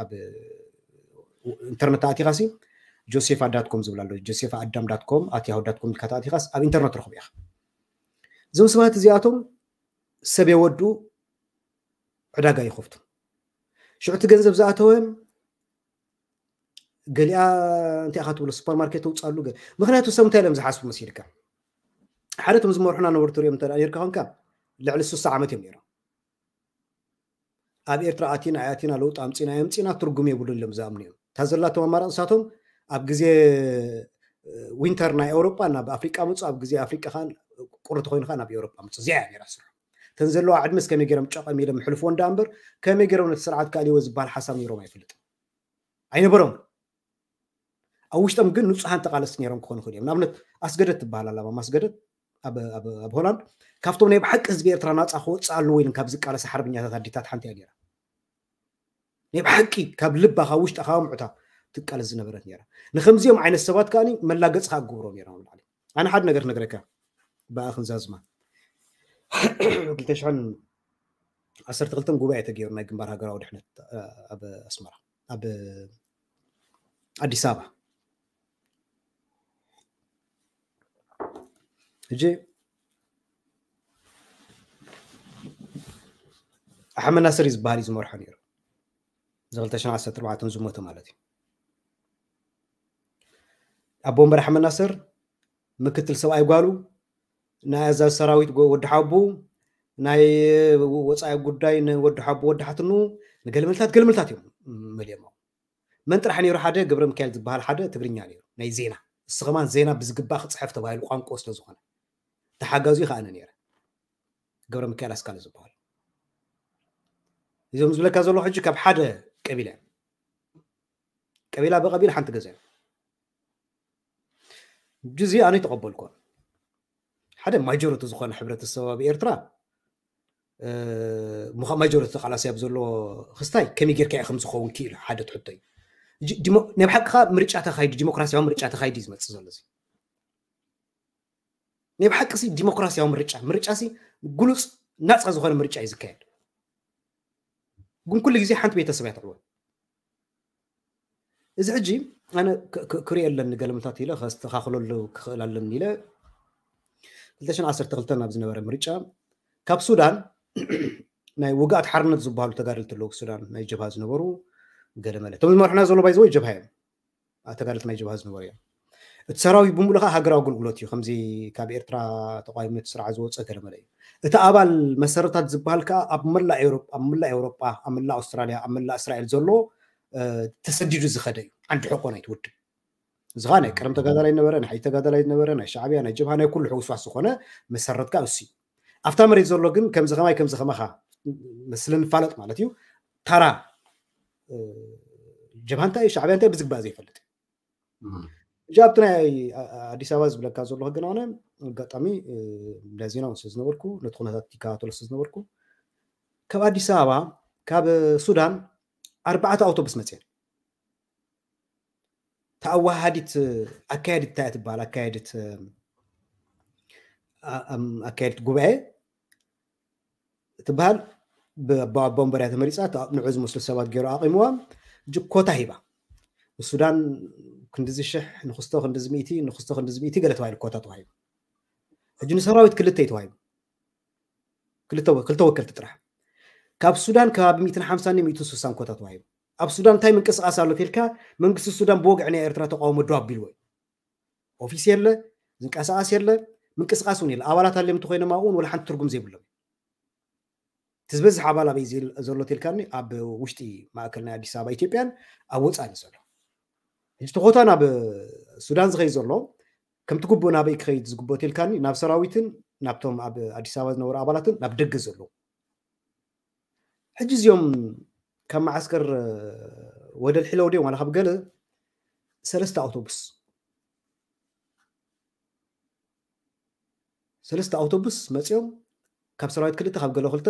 ኣብ ኢንተርነት ኣቲኻ ሲ ጆሴፋ ዳትኮም ዝብል ኣሎ ጆሴፋ ኣዳም ዳትኮም ኣት ያሁ ዳትኮም ኢልካ ተኣቲኻስ ኣብ ኢንተርነት ረኽቡ ኢኻ እዞም ሰባት እዚኣቶም ሰብ የወዱ ዕዳጋ ይኸፍቱ ሽዑ እቲ ገንዘብ ዝኣተወ ገሊኣ እንታይ ኢኻ ትብሎ ሱፐርማርኬት ተውፅኣሉ ምክንያቱ ሰብ እንታይ ኢሎም ዝሓስቡ መሲልካ ሓደ ቶም ዝመርሑና ነበሩ ትሪኦም እንተ ኔርካ ኮንካ ልዕሊ ስሳ ዓመት እዮም ነይሮም ኣብ ኤርትራ ኣቲና ኣያቲና ለውጢ ኣምፂና የምፂና ትርጉም የብሉን ኢሎም ዝኣምኑ እዮም እታ ዘላቶም ኣማራፂ ንሳቶም ኣብ ግዜ ዊንተር ናይ ኤውሮጳ ናብ ኣፍሪቃ መፁ ኣብ ግዜ ኣፍሪቃ ከዓ ቁሪ ተኮይኑ ከዓ ናብ ኤውሮጳ መፁ እዚኣ እያ ነይራ ስርሑ እተን ዘለዋ ዕድመስ ከመይ ገይሮም ጨቐም ኢሎም ሕልፍዎ እንዳ እምበር ከመይ ገይሮም ነቲ ስርዓት ካልእዎ ዝበሃል ሓሳብ ነይሮም ኣይፈልጥን ኣይነበሮም ኣብ ውሽጦም ግን ንፁሃን ተቃለስቲ ነይሮም ክኾኑ ክእል እዮም ንኣብነት ኣስገደት ትበሃል ኣላ ማማ ኣስገደት ኣብ ሆላንድ ካብቶም ናይ ብሓቂ ህዝቢ ኤርትራ ናፃ ክወፅእ ኣለዎ ኢለን ካብ ዝቃለሳ ሓርበኛታት ኣዴታት ሓንቲ እያ ነይራ። ናይ ብሓቂ ካብ ልባ ካብ ውሽጣ ካብ ኣምዑታ ትቃለስ ዝነበረት ነይራ። ንከምዚኦም ዓይነት ሰባት ከኣ መላገፂ ከዓ ክገብሮ ነይሮም ኣብ ላዕሊ። ኣነ ሓደ ነገር ክነግረካ ብኣ ክንዛዝማ ክልተ ሽሕን ዓሰርተ ክልተን ጉባኤ ተገይሩ ናይ ግንባር ሃገራዊ ድሕነት ኣብ ኣስመራ ኣብ ኣዲስ ኣበባ ሕጂ ኣሕመድ ናስር እዩ ዝበሃል እዩ ዝመርሖ ነይሩ። እዚ ክልተ ሽሕን ዓሰርተ ኣርባዕተን ዝሞተ ማለት እዩ። ኣቦ ወንበር ኣሕመድ ናስር ምክትል ሰብኣይ ጓሉ ናይ ኣዛዚ ሰራዊት ወዲ ሓቡ ናይ ወፃኢ ጉዳይ ንወዲ ሓቡ ወዲ ሓትኑ ንገልመልታት ገልመልታት እዮም መሊኦም። መን ጥራሕ ነይሩ ሓደ ገብረ ሚካኤል ዝበሃል ሓደ ትግርኛ ነይሩ ናይ ዜና እሱ ከማን ዜና ብዝግባእ ክፅሕፍ ተባሂሉ ቋንቋ ስለ ዝኾነ ተሓጋዙ ከኣነ ነይረ። ገብረ ሚካኤል ኣስካለ ዝበሃል እዞም ዝብለካ ዘሎ ሕጂ ካብ ሓደ ቀቢላ ቀቢላ ብቀቢል ሓንቲ ገዛ እዮም። ሕጂ እዚ ኣነ ተቐበልኮ ሓደ ማጆሪቲ ዝኾነ ሕብረተሰብ ኣብ ኤርትራ ማጆሪቲ ተቃላሲ ኣብ ዘሎ ክስታይ ከመይ ጌርካ እዩ ከም ዝኸውን ክኢሉ ሓደ ትሕቶ እዩ። ናይ ብሓቂ ከዓ ምርጫ ተካይዱ ዲሞክራሲያዊ ምርጫ ተካይዱ እዩ ዝመፅእ ዘሎ እዚ ናይ ብሓቂ ሲ ዲሞክራሲያዊ ምርጫ ምርጫ ሲ ግሉፅ ናፃ ዝኾነ ምርጫ እዩ ዝካየድ። ግን ኩሉ ግዜ ሓንቲ ቤተሰብ እያ ትዕወት። እዚ ሕጂ ኣነ ክርኢ ኣለኒ ገለመታት ኢለ ከስተኻኽለሉ ክኽእል ኣለኒ ኢለ ክልተ ሽሕን ዓሰርተ ክልተን ኣብ ዝነበረ ምርጫ ካብ ሱዳን ናይ ውግኣት ሓርነት ዝበሃሉ ተጋደልቲ ኣለዉ ሱዳን ናይ ጀብሃ ዝነበሩ ገለመለ እቶም ዝመርሑና ዘሎ ባይዘወይ ጀብሃ እዮም ተጋደልቲ ናይ ጀብሃ ዝነበሩ እዮም። እቲ ሰራዊት ብምሉእ ከዓ ሃገራዊ ኣገልግሎት እዩ ከምዚ ካብ ኤርትራ ተቋይመት ስርዓ ዝወፀ ገለመለ እዩ። እቲ ኣባል መሰረታት ዝበሃል ከዓ ኣብ መላእ ኤውሮጳ ኣብ መላእ ኤውሮጳ ኣብ መላእ ኣውስትራልያ ኣብ መላእ እስራኤል ዘሎ ተሰዲዱ ዝኸደ እዩ። ዓንዲ ሕቆ ናይቲ ውድብ እዚ ከዓ ናይ ቀደም ተጋዳላይ ነበረ ናይ ሓይሊ ተጋዳላይ ነበረ ናይ ሻዕብያ ናይ ጀብሃ ናይ ኩሉ ሕውስዋስ ዝኾነ መሰረት ከዓ እሱ እዩ። ኣብታ መሬት ዘሎ ግን ከምዚ ከማይ ከምዚ ከማኻ ስለ ንፋለጥ ማለት እዩ ታራ ጀብሃ እንታይ ሻዕብያ እንታይ ብዝግባእ ዘይፈልጥ ሕጂ ኣብቲ ናይ ኣዲስ ኣበባ ዝብለካ ዘለኹ ግን ኣነ ኣጋጣሚ እንዳ ዜና እውን ስለዝነበርኩ ነቲ ኩነታት ይከታተሎ ስለዝነበርኩ ካብ ኣዲስ ኣበባ ካብ ሱዳን ኣርባዕተ ኣውቶቡስ መፅየን ተኣዋሃዲት ኣካየዲት እንታይ ትበሃል ኣካየዲት ኣካየዲት ጉባኤ ትበሃል ብኣቦ ወንበር እያ ተመሪፃ ንዑ ዝመስሉ ሰባት ገይሩ ኣቂምዋ ሕጂ ኮታ ሂባ ንሱዳን ክንድዚ ሽሕ ንክስቶ ክንድዚ ሚእቲ ንክስቶ ክንድዚ ሚእቲ ገለ ተባሂሉ ኮታ ተዋሂቡ ሕጂ ንሰራዊት ክልተ እዩ ተዋሂቡ ክልተ ወከልቲ ጥራሕ ካብ ሱዳን ከባቢ ሚእትን ሓምሳን ሚእትን ስሳን ኮታ ተዋሂቡ ኣብ ሱዳን እንታይ ምንቅስቃስ ኣሎ ተልካ መንግስቲ ሱዳን ብወግዒ ናይ ኤርትራ ተቃውሞ ደው ኣቢልዎ እዩ ኦፊስ የለ ዝንቀሳቀስ የለ ምንቅስቃስ እውን የለ ኣባላት ኣለምቲ ኮይኖም ኣብኡን ወላ ሓንቲ ትርጉም ዘይብሎም እቲ ዝበዝሕ ኣባል ኣበይ ዘሎ ተልካኒ ኣብ ውሽጢ ማእከል ናይ ኣዲስ ኣበባ ኢትዮጵያን ኣብ ወፃኢ ዘሎ ሕጂ ተኾታ ናብ ሱዳን ዝኸይድ ዘሎ ከምቲ ግቡእ ናበይ ክኸይድ ዝግብኦ ተልካኒ ናብ ሰራዊትን ናብቶም ኣብ ኣዲስ ኣበባ ዝነበሩ ኣባላትን ናብ ደገ ዘለዉ ሕጂ እዚኦም ካብ መዓስከር ወደል ሒለው ድዮም ዋላ ካብ ገለ ሰለስተ ኣውቶቡስ ሰለስተ ኣውቶቡስ መፂኦም ካብ ሰራዊት ክልተ ካብ ገለ ክልተ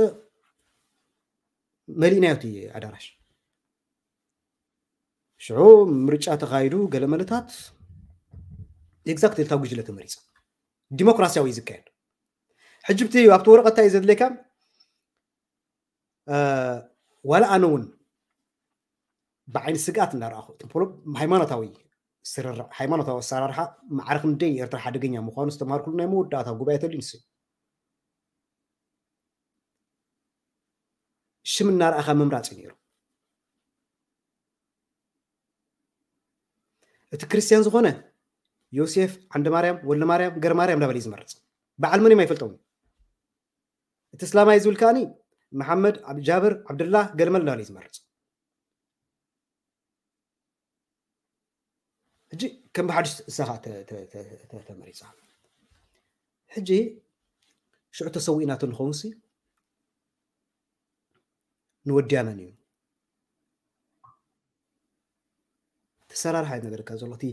መሊእናዮ እቲ ኣዳራሽ ሽዑ ምርጫ ተኻይዱ ገለ መለታት exactly እታ ጉጅለ ተመሪፃ ዲሞክራሲያዊ እዩ ዝካየድ ሕጂ ብቲ ኣብቲ ወረቐት እንታይ እዩ ዘድልየካ ዋላ ኣነ እውን ብዓይኒ ስግኣት እናረኣኹ ሃይማኖታዊ ስርርዕ ሃይማኖታዊ ኣሰራርሓ ማዕረ ክንደይ ኤርትራ ሓደገኛ ምዃኑ ዝተምሃርኩሉ ናይ መወዳእታ ጉባኤ ተልዩ ንስ ሽም እናረኣኻ ምምራፅ እዩ ነይሩ እቲ ክርስትያን ዝኾነ ዮሴፍ ዓንደ ማርያም ወልደ ማርያም ገር ማርያም እንዳበለ እዩ ዝመርፅ በዓል መን እዮም ኣይፈልጠውን እቲ እስላማይ ዝብል ከኣኒ መሓመድ ጃብር ዓብድላ ገለመል እንዳበለ እዩ ዝመርፅ ሕጂ ከም ብሓድሽ እሳኻ ተመሪፃ ሕጂ ሽዑ ተሰዊእናቶ ንኸውን ሲ ንወድያ መን እዩ ተሰራርሓ እዩ ነገርካ ዘሎ እቲ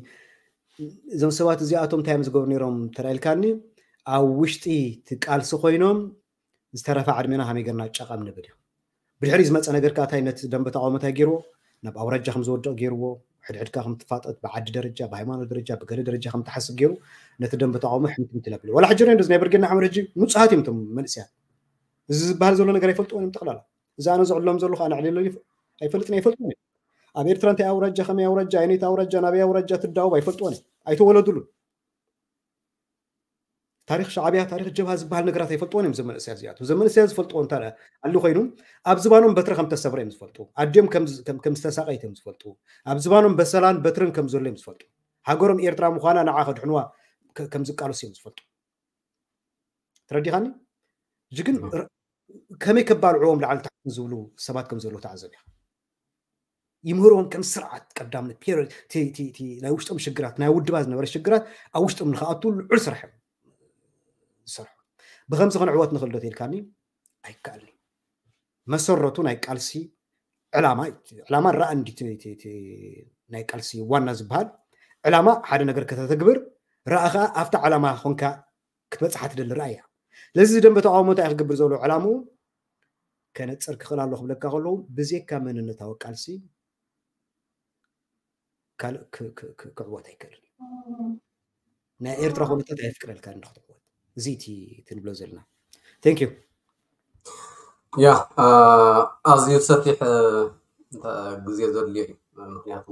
እዞም ሰባት እዚኣቶም እንታይ እዮም ዝገብሩ ነይሮም ተላኢልካኒ ኣብ ውሽጢ እቲ ቃልሲ ኮይኖም ዝተረፈ ዕድሜና ከመይ ጌርና ጨቐም ንብል እዩ። ብድሕሪ ዝመፀ ነገር ከኣ እንታይ ነቲ ደንበ ተቃውሞ እንታይ ገይርዎ? ናብ ኣውራጃ ከም ዝወድቕ ገይርዎ። ሕድሕድካ ከም ትፋጠጥ፣ ብዓዲ ደረጃ፣ ብሃይማኖት ደረጃ፣ ብገለ ደረጃ ከም ትሓስብ ገይሩ ነቲ ደንበ ተቃውሞ ሕምትምት ለብል። ዋላ ሕጂ ርኢና እንደዚ ናይ ብርጌድ ንሓመድ ሕጂ ንጹሃት እዮም እቶም መንእሰያት። እዚ ዝበሃል ዘሎ ነገር ኣይፈልጥዎን እዮም ጠቕላላ። እዚ ኣነ ዝዕሎም ዘለኹ ኣነ ዕልለሉ ኣይፈልጥን ኣይፈልጥን እዮም። ኣብ ኤርትራ እንታይ ኣውራጃ ከመይ ኣውራጃ ኣይነይቲ ኣውራጃ ናበይ ኣውራጃ ትዳወብ ኣይፈልጥዎን እዮም። ኣይተወለዱሉን። ታሪክ ሻዕብያ ታሪክ ጀብሃ ዝበሃል ነገራት ኣይፈልጥዎን እዮም። ዘመንእሰያ እዚኣቱ ዘመንእሰያ ዝፈልጥዎ እንታ ኣሎ ኮይኑ ኣብ ዝባኖም በትሪ ከም ተሰብረ እዮም ዝፈልጡ። ኣዲኦም ከም ዝተሳቀይት እዮም ዝፈልጡ። ኣብ ዝባኖም በሰላን በትርን ከም ዘሎ እዮም ዝፈልጡ። ሃገሮም ኤርትራ ምዃና ንዓ ከድሕንዋ ከም ዝቃለሱ እዮም ዝፈልጡ። ተረዲኻኒ? ሕጂ ግን ከመይ ከባልዕዎም ላዕሊ ታሕቲ ዝብሉ ሰባት ከም ዘለዉ ተዓዘብ ኢኻ። ይምህርዎም ከም ስርዓት ቀዳምነት ናይ ውሽጦም ሽግራት ናይ ውድባ ዝነበረ ሽግራት ኣብ ውሽጦም ንክኣቱ ልዑል ስራሕ ዝሰርሑ። ብከምዚ ክንዕወት ንኽእል ዶ ተልካኒ? ኣይከኣልኒ። መሰረቱ ናይ ቃልሲ ዕላማ ዕላማ ረኣ እንዲ ናይ ቃልሲ ዋና ዝበሃል ዕላማ ሓደ ነገር ከተተግብር ረኣ ከዓ ኣብታ ዕላማ ኮንካ ክትበፅሓ ትደሊ ረኣያ። ስለዚ ደንበ ተቃውሞ እንታይ ክገብር ዘሎ ዕላምኡ ከነፅር ክኽእል ኣሎ ክብለካ ከለዉ ብዜካ መንነታዊ ቃልሲ ካልእ ክዕወት ኣይክእልን። ናይ ኤርትራ ኩነታት ኣየፍቅደልካ እንዶ ክትዕወት። እዚ እቲ ትንብሎ ዘለና። Thank you። ያ ኣዝዩ ሰፊሕ ግዜ ዘድልዮ እዩ። ምክንያቱ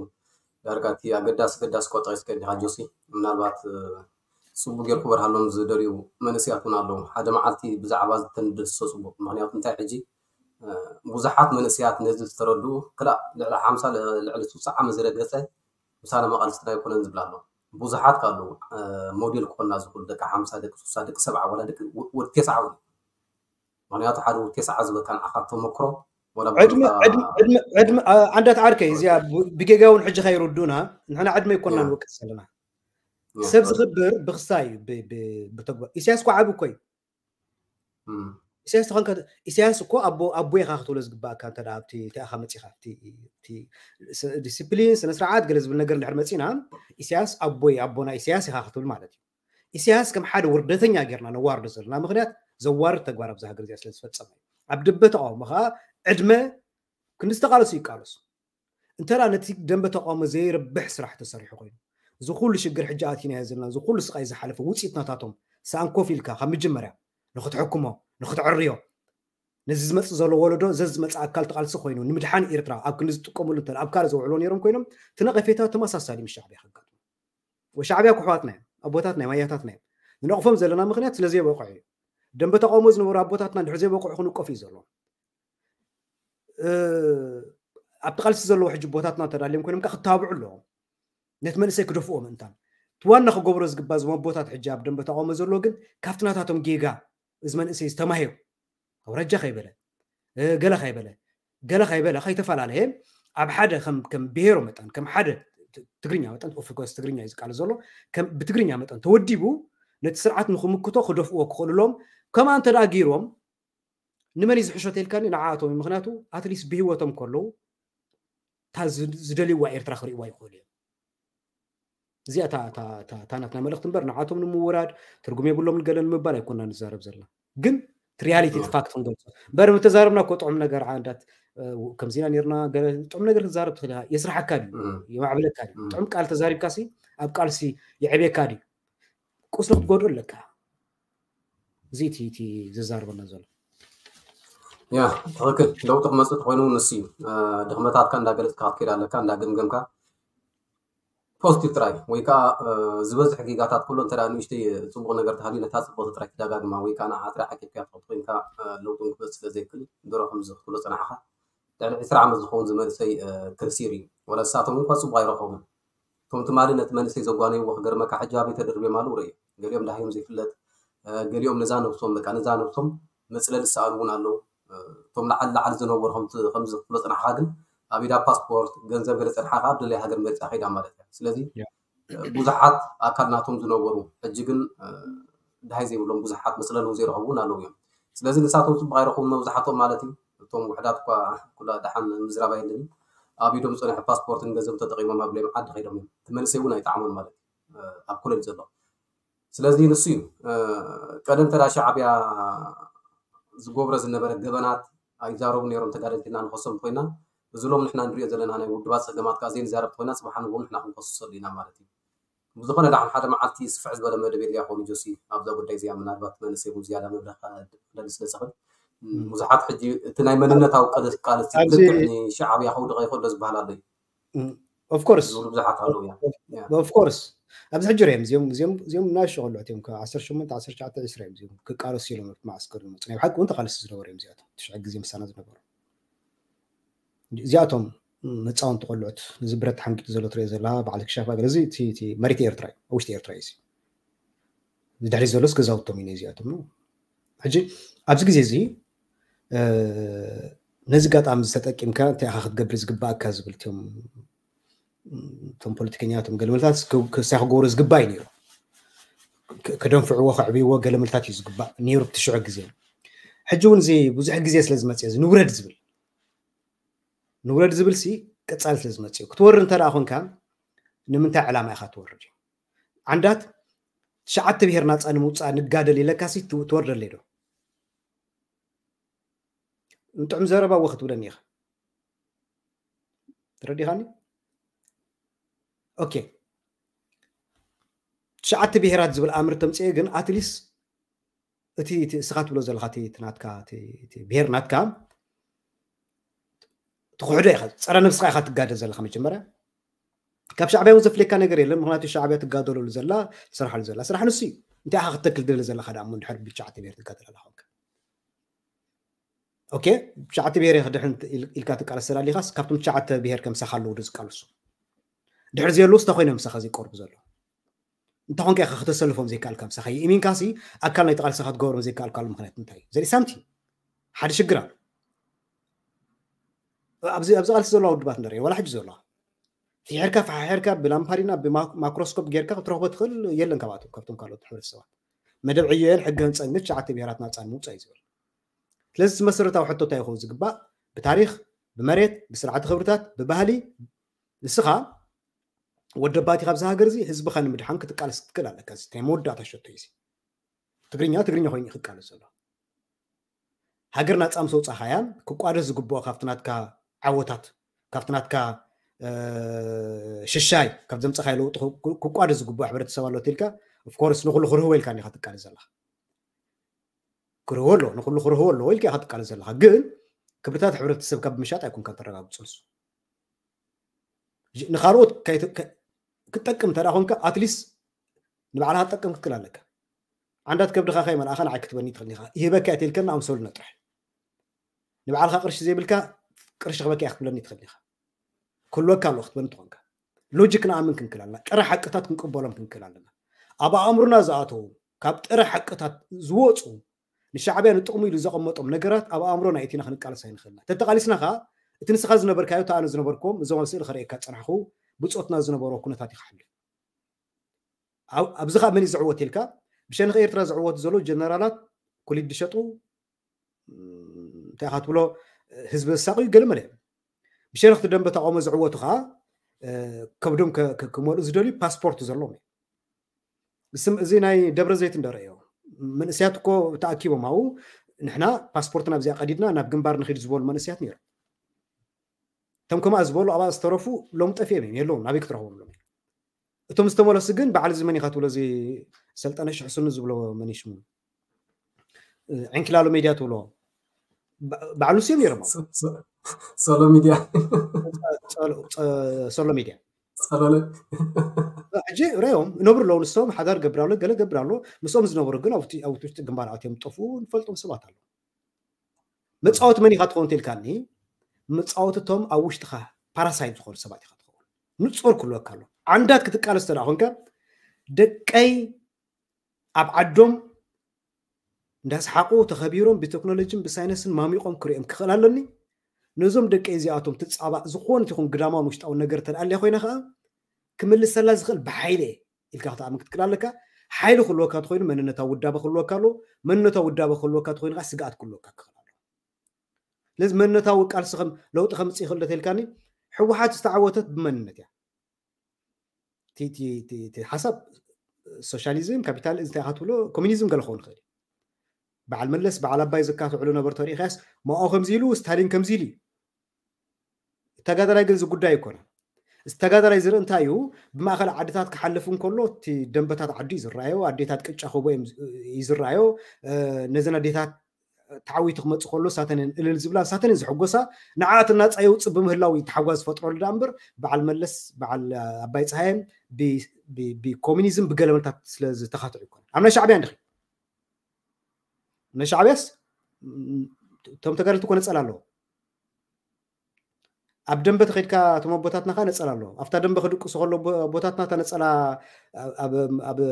ዳርጋ እቲ ኣገዳሲ ገዳሲ ቆጠሪስካ እንዲኻ ጆሲ። ምናልባት ፅቡቅ ጌርኩ በርሃሎም ዝደልዩ መንእሰያት እውን ኣለዉ። ሓደ መዓልቲ ብዛዕባ ዝተንደሶ ፅቡቅ። ምክንያቱ እንታይ ሕጂ ብዙሓት መንእሰያት ነዚ ዝተረድኡ ክላእ ልዕሊ ሓምሳ ልዕሊ ስሳ ዓመት ዝረገፀ ምሳና መቃልስትና ኣይኮነን ዝብላ ኣሎ። ብዙሓት ካሉ ሞዴል ክኾና ዝኽእሉ ደቂ ሓምሳ ደቂ ስሳ ደቂ ሰብዓ ዋላ ደቂ ወዲ ተስዓ እውን። ምክንያቱ ሓደ ወዲ ተስዓ ዝበካ ንዓኻ ተመክሮ ዕድመ ዕድመ ዕድመ ዕድመ ኣንዳት ዓርከይ እዚኣ ብጌጋ እውን ሕጂ ከይርዱና ንሕና ዕድመ ይኮና ንወቅስ ዘለና። ሰብ ዝኽብር ብክስታይ ብተግባር ኢሳያስ እኮ ዓቢ እኮ እዩ። ኢሳያስ ተኾንካ ኢሳያስ እኮ ኣቦ ኣቦ ኢኻ ክትብሎ ዝግባእካ እንተ ኣብቲ እንታይ ኢኻ መፂኻ ዲስፕሊን ስነ ስርዓት ገለ ዝብል ነገር እንድሕር መፂና ኢሳያስ ኣቦይ ኣቦና ኢሳያስ ኢኻ ክትብል ማለት እዩ። ኢሳያስ ከም ሓደ ውርደተኛ ጌርና ነዋርዶ ዘለና ምክንያት ዘዋርድ ተግባር ኣብዚ ሃገር እዚኣ ስለ ዝፈፀመ እዩ። ኣብ ደንበ ተቃውሞ ከዓ ዕድመ ክንዲ ዝተቃለሱ ይቃለሱ። እንተ ነቲ ደንበ ተቃውሞ ዘይረብሕ ስራሕ ተሰሪሑ ኮይኑ እዚ ኩሉ ሽግር ሕጂ ኣቲናዮ ዘለና እዚ ኩሉ ስቃይ ዝሓለፈ ውፅኢት ናታቶም ሰኣን ኮፍ ኢልካ ካብ መጀመርያ ንክትሕክሞ ንክትዕርዮ ነዚ ዝመፅእ ዘሎ ወለዶ ዘዚ ዝመፅእ ኣካል ተቃልሲ ኮይኑ ንምድሓን ኤርትራ ኣብ ክንዲ ዝጥቀምሉ እንተ ኣብ ካልእ ዘውዕሎ ነይሮም ኮይኖም እቲ ነቀፌታ ተመሳሳሊ ምስ ሻዕብያ ከጋጥሞ ወሻዕብያ ኩሕዋትና እዮም ኣቦታትና እዮም ኣያታትና እዮም ንነቕፎም ዘለና ምክንያት ስለዘይበቅዑ እዩ። ደንበ ተቃውሞ ዝነበሩ ኣቦታትና እንድሕር ዘይበቅዑ ክንቀፉ እዩ ዘለዎም። ኣብቲ ቃልሲ ዘለዎ ሕጂ ቦታትና ተዳልዮም ኮይኖም ክተባብዑ ኣለዎም። ነቲ መንእሰይ ክደፍኦ ምእንታን እቲ ዋና ክገብሮ ዝግባ እዞም ኣቦታት ሕጂ ኣብ ደንበ ተቃውሞ ዘለዎ ግን ካብቲ ናታቶም ጌጋ እዚ መንእሰይ ዝተማሂሩ ኣውራጃ ከይበለ ገለ ከይበለ ገለ ከይበለ ከይተፈላለየ ኣብ ሓደ ከም ከም ብሄሮ መጠን ከም ሓደ ትግርኛ መጠን ኦፍኮርስ ትግርኛ እዩ ዝቃለስ ዘሎ ብትግርኛ መጠን ተወዲቡ ነቲ ስርዓት ንክምክቶ ክደፍእዎ ክኽእሉሎም ከምኣ እንተ ገይሮም ንመን እዩ ዝሕሾ ተልካኒ ንዓኣቶም እዩ ምክንያቱ ኣትሊስት ብሂወቶም ከለዉ እታ ዝደልይዋ ኤርትራ ክርእይዋ ይኽእሉ እዮም እዚኣ እታ ናትና መልእክቲ እምበር ንዓቶም ንምውራድ ትርጉም የብሎም ንገለ ንምባል ኣይኮና ንዛረብ ዘለና ግን ሪያሊቲ ፋክት ክንገልፆ እምበር ምተዛረብና እኮ ጥዑም ነገር ዓንዳት ከምዚና ነርና ጥዑም ነገር ክትዛረብ ትኽእል ኢኻ የስራሓካ ድዩ የማዕብለካ ድዩ ጥዑም ቃል ተዛሪብካ ሲ ኣብ ቃልሲ የዕብየካ ድዩ ቁስሊ ክትጎድኡ ኣለካ እዚ እቲ ዘዛርበና ዘሎ ያ ትኽክል ለውጢ ክመፅእ ተኮይኑ ንሱ እዩ ድክመታትካ እንዳገለፅካ ክትከይድ ኣለካ እንዳገምገምካ ፖዚቲቭ ጥራይ ወይ ከዓ ዝበዝሕ ጌጋታት ኩሎ እንተ ንእሽተይ ፅቡቅ ነገር ተሃልዩ ነታ ፅቡቅ ጥራይ ትደጋግማ ወይ ከዓ ንዓ ጥራይ ዓቂብካ ትኸድ ኮይንካ ለውጢ ክመፅእ ስለ ዘይክእል ድሮ ከምዚ ክትብሎ ፀናሕካ ልዕሊ ዕስራ ዓመት ዝኸውን ዝመንእሰይ ክርሲር እዩ ወላ ንሳቶም እንኳ ፅቡቅ ኣይረኸቡን እቶም ትማሊ ነቲ መንእሰይ ዘጓነይዎ ክገርመካ ሕጂ ኣበይ ተደርብዮም ኣለዉ ርእዮ ገሊኦም ዳህዮም ዘይፍለጥ ገሊኦም ነዛ ነብሶም በቃ ነዛ ነብሶም መፅለሊ ዝሰኣሉ እውን ኣለዉ እቶም ላዓሊ ላዓሊ ዝነበሩ ከምዚ ክፍሎ ፅናሕካ ግን ኣብ ኢዳ ፓስፖርት ገንዘብ ገለ ፅንሓ ከዓ ኣብ ደለይ ሃገር መሪፃ ከይዳ ማለት እያ ስለዚ ብዙሓት ኣካል ናቶም ዝነበሩ ሕጂ ግን ድሃይ ዘይብሎም ብዙሓት መፅለሊ እውን ዘይረኸቡ እውን ኣለዉ እዮም ስለዚ ንሳቶም ፅቡቅ ኣይረኸቡ መብዛሕትኦም ማለት እዩ እቶም ውሕዳት እኳ ኩላ ደሓን ምዝራብ ኣየድልን ኣብ ኢዶም ዝፀንሐ ፓስፖርትን ገንዘብ ተጠቂሞም ኣብ ሌም ዓዲ ከይዶም እዮም እቲ መንእሰይ እውን ኣይጠዓሞን ማለት እዩ ኣብ ኮለጅ ዘሎ ስለዚ ንሱ እዩ ቀደም ተዳ ሻዕብያ ዝገብሮ ዝነበረ ገበናት ኣይዛረቡ ነይሮም ተጋደልቲ ኢና ንኸሶም ኮይና፣ እዚ ሎም ንሕና ንሪኦ ዘለና ናይ ውድባት ፀገማት ከዓ ዘይንዛረብ ኮይና ፅባሕ ንግሆ ንሕና ክንከስሰሉ ኢና ማለት እዩ። ብዝኾነ ዳሕን ሓደ መዓልቲ ስፍሕ ዝበለ መደብ የድልያ ኾኑ ጆሲ ኣብዛ ጉዳይ እዚኣ ምናልባት መንእሰይ እውን ዝያዳ መብረኻ ክደሊ ስለ ዝኽእል ብዙሓት ሕጂ እቲ ናይ መንነታዊ ቃልሲ ልክዕ ንሻዕብያ ከውድቐ ይኽእሎ ዝበሃል ኣሎ እዩ። Of course ዝብሉ ብዙሓት ኣለዉ እዮም። Of course ኣብዚ ሕጂ ርዮም እዚኦም እዚኦም እዚኦም ናሽ ቆልዑት እዮም ካብ ዓሰርተ ሸሞንተ ዓሰርተ ትሽዓተ ዕስራ እዮም እዚኦም ክቃለሱ ኢሎም ኣብቲ መዓስከር ዝመፁ ናይ ብሓቂ እውን ተቃለስቲ ዝነበሩ እዮም እዚኣቶም ትሽዐ ግዜ ምሳና ዝነበሩ እዚኣቶም መፃወንቲ ቆልዑት እዚ ብረት ሓንጊጡ ዘሎ ትሪኦ ዘለካ በዓል ክሻፋ ገለ እዚ እቲ መሬት ኤርትራ እዩ ውሽጢ ኤርትራ እዩ ድሕሪ ዘሎስ ገዛውቶም እዩ እዚኣቶም ሕጂ ኣብዚ ግዜ እዚ ነዚ ጋጣሚ ዝተጠቂምካ እንታይ ኢኻ ክትገብር ዝግባኣካ ዝብል እቶም እቶም ፖለቲከኛታት እቶም ገለመልታት ክሳይ ክገብሩ ዝግባእ እዩ ነይሩ ከደንፍዕዎ ከዕብይዎ ገለመልታት እዩ ዝግባእ ነይሩ ብትሽዑ ግዜ ሕጂ እውን እዚ ብዙሕ ግዜ ስለ ዝመፅእ እዚ ንውረድ ዝብል ንውረድ ዝብል ሲ ቀፃሊ ስለ ዝመፅእ እዩ ክትወርድ እንተ ደኣ ኮንካ ንምንታይ ዕላማ ኢኻ ትወርድ እዩ ዓንዳት ትሽዓተ ብሄር ናፃ ንምውፃእ ንጋደል ኢለካ ሲ ትወርደለይ ዶ ንጥዑም ዘረባ ወ ክትብለኒ ኢኻ ተረዲኻኒ ኦኬ ትሽዓተ ብሄራት ዝብል ኣምር ተምፅኤ ግን ኣትሊስ እቲ እስኻ ትብሎ ዘለካ ናትካ ብሄር ናትካ ትክሕዶ ኢኻ ፀረ ነብስካ ኢኻ ትጋደል ዘለካ መጀመርያ ካብ ሻዕብያ እውን ዘፍለየካ ነገር የለን ምክንያቱ ሻዕብያ ትጋደለሉ ዘላ ትሰርሓሉ ዘላ ስራሕ ንሱ እዩ እንታይ ኢኻ ክተክል ደለ ዘለካ ዳ እሞ እንድሕር ብትሽዓተ ብሄር ትጋደል ኣላ ኮንካ ኦኬ ትሽዓተ ብሄር ክድሕን ኢልካ ትቃለስ ተላሊኻስ ካብቶም ትሽዓተ ብሄር ከምሳኻ ኣለዉ ዶ ዝቃለሱ ድሕሪ ዘየለዉ ስታ ኮይኖም ምሳኻ ዘይቀርቡ ዘለዉ እንተኾንካ ኢኻ ክተሰልፎም ዘይከኣልካ ምሳኻ ይእሚንካሲ ኣካል ናይ ተቃልስኻ ትገብሮም ዘይከኣልካሉ ምክንያት እንታይ እዩ ዘርኢ ሳምቲ ሓደ ሽግር ኣሎ ኣብዚ ኣብዚ ቃልሲ ዘለዋ ውድባት ንርኢ ዋላ ሕጂ ዘለዋ ፍሒርካ ፈሓሒርካ ብላምፓሪና ብማክሮስኮፕ ጌርካ ክትረኽቦ ትኽእል የለን ካብኣቶም ካብቶም ካልኦት ሕብረተሰባት መደብ ዕዮየን ሕገ ህንፀን ግን ትሽዓተ ብሄራት ናፃ ንምውፃእ እዩ ዝብል ስለዚ መሰረታዊ ሕቶ እንታይ ይኸውን ዝግባእ ብታሪክ ብመሬት ብስርዓተ ክብርታት ብባህሊ ንስኻ ወደባቲ ካብዚ ሃገር እዚ ህዝብኻ ንምድሓን ክትቃለስ ክትክእል ኣለካ እዚ ናይ መወዳእታ ሸቶ እዩ ትግርኛ ትግርኛ ኮይኑ ክቃለስ ዘሎ ሃገር ናፃ ምስ ወፃኻያ ክቋደስ ዝግብኦ ካብቲ ናትካ ዓወታት ካብቲ ናትካ ሽሻይ ካብ ዘምፀኻይ ለውጢ ክቋደስ ዝግብኦ ሕብረተሰብ ኣሎ ኢልካ ኦፍኮርስ ንኩሉ ክርህቦ ኢልካ ኒካ ትቃለስ ዘለካ ክርህቦ ኣሎ ንኩሉ ክርህቦ ኣለዎ ኢልካ ኢካ ትቃለስ ዘለካ ግን ክብርታት ሕብረተሰብ ካብ ምሻጥ ኣይኮንካ ተረጋግፁ ንሱ ንካልኦት ክትጠቅም እንተ ኮንካ ኣትሊስት ንባዕልካ ትጠቅም ክትክእል ኣለካ ዓንዳት ከብድኻ ከይመልኣኻ ንዓይ ክትበኒ ትኽእል ኢኻ ይህበካ እየ ተልከና ኣምሰሉና ጥራሕ ንባዕልኻ ቅርሺ ዘይብልካ ቅርሺ ክበካ እያ ክትብለኒ ትኽእል ኢኻ ክህልወካ ኣለዎ ክትበኒ ትኾንካ ሎጂክ ንኣምን ክንክእል ኣለና ጥረ ሓቅታት ክንቅበሎም ክንክእል ኣለና ኣብ ኣእምሮና ዝኣተዉ ካብ ጥረ ሓቅታት ዝወፁ ንሻዕብያ ንጥቕሙ ኢሉ ዘቐመጦም ነገራት ኣብ ኣእምሮና እቲና ክንቃለስ ኣይንኽእልና ተተቓሊስና ከዓ እቲ ንስኻ ዝነበርካዮ ተኣነ ዝነበርኩም እዞም ኣብ ስእሊ ከርእየካ ፀናሕኹ ብፆትና ዝነበሮ ኩነታት ይክሓሉ ኣብዚ ከዓ መን ዝዕወት ኢልካ ብሸንኽ ኤርትራ ዝዕወት ዘሎ ጀነራላት ኩሊድ ዝሸጡ እንታይ ኢኻ ትብሎ ህዝቢ ዘሳቕዩ ገለ መለ ብሸንኽቲ ደንበ ተቃውሞ ዝዕወቱ ከዓ ከብዶም ክመልኡ ዝደልዩ ፓስፖርት ዘለዎም እዩ እዚ ናይ ደብረ ዘይት እንደረእዮ መንእስያት እኮ ተኣኪቦም ኣው ንሕና ፓስፖርትና ኣብዚኣ ቀዲድና ናብ ግንባር ንኺድ ዝበሉ መንእስያት ነይሮም እቶም ከምኣ ዝበሉ ኣብኣ ዝተረፉ ሎም ጠፊኦም እዮም የለዎም ናበይ ክትረኽቦም ሎም እቶም ዝተመለሱ ግን በዓል እዚ መን ኢኻ ትብሎ እዚ ሰልጠነ ሽሕስኑ ዝብሎ መን ሽሙ ዕንኪላሎ ሜድያ ትብሎ በዓሉ ስዮም ነይሮም ሶሎ ሚድያ ሶሎ ሚድያ ጸሎለ ሕጂ ረዮም ነብሩ ኣለዉ ንሶም ሓዳር ገብር ኣሎ ገለ ገብር ኣሎ ምስኦም ዝነበሩ ግን ኣብ ውሽጢ ግንባር ኣትዮም ጠፍኡ ንፈልጦም ሰባት ኣሎ መፃወቲ መን ኢኻ ትኸውን ተልካኒ መፃወትቶም ኣብ ውሽጥኻ ፓራሳይት ዝኾኑ ሰባት ኢኻ ትኸውን ንፆር ክህልወካ ኣሎ ዓንዳት ክትቃለስ ተዳ ኮንካ ደቀይ ኣብ ዓዶም እንዳስሓቁ ተኸቢሮም ብቴክኖሎጂን ብሳይነስን ማሚቆም ክሪኦም ክኽእል ኣለኒ ነዞም ደቂ እዚኣቶም ትፃባእ ዝኾነት ይኹን ግዳማውን ውሽጣውን ነገር ተልኣልያ ኮይና ከዓ ክምልሰላ ዝኽእል ብሓይሊ ኢልካ ክትኣምን ክትክእል ኣለካ ሓይሊ ክህልወካ ተኮይኑ መንነታዊ ውዳበ ክህልወካ ኣለዎ መንነታዊ ውዳበ ክህልወካ ተኮይኑ ከዓ ስግኣት ክህልወካ ክኽእል ኣለዎ ስለዚ መንነታዊ ቃልሲ ከም ለውጢ ከምፅእ ይኽእል ዶ ተልካኒ ህወሓት ዝተዓወተት ብመንነት እያ ሓሳብ ሶሻሊዝም ካፒታል እንታይ ኢኻ ትብሎ፣ ኮሚኒዝም ገለ ክኸውን ይኽእል እዩ። በዓል መለስ በዓል ኣባይ ዘካትዕሉ ነበሩ ተሪኢኻስ፣ ማኦ ከምዚ ኢሉ፣ ስታሊን ከምዚ ኢሉ እዩ። ተጋዳላይ ግን እዚ ጉዳይ ኣይኮነ። እዚ ተጋዳላይ ዝርኢ እንታይ እዩ? ብማእኸል ዓድታት ክሓልፍ እንከሎ እቲ ደንበታት ዓዱ እዩ ዝረኣዮ፣ ኣዴታት ቅጫ ክቦ እዮም ዝ- እዩ ዝረኣዮ። እ፣ ነዘን ኣዴታት ተዓዊቱ ክመፅእ ከሎ ሳተንን እልል ዝብላ ሳተንን ዝሕጎሳ ንዓት እናፃ የውፅእ ብምህላው እዩ ተሓጓስ ዝፈጥረሉ ዳ እምበር በዓል መለስ በዓል ኣባይ ፀሃየን ብ- ብ- ብኮሚኒዝም ብገለመልታት ስለ ዝተኻትዑ ይኮነ። ኣብ ናይ ሻዕብያ እንድኺ ናይ ሻዕብያስ ም- እቶም ተጋደልቲ እኮ ነፀላ ኣለዎ። ኣብ ደንበ ተኸድካ እቶም ኣቦታትና ከ ነፀላ ኣለዎ። ኣብታ ደንበ ክድቅሱ ከሎ ኣቦ- ኣቦታትና እታ ነፀላ ኣብ- ኣብ- ኣብ-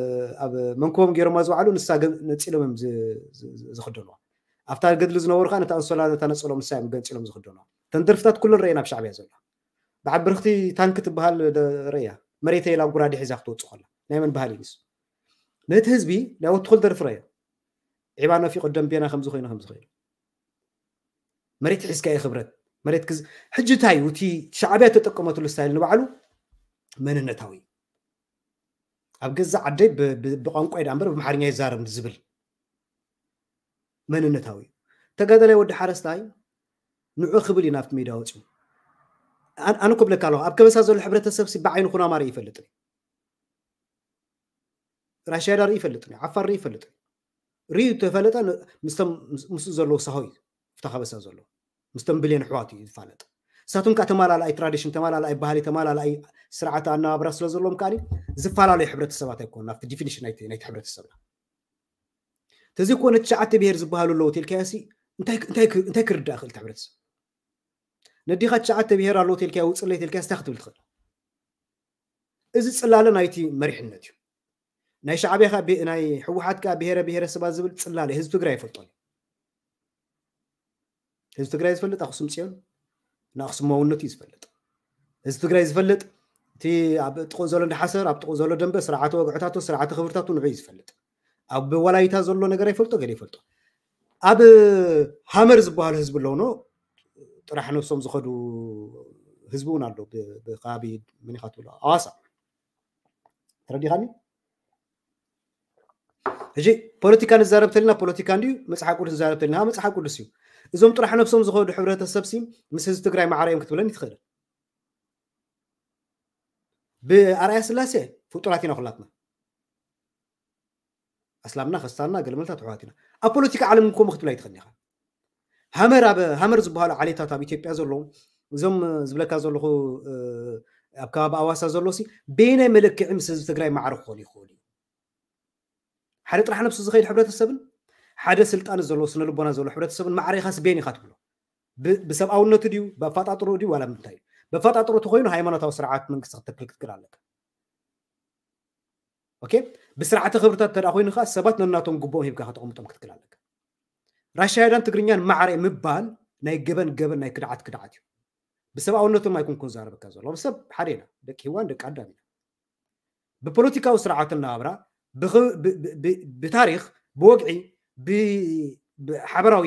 ኣብ መንኮቦም ገይሮማ ዝውዓሉ ንሳ ገ- ነፂሎም እዮም ዝ- ዝ- ዝ- ዝኽደንዋ። ኣብታ ገድሊ ዝነበሩ ከዓ ነታ ኣንሶላ ነታ ነፀሎም ንሳ እዮም ገንፂሎም ዝኽደንዋ። እተን ደርፍታት ኩለን ረእየን ኣብ ሻዕብያ ዘሎ። በዓል ብርኽቲ ታንክ ትበሃል ደ- ረእያ መሬተ ኢላ ጉራዴ ሒዛ ክትወፅእ ከላ ናይ መን ባህሊ እዩ ንሱ? ነቲ ህዝቢ ናይ ወትኹል ደርፊ ረእዮ። ዒባ ነፊቆ ደንቤና ከምዚ ኮይኑ ከምዚ ኮይኑ መሬት ሒዝካ እዩ ክብረት መሬት ክዝ ሕጂ እንታይ እዩ እቲ ሻዕብያ ተጠቀመትሉ ስታይል ንባዕሉ መንነታዊ እዩ። ኣብ ገዛ ዓደይ ብ- ብ- ብቋንቋ ዳ እምበር ብኣምሓርኛ ይዛረብ ዝብል መንነታዊ እዩ። ተጋዳላይ ወዲ ሓረስታይ ንዑ ክብል እዩ ናብቲ ሜዳ ወፂኡ። ኣን- ኣነ ኮብለካ ኣለኹ ኣብ ከበሳ ዘሎ ሕብረተሰብ ሲ ብዓይኑ ኩናማ ርኢ ይፈልጥ እዩ። ራሽያ ዳ ርኢ ይፈልጥ እዩ። ዓፋር ርኢ ይፈልጥ እዩ። ርእዩ ተፈለጠ ን- ምስቶም ምስ- ምስኡ ዘለዉ ሳሆ እዩ። ፍታ ከበሳ ዘሎ ምስቶም ብሌን ኣሕዋት እዩ ዝፋለጥ። ንሳቶም ከዓ ተማላላኣይ ትራዲሽን ተማላላኣይ ባህሊ ተማላላኣይ ስርዓት ኣነባብራ ስለ ዘለዎም ከዓ ዝፈላለዩ ሕብረተሰባት ኣይኮኑ ናብቲ ዲፊኒሽን ናይቲ ናይቲ ሕብረተሰብና። ተዘይኮነ ትሽዓተ ብሄር ዝበሃሉ ኣለዉ ተልካዮ ሲ እንታይ እንታይ ክ- እንታይ ክርዳእ ክእል እቲ ሕብረተሰብ? ነዲኻ ትሽዓተ ብሄር ኣለዉ ተልካዮ ውፅለይ ተልካዮ እንታይ ክትብል ትኽእል? እዚ ፅላለ ናይቲ መሪሕነት እዩ። ናይ ሻዕብያ ከዓ ብሄ- ናይ ህወሓት ከዓ ብሄረ ብሄረሰባት ዝብል ፅላለ ህዝቢ ትግራይ ይፈልጦ እዩ። ህዝቢ ትግራይ ዝፈልጥ ኣክሱም ፅዮን ንኣክሱማውነቱ እዩ ዝፈልጥ። ህዝቢ ትግራይ ዝፈልጥ እቲ ኣብ ጥቕኡ ዘሎ እንዳሓሰር ኣብ ጥቕኡ ዘሎ ደንበ ስርዓተ ወግዕታቱ ስርዓተ ክብርታቱ ንዑ እዩ ዝፈልጥ። ኣብ ወላይታ ዘሎ ነገር ኣይፈልጦ ገለ ይፈልጦ። ኣብ ሃመር ዝበሃሉ ህዝቢ ኣለውኖ ጥራሕ ነብሶም ዝኸዱ ህዝቢ እውን ኣሎ። ብ- ብከባቢ መኒኻ ትብሎ ኣዋሳ ተረዲኻኒ? ሕጂ ፖለቲካ ንዛረብ ተልና ፖለቲካ እንድዩ፣ መፅሓፍ ቅዱስ ንዛረብ ተልና መፅሓፍ ቅዱስ እዩ። እዞም ጥራሕ ነብሶም ዝኸዱ ሕብረተሰብ ሲ ምስ ህዝቢ ትግራይ ማዕረ እዮም ክትብለኒ ትኽእል። ብኣርኣያ ስላሴ ፍጡራት ኢና ኩላትና። ኣስላምና ከስታንና ገለመልታት ኣሕዋት ኢና። ኣብ ፖለቲካ ዓለም ከምኡ ክትብል ኣይትኽእልን ኢኻ። ሃመር ኣብ ሃመር ዝበሃሉ ዓሌታት ኣብ ኢትዮጵያ ዘለዉ እዞም ዝብለካ ዘለኹ ኣብ ከባቢ ኣዋሳ ዘሎ ሲ በየናይ መለክዒ ምስ ህዝቢ ትግራይ ማዕረ ክኾኑ ይኽእሉ እዩ? ሓደ ጥራሕ ነብሱ ዝኸይድ ሕብረተሰብን ሓደ ስልጣን ዘለዎ ስነ ልቦና ዘለዎ ሕብረተሰብን ማዕረ ኢኻስ በየን ኢኻ ትብሎ? ብሰብኣውነቱ ድዩ ብኣፈጣጥሮ ድዩ ዋላ ምንታይ እዩ? ብኣፈጣጥሮ ተኮይኑ ሃይማኖታዊ ስርዓት መንግስቲ ክትተክል ክትክል ኣለካ። ኦኬ፣ ብስርዓተ ክብርታት ተዳ ኮይኑ ከዓ ሰባት ነናቶም ግቡኦም ሂብካ ከተቐምጦም ክትክል ኣለካ። ራሻይዳን ትግርኛን ማዕረ ምባል ናይ ገበን ገበን ናይ ክድዓት ክድዓት እዩ። ብሰብኣውነቶም ኣይኮንኩን ዛረበካ ዘሎ ሰብ ሓደ ኢና፣ ደቂ ህዋን ደቂ ኣዳም ኢና። ብፖለቲካዊ ስርዓት እናብራ ብታሪክ ብወግዒ ብሓበራዊ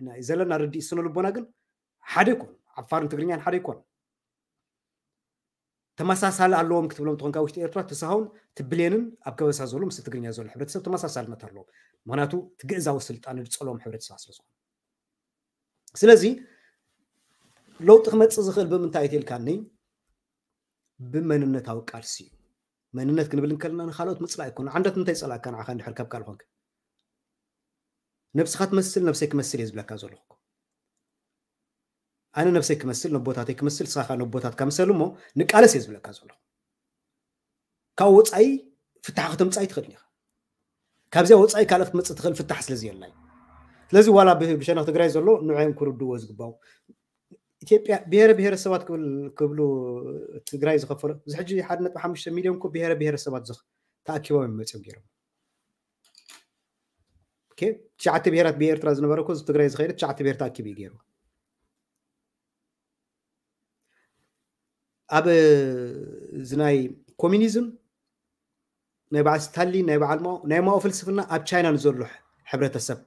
ናይ ዘለና ርድኢት ስነ ልቦና ግን ሓደ ይኮኑ። ዓፋርን ትግርኛን ሓደ ይኮኑ። ተመሳሳሊ ኣለዎም ክትብሎም ተኾንካ ውሽጢ ኤርትራ ተሳሆን ትብሌንን ኣብ ከበሳ ዘሎ ምስ ትግርኛ ዘሎ ሕብረተሰብ ተመሳሳልነት ኣለዎም። ምክንያቱ ትግእዛዊ ስልጣን ዝፀልዎም ሕብረተሰብ ስለ ዝኾነ ስለዚ ለውጢ ክመፅእ ዝኽእል ብምንታይ እዩ ተልካኒ? ብመንነታዊ ቃልሲ እዩ። መንነት ክንብል እንከለና ንካልኦት ምፅላእ ኣይኮነ። ዓንዳት እንታይ ይፀላእካ ንዓኻ እንድሕር ካብ ካልእ ኮንክ? ነብስኻ ትመስል ነብሰይ ክመስል እየ ዝብለካ ዘለኹ። ኣነ ነብሰይ ክመስል ነቦታተይ ክመስል ንስኻ ከዓ ነቦታትካ ምሰል እሞ ንቃለስ እየ ዝብለካ ዘለኹ። ካብ ወፃኢ ፍታሕ ከተምፃእ ኣይትኽእልን ኢኻ። ካብዚኣ ወፃኢ ካልእ ክትመፅእ ትኽእል ፍታሕ ስለ ዘየላ እዩ። ስለዚ ዋላ ብሸነኽ ትግራይ ዘሎ ንዕኦም ክርድዎ ዝግባው ኢትዮጵያ ብሄረ ብሄረሰባት ክብሉ ትግራይ ዝኸፈሎ እዚ ሕጂ ሓደ ነጥቢ ሓሙሽተ ሚሊዮን እኮ ብሄረ ብሄረሰባት ተኣኪቦም እዮም መፅኦም ገይሮም። ትሽዓተ ብሄራት ብኤርትራ ዝነበረ እኮ ትግራይ ዝኸይደ ትሽዓተ ብሄር ተኣኪቡ እዩ ገይሩ። ኣብ እዚ ናይ ኮሚኒዝም ናይ በዓል ስታሊን ናይ በዓል ማኦ ናይ ማኦ ፍልስፍና ኣብ ቻይና ንዘሎ ሕብረተሰብ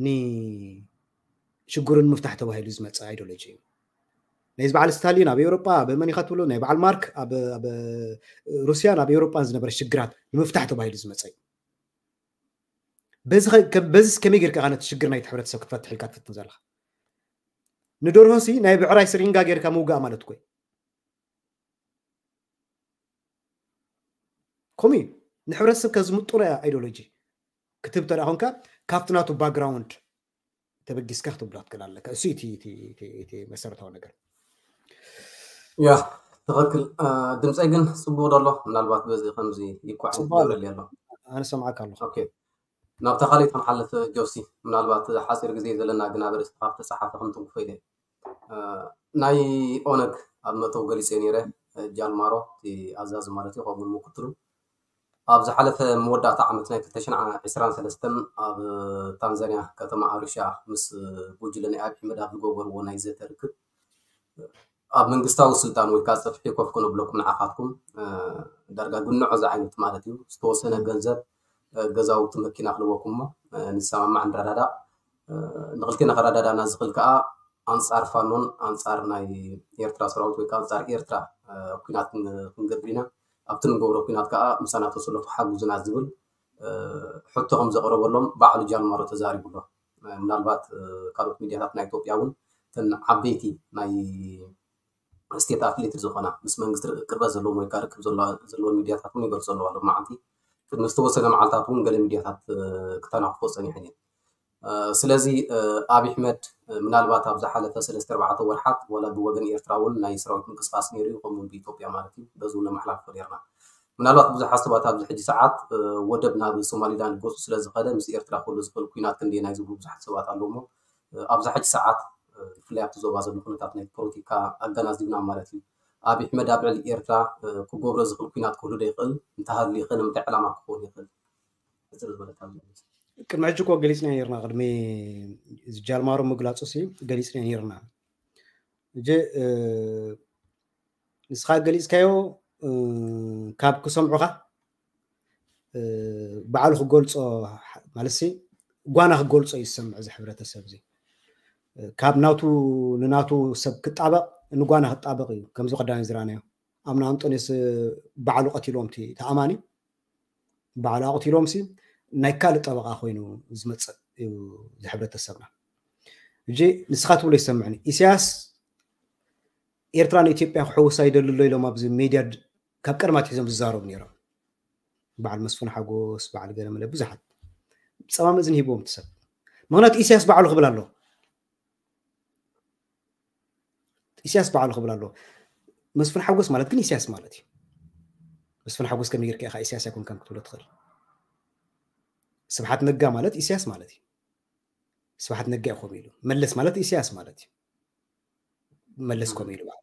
ንሽግሩ ንምፍታሕ ተባሂሉ ዝመፀ ኣይዲዮሎጂ እዩ። ናይ በዓል ስታሊን ኣብ ኤውሮጳ፣ ኣብ መን ኢኻ ትብሎ፣ ናይ በዓል ማርክ ኣብ ኣብ ሩስያን ኣብ ኤውሮጳን ዝነበረ ሽግራት ንምፍታሕ ተባሂሉ ዝመጸ እዩ። በዚ ኸ- ከ- በዚስ ከመይ ጌርካ ኢኻ ነቲ ሽግር ናይቲ ሕብረተሰብ ክትፈትሕ ኢልካ ትፍትን ዘለኻ? ንደርሆሲ ናይ ብዕራይ ስሪንጋ ጌርካ ምውጋእ ማለት እኮ እዩ። ከምኡ እዩ። ንሕብረተሰብ ከዝምጥኖ እያ ኣይዲዮሎጂ ክትህብ እንተ ደኣ ኮንካ፣ ካብቲ ናቱ ባክግራውንድ ተበጊስካ ክትብሎ ትክእል ኣለካ። እሱ እዩ እቲ- እቲ- እቲ- እቲ መሰረታዊ ነገር። ያ ትኽክል። ድምፀይ ግን ፅቡቅ ዶ ኣሎ? ምናልባት በዚ ከምዚ ይኳዕ ፅቡቅ ኣሎ። ይገብረል ኣሎ። ኣነ ሰምዓካ ኣለኹ። ኦኬ፣ ናብታ ካልእ ክንሓልፍ ጆሲ፣ ምናልባት ሓፂር ግዜ ዘለና ግን ኣብ ርእስኻ ተፀሓፈ ክንትንክፎ ኢለ። ናይ ኦነግ ኣብ መእተዊ ገሊፀ ነይረ። ጃልማሮ እቲ ኣዛዚ ማለት እዩ፣ ከምኡ ምክትሉ ኣብ ዝሓለፈ መወዳእታ ዓመት ናይ ክልተ ሽሕን ዕስራን ሰለስተን ኣብ ታንዛንያ ከተማ ኣሩሻ ምስ ጉጅለ ናይ ኣብይ ኣሕመድ ኣብ ዝገበርዎ ናይ ዘተ ርክብ ኣብ መንግስታዊ ስልጣን ወይ ከዓ ፅፍሒ ኮፍ ክነብለኩም ንዓኻትኩም ዳርጋ ግንዖ ዝዓይነት ማለት እዩ። ዝተወሰነ ገንዘብ፣ ገዛውቲ፣ መኪና ክልወኩም እሞ ንሰማማዕ ንረዳዳእ። ንክልቴና ከረዳዳና ዝኽእል ከዓ ኣንፃር ፋኖን ኣንፃር ናይ ኤርትራ ሰራዊት ወይ ከዓ ኣንፃር ኤርትራ ኩናት ክንገብር ኢና። ኣብቲ ንገብሮ ኩናት ከዓ ምሳና ተሰለፉ ሓግዙና ዝብል ሕቶ ከም ዘቕረበሎም ባዕሉ ጃልማሮ ተዛሪቡ ኣሎ። ምናልባት ካልኦት ሚድያታት ናይ ኢትዮጵያ እውን እተን ዓበይቲ ናይ ስቴት ኣፍሌት ዝኾና ምስ መንግስቲ ቅርበት ዘለዎም ወይ ከዓ ርክብ ዘለዋ- ዘለወን ሚድያታት እውን ይገልፁ ኣለዋ። ሎማዓንቲ ቅድሚ ዝተወሰነ መዓልታት እውን ገለ ሚድያታት ክተናኽፎ ፀኒሐን እየን። ስለዚ ኣብይ ኣሕመድ ምናልባት ኣብ ዝሓለፈ ሰለስተ ኣርባዕተ ወርሓት ዋላ ብወገን ኤርትራ እውን ናይ ሰራዊት ምንቅስቃስ ነይሩ እዩ፣ ከምኡ እውን ብኢትዮጵያ ማለት እዩ። በዚ እውን ነመሓላልፎ ነርና። ምናልባት ብዙሓት ሰባት ኣብዚ ሕጂ ሰዓት ወደብ ናብ ሶማሊላንድ ገፁ ስለ ዝኸደ ምስ ኤርትራ ክህሉ ዝኽእል ኩናት ክንደየናይ ዝብሉ ብዙሓት ሰባት ኣለዉ እሞ ኣብዚ ሕጂ ሰዓት ብፍላይ ኣብቲ ዞባ ዘሎ ኩነታት ናይ ፖለቲካ ኣገናዚብና ማለት እዩ። ኣብይ ኣሕመድ ኣብ ልዕሊ ኤርትራ ክገብሮ ዝኽእል ኩናት ክህሉ ዶ ይኽእል? እንተሃልዩ ከ ንምንታይ ዕላማ ክኸውን ይኽእል? ሕፅር ዝበለት ኣብዚ ቅድሚ ሕጂ እኮ ገሊፅና ነርና፣ ቅድሚ እዚ ጃልማሮ ምግላፁ ሲ ገሊፅና ነርና። እጂ ንስኻ ገሊፅካዮ ካብ ክሰምዑኻ ባዕሉ ክገልፆ ማለት ሲ ጓና ክገልፆ እዩ ዝሰምዕ እዚ ሕብረተሰብ እዚ። ካብ ናቱ ንናቱ ሰብ ክጣበቕ ንጓና ክጣበቕ እዩ። ከምዚ ቀዳሚ ዝረኣናዮ ኣምና ኣንጦንዮስ ባዕሉ ቀቲልዎም እቲ ተኣማኒ ባዕሉ ኣቕቲሎም ሲ ናይ ካልእ ጠበቓ ኮይኑ ዝመፅእ እዩ ዝሕብረተሰብና። እጂ ንስኻ ትብሎ ይሰምዕኒ። ኢሳያስ ኤርትራ ንኢትዮጵያ ክሕውሳ ይደሊ ኣሎ ኢሎም ኣብዚ ሜድያ ድ- ካብ ቀደም ኣትሒዞም ዝዛረቡ ነይሮም። በዓል መስፍን ሓጎስ፣ በዓል ገለመለ ብዙሓት ጸማም እዝኒ ሂብዎም እቲ ሰብ። ምኽንያቱ ኢሳያስ ባዕሉ ክብል ኣሎ። ኢሳያስ ባዕሉ ክብል ኣሎ። መስፍን ሓጎስ ማለት ግን ኢሳያስ ማለት እዩ። መስፍን ሓጎስ ከመይ ጌርካ ኢኻ ኢሳያስ ኣይኮንካን ክትብሎ ትኽእል? ስብሓት ነጋ ማለት ኢሳያስ ማለት እዩ። ስብሓት ነጋ እዩ ከምኡ ኢሉ። መለስ ማለት ኢሳያስ ማለት እዩ። መለስ ከምኡ ኢሉ ባዕሉ።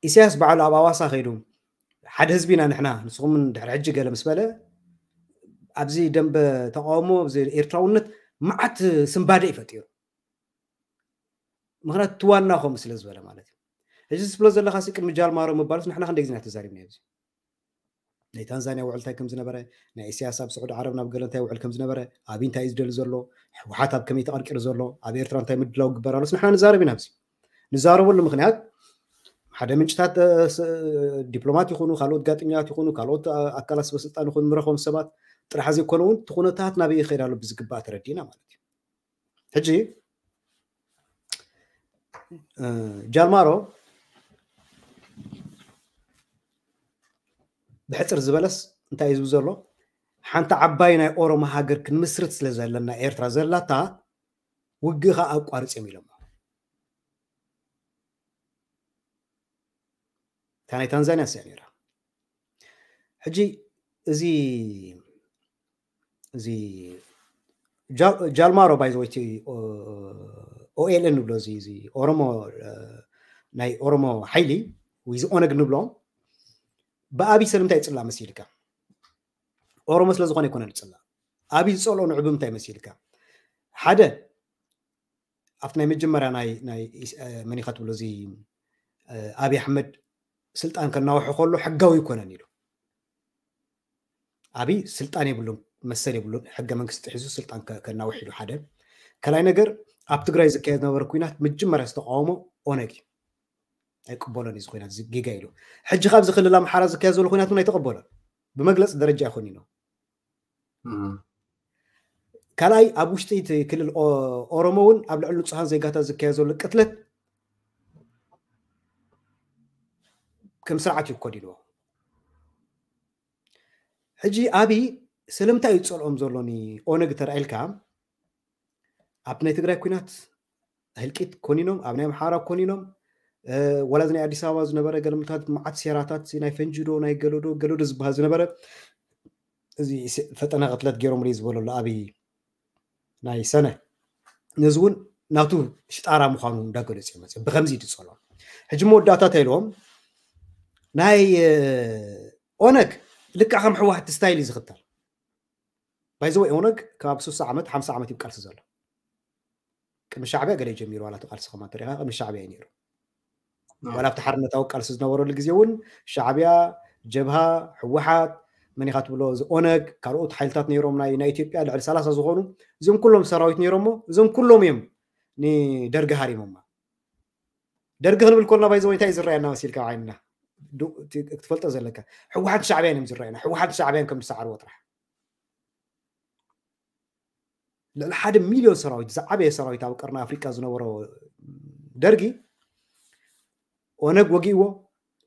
ኢሳያስ ባዕሉ ኣብ ኣዋሳ ከይዱ ሓደ ህዝቢ ኢና ንሕና ንስኹም ድሕሪ ሕጂ ገለ ምስ በለ ኣብዚ ደንበ ተቃውሞ ኣብዚ ኤርትራውነት መዓት ስንባደ እዩ ፈጢሩ። ምኽንያቱ እቲ ዋና ከምኡ ስለ ዝበለ ማለት እዩ። ሕጂ ዝብሎ ዘለካ ሲ ቅድሚ ጃልማሮ ምባሉስ ንሕና ክንደይ ግዜ ኢና ተዛሪብና ኣብዚ ናይ ታንዛንያ ውዕል እንታይ ከም ዝነበረ ናይ ኢሳያስ ኣብ ስዑዲ ዓረብ ናብ ገለ እንታይ ውዕል ከም ዝነበረ ኣብይ እንታይ እዩ ዝደሊ ዘሎ ህወሓት ኣብ ከመይ ተቐርቂሩ ዘሎ ኣብ ኤርትራ እንታይ ምድላው ግበር ኣሎስ ንሕና ንዛረብ ኢና ኣብዚ ንዛረበሉ ምክንያት ሓደ ምንጭታት ዲፕሎማት ይኹኑ ካልኦት ጋጥኛት ይኹኑ ካልኦት ኣካላት ሰበስልጣን ይኹኑ ንረኸቦም ሰባት ጥራሕ ዘይኮነ እውን እቲ ኩነታት ናበይ ይኸይድ ኣሎ ብዝግባእ ተረዲእና ማለት እዩ ሕጂ ጃልማሮ ብሕፅር ዝበለስ እንታይ እዩ ዝብል ዘሎ ሓንቲ ዓባይ ናይ ኦሮሞ ሃገር ክንምስርት ስለ ዘለና ኤርትራ ዘላታ ውግእኻ ኣቋርፅ እዮም ኢሎሞ እታ ናይ ታንዛንያ ስያ ነይራ ሕጂ እዚ እዚ ጃልማሮ ባይዘወይቲ ኦኤልኤን ንብሎ እዚ ኦሮሞ ናይ ኦሮሞ ሓይሊ ወይ እዚ ኦነግ ንብሎ ብኣብይ ስለምንታይ ይፅላ መሲልካ ኦሮሞ ስለዝኾነ ይኮነ ዝፅላ ኣብይ ዝፀልኦ ንዑ ብምንታይ መሲልካ ሓደ ኣብቲ ናይ መጀመርያ ናይ ናይ መኒኻ ትብሎ እዚ ኣብይ ኣሕመድ ስልጣን ከናውሑ ከሎ ሕጋዊ ይኮነን ኢሉ ኣብይ ስልጣን የብሉን መሰል የብሉን ሕገ መንግስቲ ጥሒሱ ስልጣን ከናውሕ ኢሉ ሓደ ከላይ ነገር ኣብ ትግራይ ዝካየድ ነበረ ኩናት መጀመርያ ዝተቃወሞ ኦነግ እዩ። ኣይቅበሎን እዩ እዚ ኩናት፣ እዚ ጌጋ ኢሉ። ሕጂ ካብዚ ክልል ኣምሓራ ዝካየድ ዘሎ ኩናት እውን ኣይተቐበሎን። ብመግለፂ ደረጃ ኣይኮን ኢሎ። ካልኣይ፣ ኣብ ውሽጢ እቲ ክልል ኦሮሞ እውን ኣብ ልዕሊ ንፁሃን ዜጋታት ዝካየድ ዘሎ ቅትለት ከም ስርዓት እዩ ኮዲንዎ። ሕጂ ኣብይ ስለምንታይ እዩ ዝፀልኦም ዘሎ ንኦነግ ተራኢልካ? ኣብ ናይ ትግራይ ኩናት ህልቂት ኮኒኖም፣ ኣብ ናይ ኣምሓራ ኮኒኖም፣ ወላ ናይ ኣዲስ ኣበባ ዝነበረ ገለምታት መዓት ሴራታት ናይ ፈንጅዶ ናይ ገለዶ ገለዶ ዝበሃል ዝነበረ፣ እዚ ፈጠነ ቅትለት ገይሮም ዝበለሉ ኣብይ ናይ ሰነ፣ ነዚ እውን ናቱ ሽጣራ ምዃኑ እንዳገለጹ እዮም መፅኦም። ብከምዚ ድፀሎም ሕጂ መወዳእታ እንታይ ኢልዎም? ናይ ኦነግ ልክዕ ከም ሕወሓት ስታይል እዩ ዝኽተል። ባይዘወይ ኦነግ ካብ ስሳ ዓመት ሓምሳ ዓመት እዩ ቃልሲ ዘሎ። ቅድሚ ሻዕቢያ ገለ ጀሚሩ ዋላ እቲ ቃልሲ ከማ ተሪኻ ቅድሚ ሻዕቢያ እዩ ነይሩ። ዋላ ኣብቲ ሓርነታዊ ቃልሲ ዝነበረሉ ግዜ እውን ሻዕቢያ፣ ጀብሃ፣ ሕወሓት፣ መን ኢኻ ትብሎ፣ እዚ ኦነግ፣ ካልኦት ሓይልታት ነይሮም ናይ ናይ ኢትዮጵያ ልዕሊ ሰላሳ ዝኾኑ፣ እዚኦም ኩሎም ሰራዊት ነይሮሞ፣ እዞም ኩሎም እዮም ንደርጊ ሃሪሞማ። ደርጊ ክንብል ኮልና ባይዘወይ እንታይ እዩ ዝረኣየና መሲልካ? ዓይንና ክትፈልጦ ዘለካ፣ ሕወሓት ሻዕቢያን እዮም ዝረኣየና። ሕወሓት ሻዕቢያን ከም ዝሰዓርዎ ጥራሕ። ልዕሊ ሓደ ሚልዮን ሰራዊት፣ ዝዓበየ ሰራዊት ኣብ ቀርኒ ኣፍሪቃ ዝነበሮ ደርጊ ኦነግ ወጊእዎ።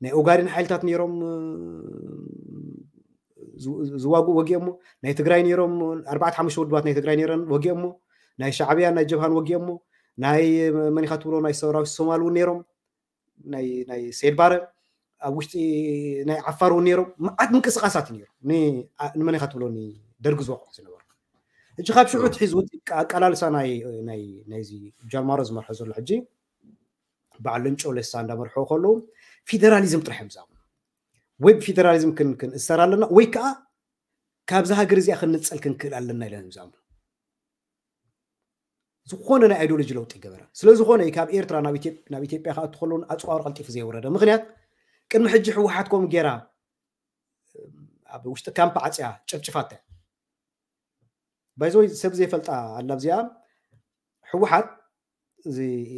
ናይ ኦጋዴን ሓይልታት ነይሮም ዝዋግኡ ወጊኦሞ። ናይ ትግራይ ነይሮም፣ ኣርባዕተ ሓሙሽተ ውድባት ናይ ትግራይ ነይረን ወጊኦሞ። ናይ ሻዕብያ ናይ ጀብሃን ወጊኦሞ። ናይ መኒኻ ትብሎ ናይ ሰራዊት ሶማል እውን ነይሮም፣ ናይ ሰይድ ባረ። ኣብ ውሽጢ ናይ ዓፋር እውን ነይሮም። መዓት ምንቅስቃሳት ነይሩ። ንመኒኻ ትብሎ ደርጊ ዝወቅዑ ዝነበሩ። ሕጂ ካብ ሽዑ ትሒዙ ኣቃላልሳ ናይዚ ጃልማሮ ዝመርሖ ዘሎ ሕጂ በዓል ለንጮ ለሳ እንዳመርሖ ከለዉ ፌደራሊዝም ጥራሕ እዮም ዝኣምኑ። ወይ ብፌደራሊዝም ክንእሰር ኣለና ወይ ከዓ ካብዛ ሃገር እዚኣ ክንነፀል ክንክእል ኣለና ኢለን እዮም ዝኣምኑ። ዝኾነ ናይ ኣይዲዮሎጂ ለውጢ ይገበረ። ስለዝኾነ እዩ ካብ ኤርትራ ናብ ኢትዮጵያ ክኣቱ ከለውን ኣፅዋሩ ቀልጢፉ ዘይወረደ። ምክንያት ቅድሚ ሕጂ ህወሓት ከምኡ ጌራ ኣብ ውሽጢ ካምፕ ዓፅያ ጨፍጭፋታ። ባይዘወይ ሰብ ዘይፈልጣ ኣላ ኣብዚኣ ህወሓት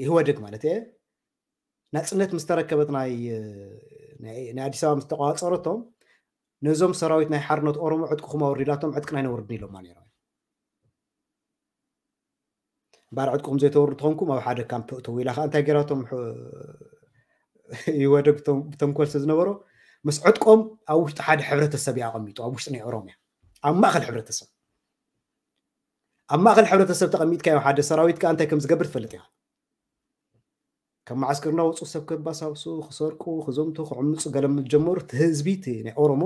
ኢህወደግ ማለት እየ ናፅነት ምስ ተረከበት ናይ ኣዲስ ኣበባ ምስ ተቋፀረቶም ነዞም ሰራዊት ናይ ሓርነት ኦሮሞ ዕጥቅኹም ኣወርዱ ኢላቶም ዕጥቅና ኣይነውርድን ኢሎማ ነይሮም። እምበኣር ዕጥቅኹም ዘይተወርዱ ተኾንኩም ኣብ ሓደ ካምፕ እተው ኢላ ከዓ እንታይ ገይራቶም ኢህወደግ ብተንኮል ስለ ዝነበሮ ምስ ዕጥቆም ኣብ ውሽጢ ሓደ ሕብረተሰብ እዩ ኣቐሚጡ ኣብ ውሽጢ ናይ ኦሮምያ ኣብ ማእኸል ሕብረተሰብ ኣብ ማእኸል ሕብረተሰብ ተቐሚጥካዮ ሓደ ሰራዊት ከዓ እንታይ ከም ዝገብር ትፈልጥ ኢኻ። ካብ መዓስከር እናወፁ ሰብ ከባሳብሱ ክሰርቁ ክዘምቱ ክዕምፁ ገለ ምስ ጀመሩ እቲ ህዝቢ እቲ ናይ ኦሮሞ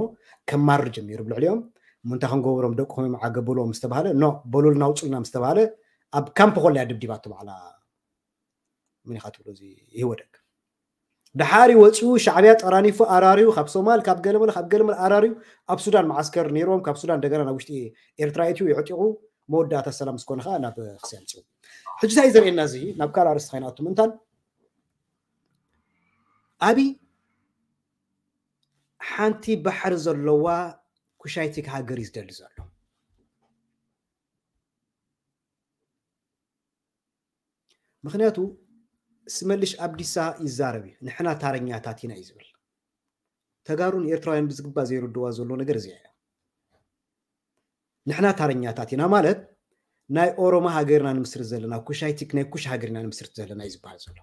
ከማርር ጀሚሩ ብልዕሊኦም። እሞ እንታይ ክንገብሮም ደቅኹም ይመዓገ በልዎም ምስ ተባሃለ ኖ በሉልና ኣውፁልና ምስ ተባሃለ ኣብ ካምፕ ኮላ እያ ድብዲባቶ ባዕላ። መን ኢኻ ትብሎ እዚ ኢህወደግ። ደሓር ወፂኡ ሻዕብያ ጠራኒፉ ኣራርዩ ካብ ሶማል ካብ ገለመለ ካብ ገለመለ ኣራርዩ ኣብ ሱዳን መዓስከር ነይርዎም ካብ ሱዳን እንደገና ናብ ውሽጢ ኤርትራ ኣእትዩ የዕጢቑ መወዳእታ ሰላም ዝኾነ ከዓ ናብ ክሲ ኣምፅኡ። ሕጂ እንታይ እዩ ዘርእየና እዚ ናብ ካልእ ኣርእስቲ ከይንኣቱ ምእንታን ኣብይ ሓንቲ ባሕሪ ዘለዋ ኩሻይቲክ ሃገር እዩ ዝደሊ ዘሎ። ምክንያቱ ስመልሽ ኣብዲሳ ይዛረብ እዩ ንሕና ታረኛታት ኢና እዩ ዝብል። ተጋሩን ኤርትራውያን ብዝግባእ ዘይርድዋ ዘሎ ነገር እዚኣ እያ። ንሕና ታረኛታት ኢና ማለት ናይ ኦሮሞ ሃገር ኢና ንምስርት ዘለና ኩሻይቲክ ናይ ኩሽ ሃገር ኢና ንምስርት ዘለና እዩ ዝበሃል ዘሎ።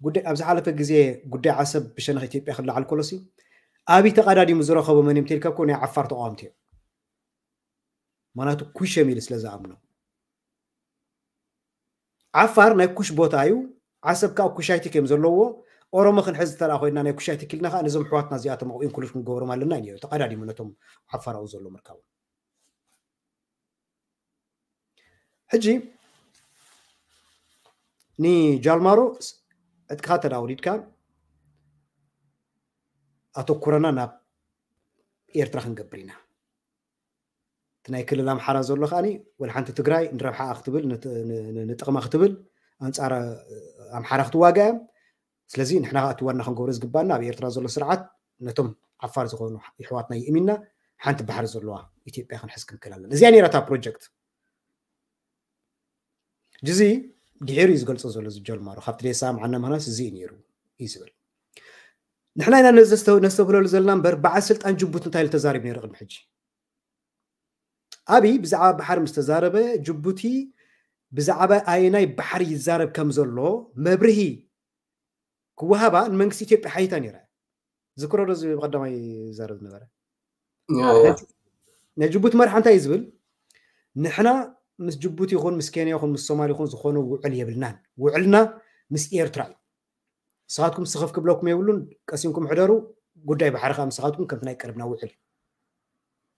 ጉዳይ ኣብ ዝሓለፈ ግዜ ጉዳይ ዓሰብ ብሸነኽ ኢትዮጵያ ክለዓል ከሎሲ ኣብይ ተቐዳዲሙ ዝረኸቦ መን እዮም ተልካ እኮ ናይ ዓፋር ተቃወምቲ እዮም። ማናቱ ኩሽ እዮም ኢሉ ስለ ዝኣምኑ ዓፋር ናይ ኩሽ ቦታ እዩ። ዓሰብ ከዓ ኩሻይቲክ እዮም ዘለዎ። ኦሮሞ ክንሕዝ ተላ ኮይና ናይ ኩሻይቲክ ኢልና ከዓ ነዞም ኣሕዋትና እዚኣቶም ኣብኡ ኢንክሉድ ክንገብሮም ኣለና እዩ ተቐዳዲሙ ነቶም ዓፋር ኣብኡ ዘሎ ምርካቡ። ሕጂ ንጃልማሮ ዕጥቅኻ ተዳውሪድካ ኣተኩረና ናብ ኤርትራ ክንገብር ኢና። እቲ ናይ ክልል ኣምሓራ ዘሎ ከዓኒ ወላ ሓንቲ ትግራይ ንረብሓኣ ክትብል ንጥቕማ ክትብል ኣንፃር ኣምሓራ ክትዋጋ እያ። ስለዚ ንሕና ከዓ እቲ ዋና ክንገብሮ ዝግባና ኣብ ኤርትራ ዘሎ ስርዓት ነቶም ዓፋር ዝኾኑ ይሕዋትና ይእሚንና ሓንቲ ባሕሪ ዘለዋ ኢትዮጵያ ክንሕዝ ክንክእል ኣለና። እዚኣ ነይራ እታ ፕሮጀክት። ጅዚ ድሒሩ እዩ ዝገልጾ ዘሎ ዝጀልማሮ ካብቲ ደይሰማምዓና ምክንያት እዚ እዩ ነይሩ እዩ ዝብል። ንሕና ኢና ነዚ ነስተብህለሉ ዘለና እምበር በዓል ስልጣን ጅቡቲ እንታይ ኢሉ ተዛሪቡ ነይሩ ቅድሚ ሕጂ? ኣብይ ብዛዕባ ባሕሪ ምስ ተዛረበ ጅቡቲ ብዛዕባ ኣየናይ ባሕሪ ይዛረብ ከም ዘሎ መብርሂ ክወሃባ ንመንግስቲ ኢትዮጵያ ሓይታ ነይራ። ዝክሮ ዶ እዚ ብቀዳማይ ይዛረብ ዝነበረ ናይ ጅቡቲ መርሓ እንታይ እዩ ዝብል? ንሕና ምስ ጅቡቲ ይኹን ምስ ኬንያ ይኹን ምስ ሶማል ይኹን ዝኾነ ውዕል የብልናን። ውዕልና ምስ ኤርትራ እዩ። ንስኻትኩም ስኽፍ ክብለኩም የብሉን። ቀሲንኩም ሕደሩ። ጉዳይ ባሕሪ ከዓ ንስኻትኩም ከምቲ ናይ ቀረብና ውዕል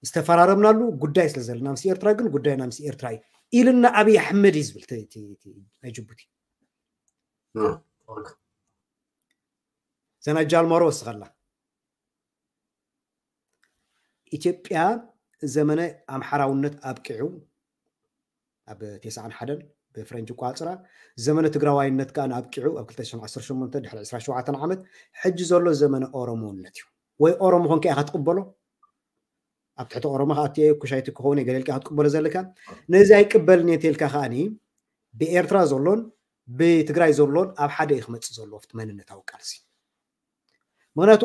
ዝተፈራረምናሉ ጉዳይ ስለ ዘለና ምስ ኤርትራ ግን ጉዳይና ምስ ኤርትራ እዩ ኢልና ኣብይ ኣሕመድ እዩ ዝብል ናይ ጅቡቲ። ዘና ጃልማሮ ወስኸላ ኢትዮጵያ ዘመነ ኣምሓራውነት ኣብቂዑ ኣብ ተስዓን ሓደን ብፍረንጅ ቋፅራ ዘመነ ትግራዋይነት ከዓ ኣብቂዑ ኣብ ክልተ ሽሕን ዓሰርተ ሸሞንተ ድሕሪ ዕስራን ሸውዓተን ዓመት ሕጂ ዘሎ ዘመነ ኦሮሞነት እዩ። ወይ ኦሮሞ ኮንካ ኢኻ ትቕበሎ ኣብ ትሕቲ ኦሮሞ ከኣትየ ኩሻይቲ ክኸውን ገለልካ ክትቅበሎ ዘለካ ነዚ ኣይቅበልን እየ ተልካ ከዓኒ ብኤርትራ ዘሎን ብትግራይ ዘሎን ኣብ ሓደ እዩ ክመፅእ ዘሎ ኣብቲ መንነታዊ ቃልሲ። ምክንያቱ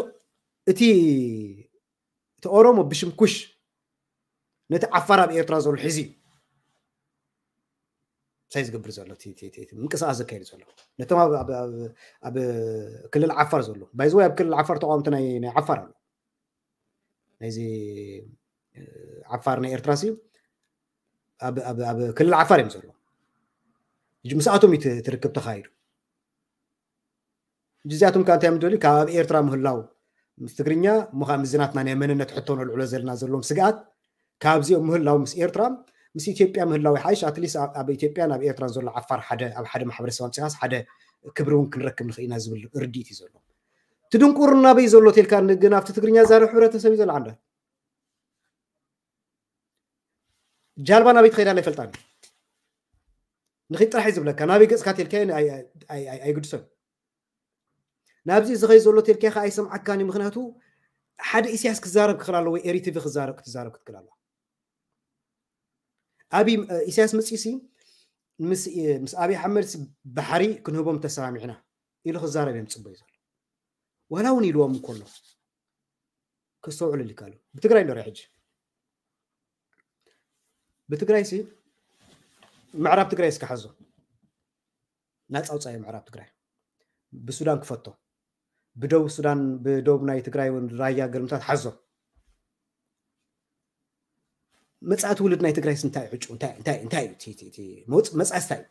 እቲ እቲ ኦሮሞ ብሽም ኩሽ ነቲ ዓፋር ኣብ ኤርትራ ዘሎ ሕዚ እዩ እንታይ ዝገብር ዘሎ ምንቅስቃስ ዘካየድ ዘሎ ነቶም ኣብ ክልል ዓፋር ዘሎ ባይዘወይ ኣብ ክልል ዓፋር ተቃወምቲ ናይ ዓፋር ኣሎ ናይዚ ዓፋር ናይ ኤርትራ ሲ ኣብ ክልል ዓፋር እዮም ዘሎ ምስኣቶም እዩ ትርክብ ተካይዱ እዚኣቶም ከዓ እንታይ እዮም ዝደልዩ ካብ ኣብ ኤርትራ ምህላው ምስ ትግርኛ እሞ ከዓ ምስዚ ናትና ናይ መንነት ሕቶ ነልዕሎ ዘለና ዘለዎም ስግኣት ካብዚኦም ምህላው ምስ ኤርትራ ምስ ኢትዮጵያ ምህላው ይሓይሽ ኣትሊስ ኣብ ኢትዮጵያን ኣብ ኤርትራን ዘሎ ዓፋር ሓደ ኣብ ሓደ ማሕበረሰብ ኣምፅኻስ ሓደ ክብሪ እውን ክንረክብ ንኽእል ኢና ዝብል ርድኢት እዩ ዘሎ እቲ ድንቁርና በይ ዘሎ ተልካ ግን ኣብቲ ትግርኛ ዛረብ ሕብረተሰብ እዩ ዘሎ ዓንዳት ጃልባ ናበይ ትኸይዳ ኣይፈልጣን ንኺድ ጥራሕ እዩ ዝብለካ ናበይ ገፅካ ተልካ ኣይግድሶን ናብዚ ዝኸይ ዘሎ ተልካኻ ኣይሰምዓካን እዩ ምክንያቱ ሓደ ኢሳያስ ክዛረብ ክኽእል ኣለዎ ኤሪቲቪ ክዛረብ ክትዛረብ ክትክእል ኣለዋ ኣብ ኢሳያስ መፂሲ ምስ ኣብይ ኣሕመድ ባሕሪ ክንህቦም ተሰማሚዕና ኢሉ ክዛረብ እዮም ፅበዩ ዘሎ ዋላ እውን ኢልዎም እንከሎ ከስተውዕሉ ይካሉ ብትግራይ ንሪኦ ሕጂ ብትግራይ ሲ ምዕራብ ትግራይ እስከ ሓዞ ናፃ ውፃኢ ምዕራብ ትግራይ ብሱዳን ክፈቶ ብደቡብ ሱዳን ብደቡብ ናይ ትግራይ እውን ራያ ገልምታት ሓዞ መፃኢ ትውልድ ናይ ትግራይ እንታይ ዕጩ እንታይ እዩ መፃኢ እንታይ እዩ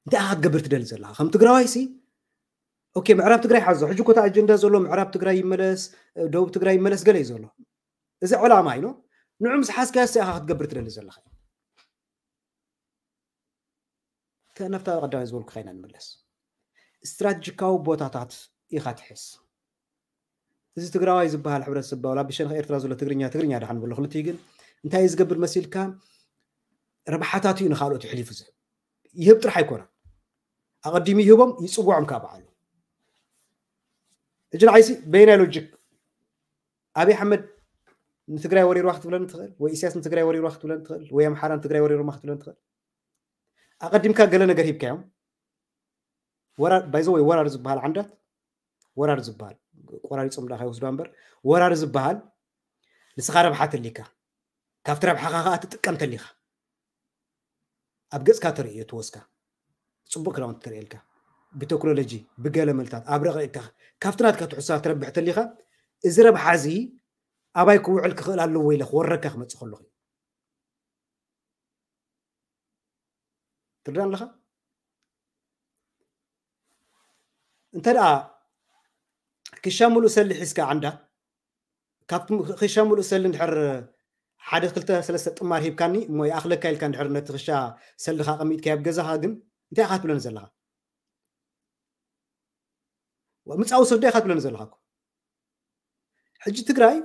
እንታይ ክትገብር ትደሊ ዘለካ ከም ትግራዋይ ሲ ኦኬ ምዕራብ ትግራይ ሓዞ ሕጂ ኮታ ኣጀንዳ ዘሎ ምዕራብ ትግራይ ይመለስ ደቡብ ትግራይ ይመለስ ገለ እዩ ዘሎ እዚ ዕላማ ኢኖ ንዑ ምስ ሓዝካዮ ኢኻ ክትገብር ትደሊ ዘለካ ከነፍታ ቀዳማይ ዝበልኩ ኸይና ንምለስ ስትራቴጂካዊ ቦታታት ኢኻ ትሕዝ እዚ ትግራዋይ ዝበሃል ሕብረተሰብ ዋላ ብሸንኸ ኤርትራ ዘሎ ትግርኛ ትግርኛ ድሓን ብሎ ክልትኡ ግን እንታይ እዩ ዝገብር መሲልካ ረብሓታት እዩ ንካልኦት ይሕሊፉ ዝህብ ይህብ ጥራሕ ኣይኮነን ኣቐዲሙ ይህቦም ይፅውዖም ካብ በዓሉ ሕጂ ንዓይሲ በየናይ ሎጂክ ኣብይ ኣሕመድ ንትግራይ ወሪርዋ ክትብለኒ ትኽእል ወይ ኢሳያስ ንትግራይ ወሪርዋ ክትብለኒ ትኽእል ወይ ኣምሓራ ንትግራይ ወሪርማ ክትብለኒ ትኽእል ኣቐዲምካ ገለ ነገር ሂብካዮም ባይዘ ወይ ወራር ዝበሃል ዓንዳት ወራር ዝበሃል ቆራሪፆም ዳ ከይወስዱ እምበር ወራር ዝበሃል ንስኻ ረብሓ ተሊካ ካብቲ ረብሓኻ ከዓ ትጥቀም ተሊካ ኣብ ገፅካ ተርእዮ ትወስካ ፅቡቅ ክዳውንቲ ተርእየልካ ብቴክኖሎጂ ብገለ መልታት ኣብ ረቂቅካ ካብቲ ናትካ ትሕሳ ትረብሕ ተሊካ እዚ ረብሓ እዚ ኣባይ ክውዕል ክኽእል ኣለዎ ኢለ ክወረካ ክመፅእ ከለኹ ትርዳእ ኣለኻ እንተ ደኣ ክሻ ሙሉእ ሰሊ ሒዝካ ዓንዳ ካብቲ ክሻ ሙሉእ ሰሊ እንድሕር ሓደ ክልተ ሰለስተ ጥማር ሂብካኒ እሞ ይኣኽለካ ኢልካ እንድሕር ነቲ ክሻ ሰልኻ ኣቐሚጥካዮ ኣብ ገዛኻ ግን እንታይ ኢኻ ትብለኒ ዘለኻ ምፃዊ ሰዶ ኢኻ ትብለኒ ዘለኻ እኮ ሕጂ ትግራይ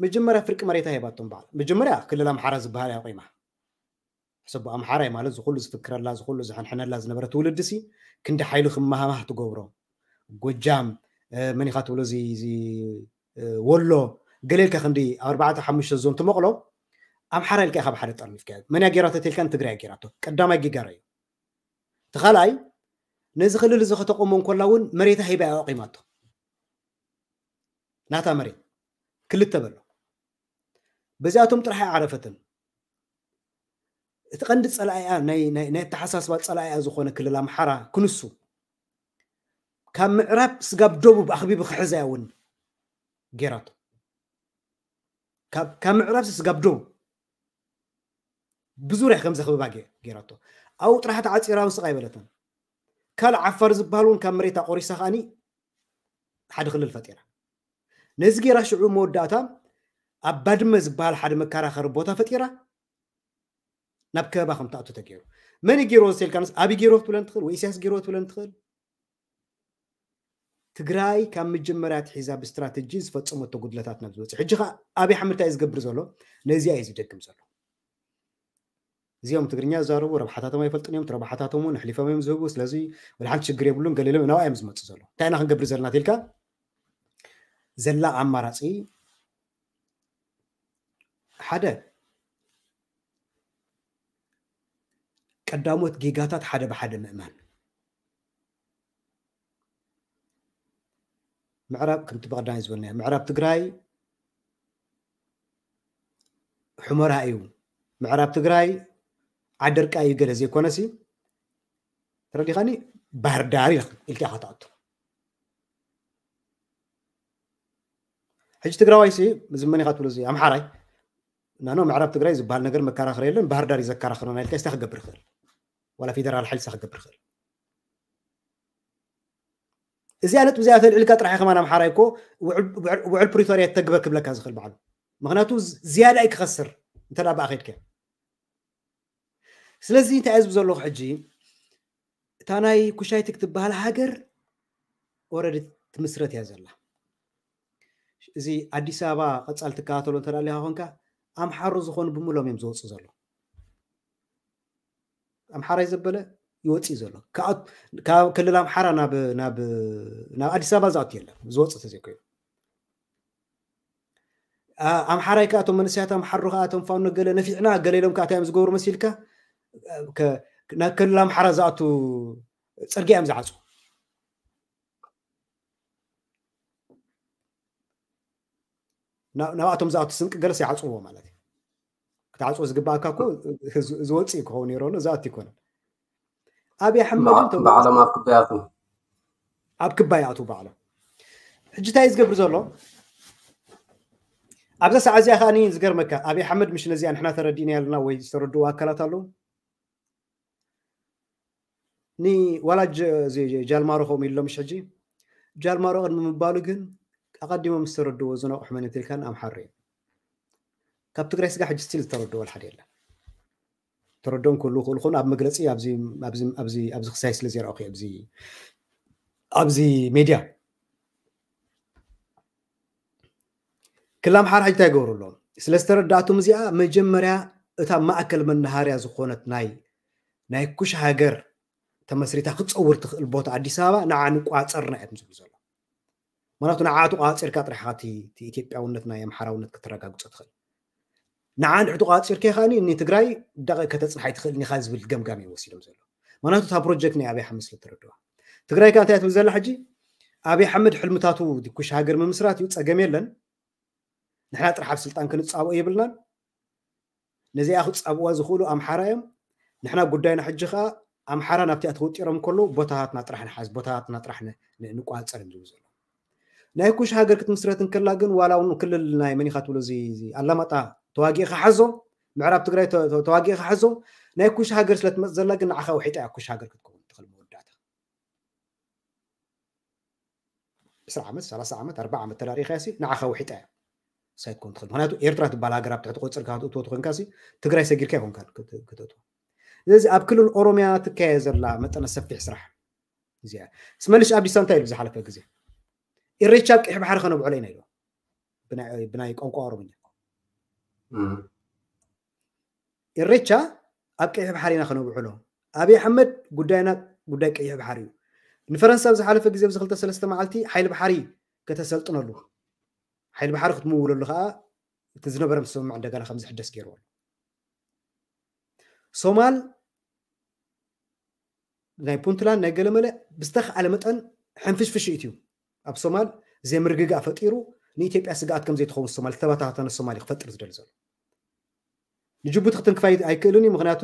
መጀመርያ ፍርቂ መሬታ ሂባቶም በዓል መጀመርያ ክልል ኣምሓራ ዝበሃል እያ ቆይማ ሕሰቦ ኣምሓራይ ማለት ዝኩሉ ዝፍክረላ ዝኩሉ ዝሕንሕነላ ዝነበረ ትውልዲ ሲ ክንዲ ሓይሉ ክመሃማህ ትገብሮ ጎጃም መን ኢኻ ትብሎ እዚ ወሎ ገሌልካ ክንዲ ኣርባዕተ ሓሙሽተ ዞን ትመቕሎ ኣምሓራ ኢልካ ኢኻ ብሓደ ጠርኒፍካዮ። መን እያ ጌራቶ ተልካ ንትግራይ ጌራቶ። ቀዳማይ ጌጋራ እዩ። እቲ ካልኣይ ነዚ ክልል እዚ ከተቆሞ እንኮላ እውን መሬታ ሂባ እያ ኣቂማቶ። ናታ መሬት ክልተ በሎ። በዚኣቶም ጥራሕ ኣይዓረፈትን። እቲ ቀንዲ ጸላኢኣ ናይ ናይ ናይ ኣተሓሳስባ ጸላኢኣ ዝኾነ ክልል ኣምሓራ ክንሱ ካብ ምዕራብ ስጋብ ደቡብ ኣኽቢቡ ክሕዛ እውን ጌራቶ። ካብ ካብ ምዕራብ ስጋብ ደቡብ ብዙርያ ከም ዘኽብባ ገ- ጌራቶ። ኣብኡ ጥራሕ ተዓፂራ ውስቕ ኣይበለትን። ካልእ ዓፋር ዝበሃል እውን ካብ መሬት ኣቆሪሳ ከዓኒ ሓደ ክልል ፈጢራ። ነዚ ጌራ ሽዑ መወዳእታ ኣብ ባድመ ዝበሃል ሓደ መከራኸሪ ቦታ ፈጢራ ናብ ከበባ ከም ትኣቱ ተገይሩ። መን እዩ ገይርዎ ተልካንስ ኣብይ ገይርዎ ክትብለን ትኽእል ወይ ኢሳያስ ገይርዎ ክትብለን ትኽእል። ትግራይ ካብ መጀመርያ ኣትሒዛ ብስትራተጂ ዝፈፀመቶ ጉድለታት ናብ ዝበፅሕ ሕጂ ከዓ ኣብይ ኣሕመድ እንታይ እዩ ዝገብር ዘሎ? ነዚኣ እዩ ዝደግም ዘሎ። እዚኦም ትግርኛ ዝዛረቡ ረብሓታቶም ኣይፈልጡን እዮም። እቲ ረብሓታቶም እውን ኣሕሊፎም እዮም ዝህቡ። ስለዚ ወላ ሓንቲ ሽግር የብሉን። ገሊሎም ናብኣ እዮም ዝመፁ ዘሎ። እንታይ ኢና ክንገብር ዘለና ተልካ ዘላ ኣማራፂ ሓደ ቀዳሞት ጌጋታት ሓደ ብሓደ ምእማን። ምዕራብ ከምቲ ብቐዳማይ ዝበልናዮ ምዕራብ ትግራይ ሑመራ እዩ፣ ምዕራብ ትግራይ ዓደርቃ እዩ ገለ ዘይኮነሲ ተረዲኻኒ ባህር ዳር ኢልካ ኢልካ ኢኻ ትኣቱ። ሕጂ ትግራዋይ ሲ ዝመን ኢኻ ትብሎ እዚ ኣምሓራይ ናኖ ምዕራብ ትግራይ ዝበሃል ነገር መከራኸሪ የለን፣ ባህር ዳር እዩ ዘከራኽረና ኢልካ ስታ ክገብር ይኽእል፣ ዋላ ፌደራል ሓይሊ ስታ ክገብር ይኽእል። እዚኣ ነጥቢ እዚኣ ተልዕልካ ጥራሕ ከማን ኣምሓራይ እኮ ውዕል- ውዕል ውዕል ፕሪቶርያ ተግበር ክብለካ ዝኽእል በዓሉ። ምክንያቱ ዝ- ዝያዳ እዩ ክኸስር እንተ ደኣ ብኣ ከድከ። ስለዚ እንታይ እየ ዝብ ዘለኹ ሕጂ እታ ናይ ኩሻይት ክትበሃል ሃገር ኦረዲ ትምስረት እያ ዘላ። እዚ ኣዲስ ኣበባ ቀጻል ትከታተሎ እንተ ደኣ ኮንካ ኣምሓሩ ዝኾኑ ብምሎም እዮም ዝወፁ ዘሎ። ኣምሓራይ ዘበለ ይወፅእ ዘሎ ካብ ክልል ኣምሓራ ናብ ናብ ናብ ኣዲስ ኣበባ ዝኣቱ የለን ዝወፅእ ተዘይኮይኑ። ኣምሓራይ ከኣቶም መንስያት ኣምሓሩ ከኣቶም ፋኖ ገለ ነፊዕና ገለ ኢሎም ከኣታ እዮም ዝገብሩ መሲልካ ናብ ክልል ኣምሓራ ዝኣቱ ፅርጊያ እዮም ዝዓፁ። ናብኣቶም ዝኣቱ ስንቂ ገለስ ይዓፅዎ ማለት እዩ። ክትዓፅዎ ዝግባእካ እኮ ዝወፅእ ክኸውን ነይሩ ኣሎ ዝኣቱ ይኮነን። ኣብይ ኣሕመድ ባዕሎም ኣብ ክባያቱ ኣብ ክባይ ኣቱ ባዕሎም ሕጂ እንታይ ዝገብር ዘሎ ኣብዛ ሰዓት እዚኣ ከዓኒ ዝገርመካ ኣብይ ኣሕመድ ምሽ ነዚኣ ንሕና ተረዲእና ያለና ወይ ዝተረድዎ ኣካላት ኣለዉ። ንዋላ ጃልማሮ ከምኡ ኢሎም ሕጂ ጃልማሮ ቅድሚ ምባሉ ግን ኣቐዲሞም ዝተረድዎ ዝነቑሕ መን ትልካን ኣምሓሩ እዩ። ካብ ትግራይ ስጋ ሕጂ ስቲል ዝተረድዎ ሓደ የለን። ተረድኦም ክህሉ ክእሉ ኮኑ ኣብ መግለፂ ኣብዚ ክሳይ ስለ ዘርኣኹ ኣብዚ ሜድያ ክላም ሓር ሕጂ እንታይ ይገብሩ ኣለዎም? ስለ ዝተረዳእቶም እዚኣ መጀመርያ እታ ማእከል መናሃርያ ዝኾነት ናይ ናይ ኩሽ ሃገር ተመስሪታ ክትፀውር ትኽእል ቦታ ኣዲስ ኣበባ ንዓ ንቋፀርና እዮም ዝብሉ ዘሎ። ምክንያቱ ንዓ ተቋፂርካ ጥራሕ ኢትዮጵያውነት ናይ ኣምሓራውነት ከተረጋግፆ ትኽእል። ንዓ እንድሕር ተቋፂርካ ከዓኒ ንትግራይ ደቂ ከተፅንሓ ኣይትኽእልን ኢኻ ዝብል ገምጋም እዮም ወሲዶም ዘሎ። ምክንያቱ እታ ፕሮጀክት ናይ ኣብይ ኣሕመድ ስለ ተረድዋ ትግራይ ከ እንታይ ትብል ዘላ ሕጂ ኣብይ ኣሕመድ ሕልምታቱ ኩሽ ሃገር ምምስራት እዩ ፀገም የለን። ንሕና ጥራሕ ኣብ ስልጣን ክንፃብኦ የብልናን። ነዚኣ ክፃብዋ ዝኽእሉ ኣምሓራ እዮም። ንሕና ጉዳይና ሕጂ ከዓ ኣምሓራ ናብቲኣ ተወጢሮም ከለዉ ቦታታትና ጥራሕ ንሓዝ ቦታታትና ጥራሕ ንቋፀር እዮም ዝብሉ ዘለዉ። ናይ ኩሽ ሃገር ክትምስረት እንከላ ግን ዋላ እውን ክልል ናይ መኒኻ ትብሎ እዚ ኣላማጣ ተዋጊእኻ ሓዞ ምዕራብ ትግራይ ተዋጊእኻ ሓዞ ናይ ኩሽ ሃገር ስለ ትመፅ ዘላ ግን ንዓኻ ውሒጣ እያ ኩሽ ሃገር ክትከውን ትኽእል መወዳእታ። ዕስራ ዓመት ሰላሳ ዓመት ኣርባዓ ዓመት ተዳሪኻ ሲ ንዓኻ ውሒጣ እያ ሳይኮን ትኽእል ምክንያቱ ኤርትራ ትበሃል ሃገር ኣብ ትሕቲ ቆፅርካ ክትእትዎ ትኾንካ ሲ ትግራይ ሰጊርካ ይኮንካ ክትእትዎ። ስለዚ ኣብ ክልል ኦሮሚያ ትካየ ዘላ መጠነ ሰፊሕ ስራሕ እዚኣ ስመልሽ ኣብዲሳ እንታይ ኢሉ ዝሓለፈ ግዜ ኢሬቻ ኣብ ቀይሕ ባሕሪ ከነብዕሎ ኢና ኢሉ ብናይ ቋንቋ ኦሮምኛ ኢሬቻ ኣብ ቀይሕ ባሕሪ ኢና ከነብዕሎ ኣብይ ኣሕመድ ጉዳይና ጉዳይ ቀይሕ ባሕሪ እዩ። ንፈረንሳ ኣብ ዝሓለፈ ግዜ ኣብዚ ክልተ ሰለስተ መዓልቲ ሓይሊ ባሕሪ ከተሰልጥነሉ ሓይሊ ባሕሪ ክትምውለሉ ከዓ እቲ ዝነበረ ምስምማዕ እንደገና ከም ዝሕደስ ገይርዎ ኣሎ። ሶማል ናይ ፑንትላንድ ናይ ገለመለ ብዝተኽኣለ መጠን ሕንፍሽፍሽ እዩ። ኣብ ሶማል ዘይምርግጋእ ፈጢሩ ንኢትዮጵያ ስግኣት ከም ዘይትኸውን ሶማል፣ ዝተበታተነ ሶማል እዩ ክፈጥር ዝደሊ ዘሎ። ንጅቡቲ ክትንክፋ ኣይክእልን እዩ። ምክንያቱ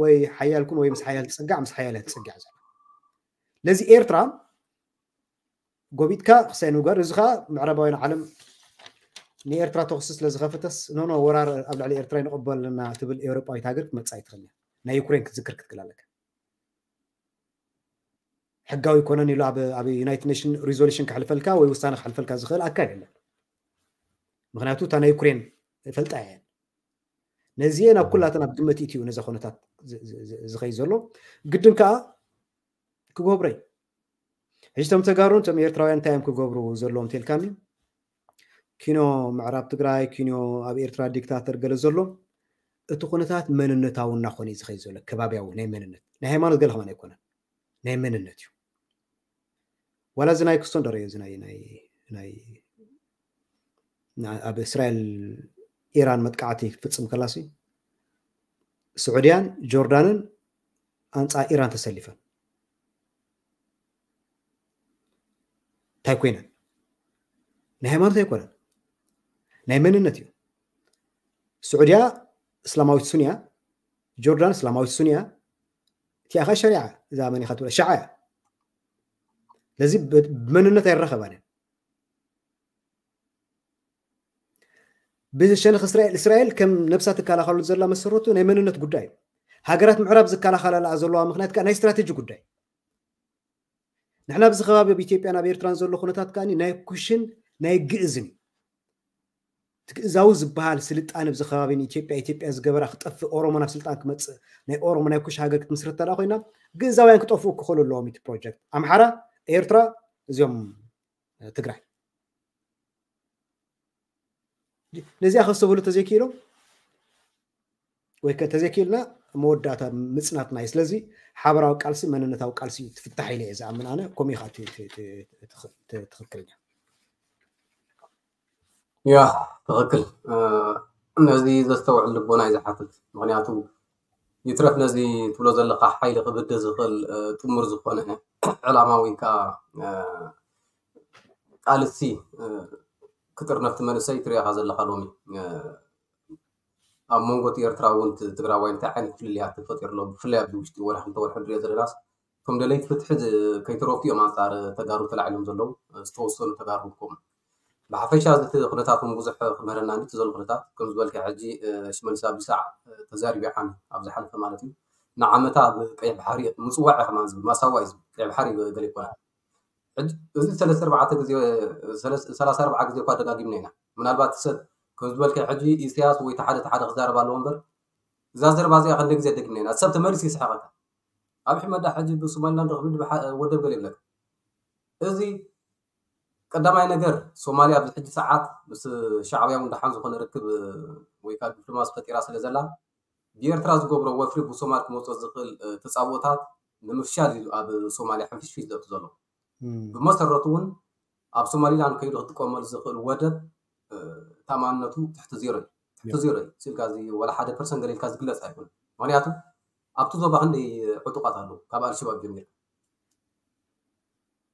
ወይ ሓያል ኩን ወይ ምስ ሓያል ትጸጋዕ፣ ምስ ሓያል እያ ትጸጋዕ ዘላ። ለዚ ኤርትራ ጎቢጥካ ክሳይ ንጓር፣ እዚ ከዓ ምዕራባውያን ዓለም ንኤርትራ ተኽሲ ስለ ዝኸፈተስ፣ ኖኖ፣ ወራር ኣብ ልዕሊ ኤርትራ ይንቕበልና ትብል ኤውሮጳዊት ሃገር ክትመጽእ ኣይትኽእልን እያ። ናይ ዩክሬን ክትዝክር ክትክእል ኣለካ። ሕጋዊ ይኮነን ኢሉ ኣብ ኣብ ዩናይትድ ኔሽን ሪዞሉሽን ክሕልፈልካ ወይ ውሳነ ክሕልፈልካ ዝኽእል ኣካል የለን። ምክንያቱ እታ ናይ ዩክሬን ፈልጣ እየን። ነዚኤን ኣብ ኩላተን ኣብ ግምት ኢትዩ ነዚ ኩነታት ዝ- ዝ- ዝ- ዝኸይ ዘሎ ግድን ከዓ ክገብሮ እዩ። ሕጂ ቶም ተጋሩን ቶም ኤርትራውያን እንታይ እዮም ክገብሩ ዘለዎም ተልካኒ? ኪኖ ምዕራብ ትግራይ፣ ኪኖ ኣብ ኤርትራ ዲክታተር ገለ ዘሎ፣ እቲ ኩነታት መንነታዊ እናኾነ እዩ ዝኸይ ዘሎ። ከባቢያዊ ናይ መንነት፣ ናይ ሃይማኖት ገለ ከማን ኣይኮነን፣ ናይ መንነት እዩ። ዋላ እዚ ናይ ክስቶን ደረዮ እዚ ናይ ናይ ናይ ና- ኣብ እስራኤል ኢራን መጥቃዕቲ ክትፍጽም ከላሲ ስዑድያን ጆርዳንን ኣንጻር ኢራን ተሰሊፈን እንታይ ኮይነን? ናይ ሃይማኖት ኣይኮነን፣ ናይ መንነት እዩ። ስዑድያ እስላማዊት ሱንያ፣ ጆርዳን እስላማዊት ሱንያ፣ እቲኣ ኸ ሸሪዓ፣ እዛ መን ኢኻ ትብላ ሸዓ እያ። ስለዚ ብ- ብመንነት ኣይረኸባን እየን። ብሸነኽ እስራኤል እስራኤል ከም ነብሳ ትከላኸሉ ዘላ መሰረቱ ናይ መንነት ጉዳይ እዩ። ሃገራት ምዕራብ ዝከላኸላላ ዘለዋ ምክንያት ከዓ ናይ ስትራቴጂ ጉዳይ። ንሕና ኣብዚ ከባቢ ኣብ ኢትዮጵያን ኣብ ኤርትራን ዘሎ ኩነታት ከዓ ናይ ኩሽን ናይ ግእዝን እዩ። እቲ ግእዛዊ ዝበሃል ስልጣን ኣብዚ ከባቢ ንኢትዮጵያ ኢትዮጵያ ዝገበራ ክጠፍእ ኦሮሞ ናብ ስልጣን ክመፅእ ናይ ኦሮሞ ናይ ኩሽ ሃገር ክትምስርት ተዳ ኮይና ግእዛውያን ክጠፍኡ ክኽእሉ ኣለዎም። እቲ ፕሮጀክት ኣምሓራ ኤርትራ እዚኦም ትግራይ ነዚኣ ከስተብህሉ ተዘይክኢሎም ወይ ከ ተዘይክኢልና መወዳእታ ምፅናትና እዩ። ስለዚ ሓበራዊ ቃልሲ መንነታዊ ቃልሲ እዩ ትፍታሕ ኢለ እየ ዝኣምን ኣነ። ከምኡ ኢኻ እቲ- እቲ- እቲ- እቲ- እቲ- ትኽክለኛ ያ ትኽክል። ነዚ ዘስተውዕል ልቦና እዩ ዝሓትት። ምክንያቱ ይትረፍ ነዚ ትብሎ ዘለካ ሓይሊ ክብድ ዝኽእል ጥሙር ዝኾነ ዕላማ ወይ ከዓ ቃልሲ ክጥርነፍቲ መንእሰይ ትሪኢኻ ዘለካ ሎሚ ኣብ መንጎ እቲ ኤርትራ እውን ትግራዋይ እንታይ ዓይነት ፍልልያት ተፈጢሩ ኣሎ። ብፍላይ ኣብዚ ውሽጢ ወርሒ ክልተ ወርሒ ንሪኦ ዘለናስ እቶም ደለይቲ ፍትሒ ከይተረፉ እዮም ኣንፃር ተጋሩ ተላዒሎም ዘለዉ ዝተወሰኑ ተጋሩ ከምኡ ብሓፈሻ እዚ ኩነታት እውን ብዙሕ ክምህረና እንዲ ዘሎ ኩነታት ከም ዝበልካ ሕጂ ሽመልስ ኣብዲሳ ተዛሪቡ ዓሚ ኣብ ዝሓለፈ ማለት እዩ ንዓመታ ኣብ ቀይሕ ባሕሪ ምፅዋዕ ከማን ዝብል ማሳዋ እዩ ዝብል ቀይሕ ባሕሪ ገለ ይኮና እዚ ሰለስተ ኣርባዕተ ግዜ ሰላሳ ኣርባዓ ግዜ እኳ ደጋጊምና ኢና ምናልባት ሰብ ከም ዝበልካ ሕጂ ኢሳያስ ወይ ተሓደ ተሓደ ክዛረብ ኣለዎ እምበር እዛ ዘረባ እዚኣ ክንደ ግዜ ደጊምና ኢና ሰብ ተመሊሱ ይስሓቀካ ኣብ ሕመዳ ሕጂ ብሶማሊላንድ ክብል ወደብ ገለ ይብለካ እዚ ቀዳማይ ነገር ሶማልያ ኣብዚ ሕጂ ሰዓት ምስ ሻዕብያ እውን ደሓን ዝኾነ ርክብ ወይ ከዓ ዲፕሎማሲ ፈጢራ ስለ ዘላ ብኤርትራ ዝገብሮ ወፍሪ ብሶማል ክመፅኦ ዝኽእል ተፃብኦታት ንምፍሻል እዩ ኣብ ሶማልያ ሕንፍሽፊሽ ዘእቱ ዘሎ ብመሰረቱ እውን ኣብ ሶማሊላንድ ከይዱ ክጥቀመሉ ዝኽእል ወደብ ታማንነቱ ትሕቲ ዜሮ እዩ ትሕቲ ዜሮ እዩ ስልካ እዚ ወላ ሓደ ፐርሰንት ገለ ኢልካ ዝግለፅ ኣይኮነ ምክንያቱ ኣብቲ ዞባ ክንደይ ዕጡቃት ኣለዉ ካብ ኣልሸባብ ጀሚርካ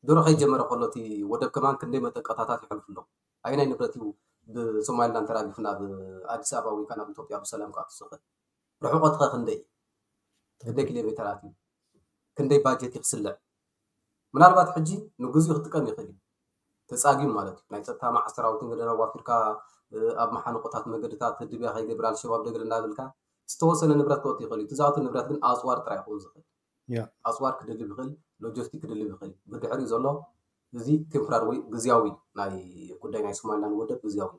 ድሮ ከይጀመረ ከሎ እቲ ወደብ ከማን ክንደይ መጠንቀታታት ይሕልፉ ኣለዉ ኣየናይ ንብረት እዩ ብሶማሊላንድ ተራጊፉ ናብ ኣዲስ ኣበባ ወይ ናብ ኢትዮጵያ ብሰላም ክኣቱ ዝኽእል ርሕቆትኸ ክንደይ ክንደይ ኪሎ ሜተራት እዩ ክንደይ ባጀት ይክስልዕ ምናልባት ሕጂ ንግዚኡ ክጥቀም ይኽእል እዩ ተፃጊም ማለት እዩ ናይ ፀጥታ ማዓ ሰራዊትን ገደና ዋፊርካ ኣብ መሓንቆታት መገድታት ህድብያ ከይገብር ኣልሸባብ ደግር እንዳበልካ ዝተወሰነ ንብረት ክወጥ ይኽእል እዩ ትዛወቲ ንብረት ግን ኣፅዋር ጥራይ ይኸውን ዝኽእል ኣፅዋር ክድልብ ይኽእል ሎጂስቲክ ክድልብ ይኽእል ብድሕሪኡ ዘሎ እዚ ቴምፖራሪ ወይ ግዝያዊ ናይ ጉዳይ ናይ ሶማሊላንድ ወደብ ግዝያዊ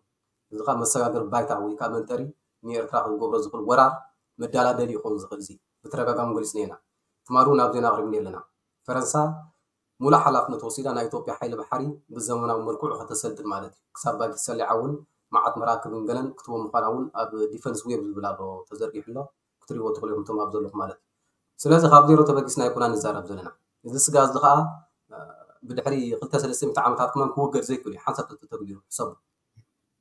እዚ ከዓ መሰጋገር ባይታ ወይ ከዓ መንጠሪ ንኤርትራ ክገብሮ ዝኽእል ወራር መዳላደሊ ይኸውን ዝኽእል እዚ ብተደጋጋሚ ገሊፅና ኢና ትማሊ እውን ኣብ ዜና ኣቕሪብኒ ኣለና ፈረንሳ ሙሉእ ሓላፍነት ወሲዳ ናይ ኢትዮጵያ ሓይሊ ባሕሪ ብዘመናዊ መልክዑ ከተሰልጥን ማለት እዩ ክሳብ ባጀት ሰሊዓ እውን መዓት መራክብን ገለን ክትቦ ምዃና እውን ኣብ ዲፈንስ ዌብ ዝብል ኣሎ ተዘርጊሑ ኣሎ ክትሪእዎ ትኽእሉ ኢኹም እቶም ኣብ ዘለኹ ማለት እዩ ስለዚ ካብ ዜሮ ተበጊስና ኣይኮና ንዛረብ ዘለና እዚ ስጋ እዚ ከዓ ብድሕሪ ክልተ ሰለስተ ሚእቲ ዓመታት ክመን ክውገድ ዘይክእል እዩ ሓንሳብ ተተግቢሩ ሕሰቡ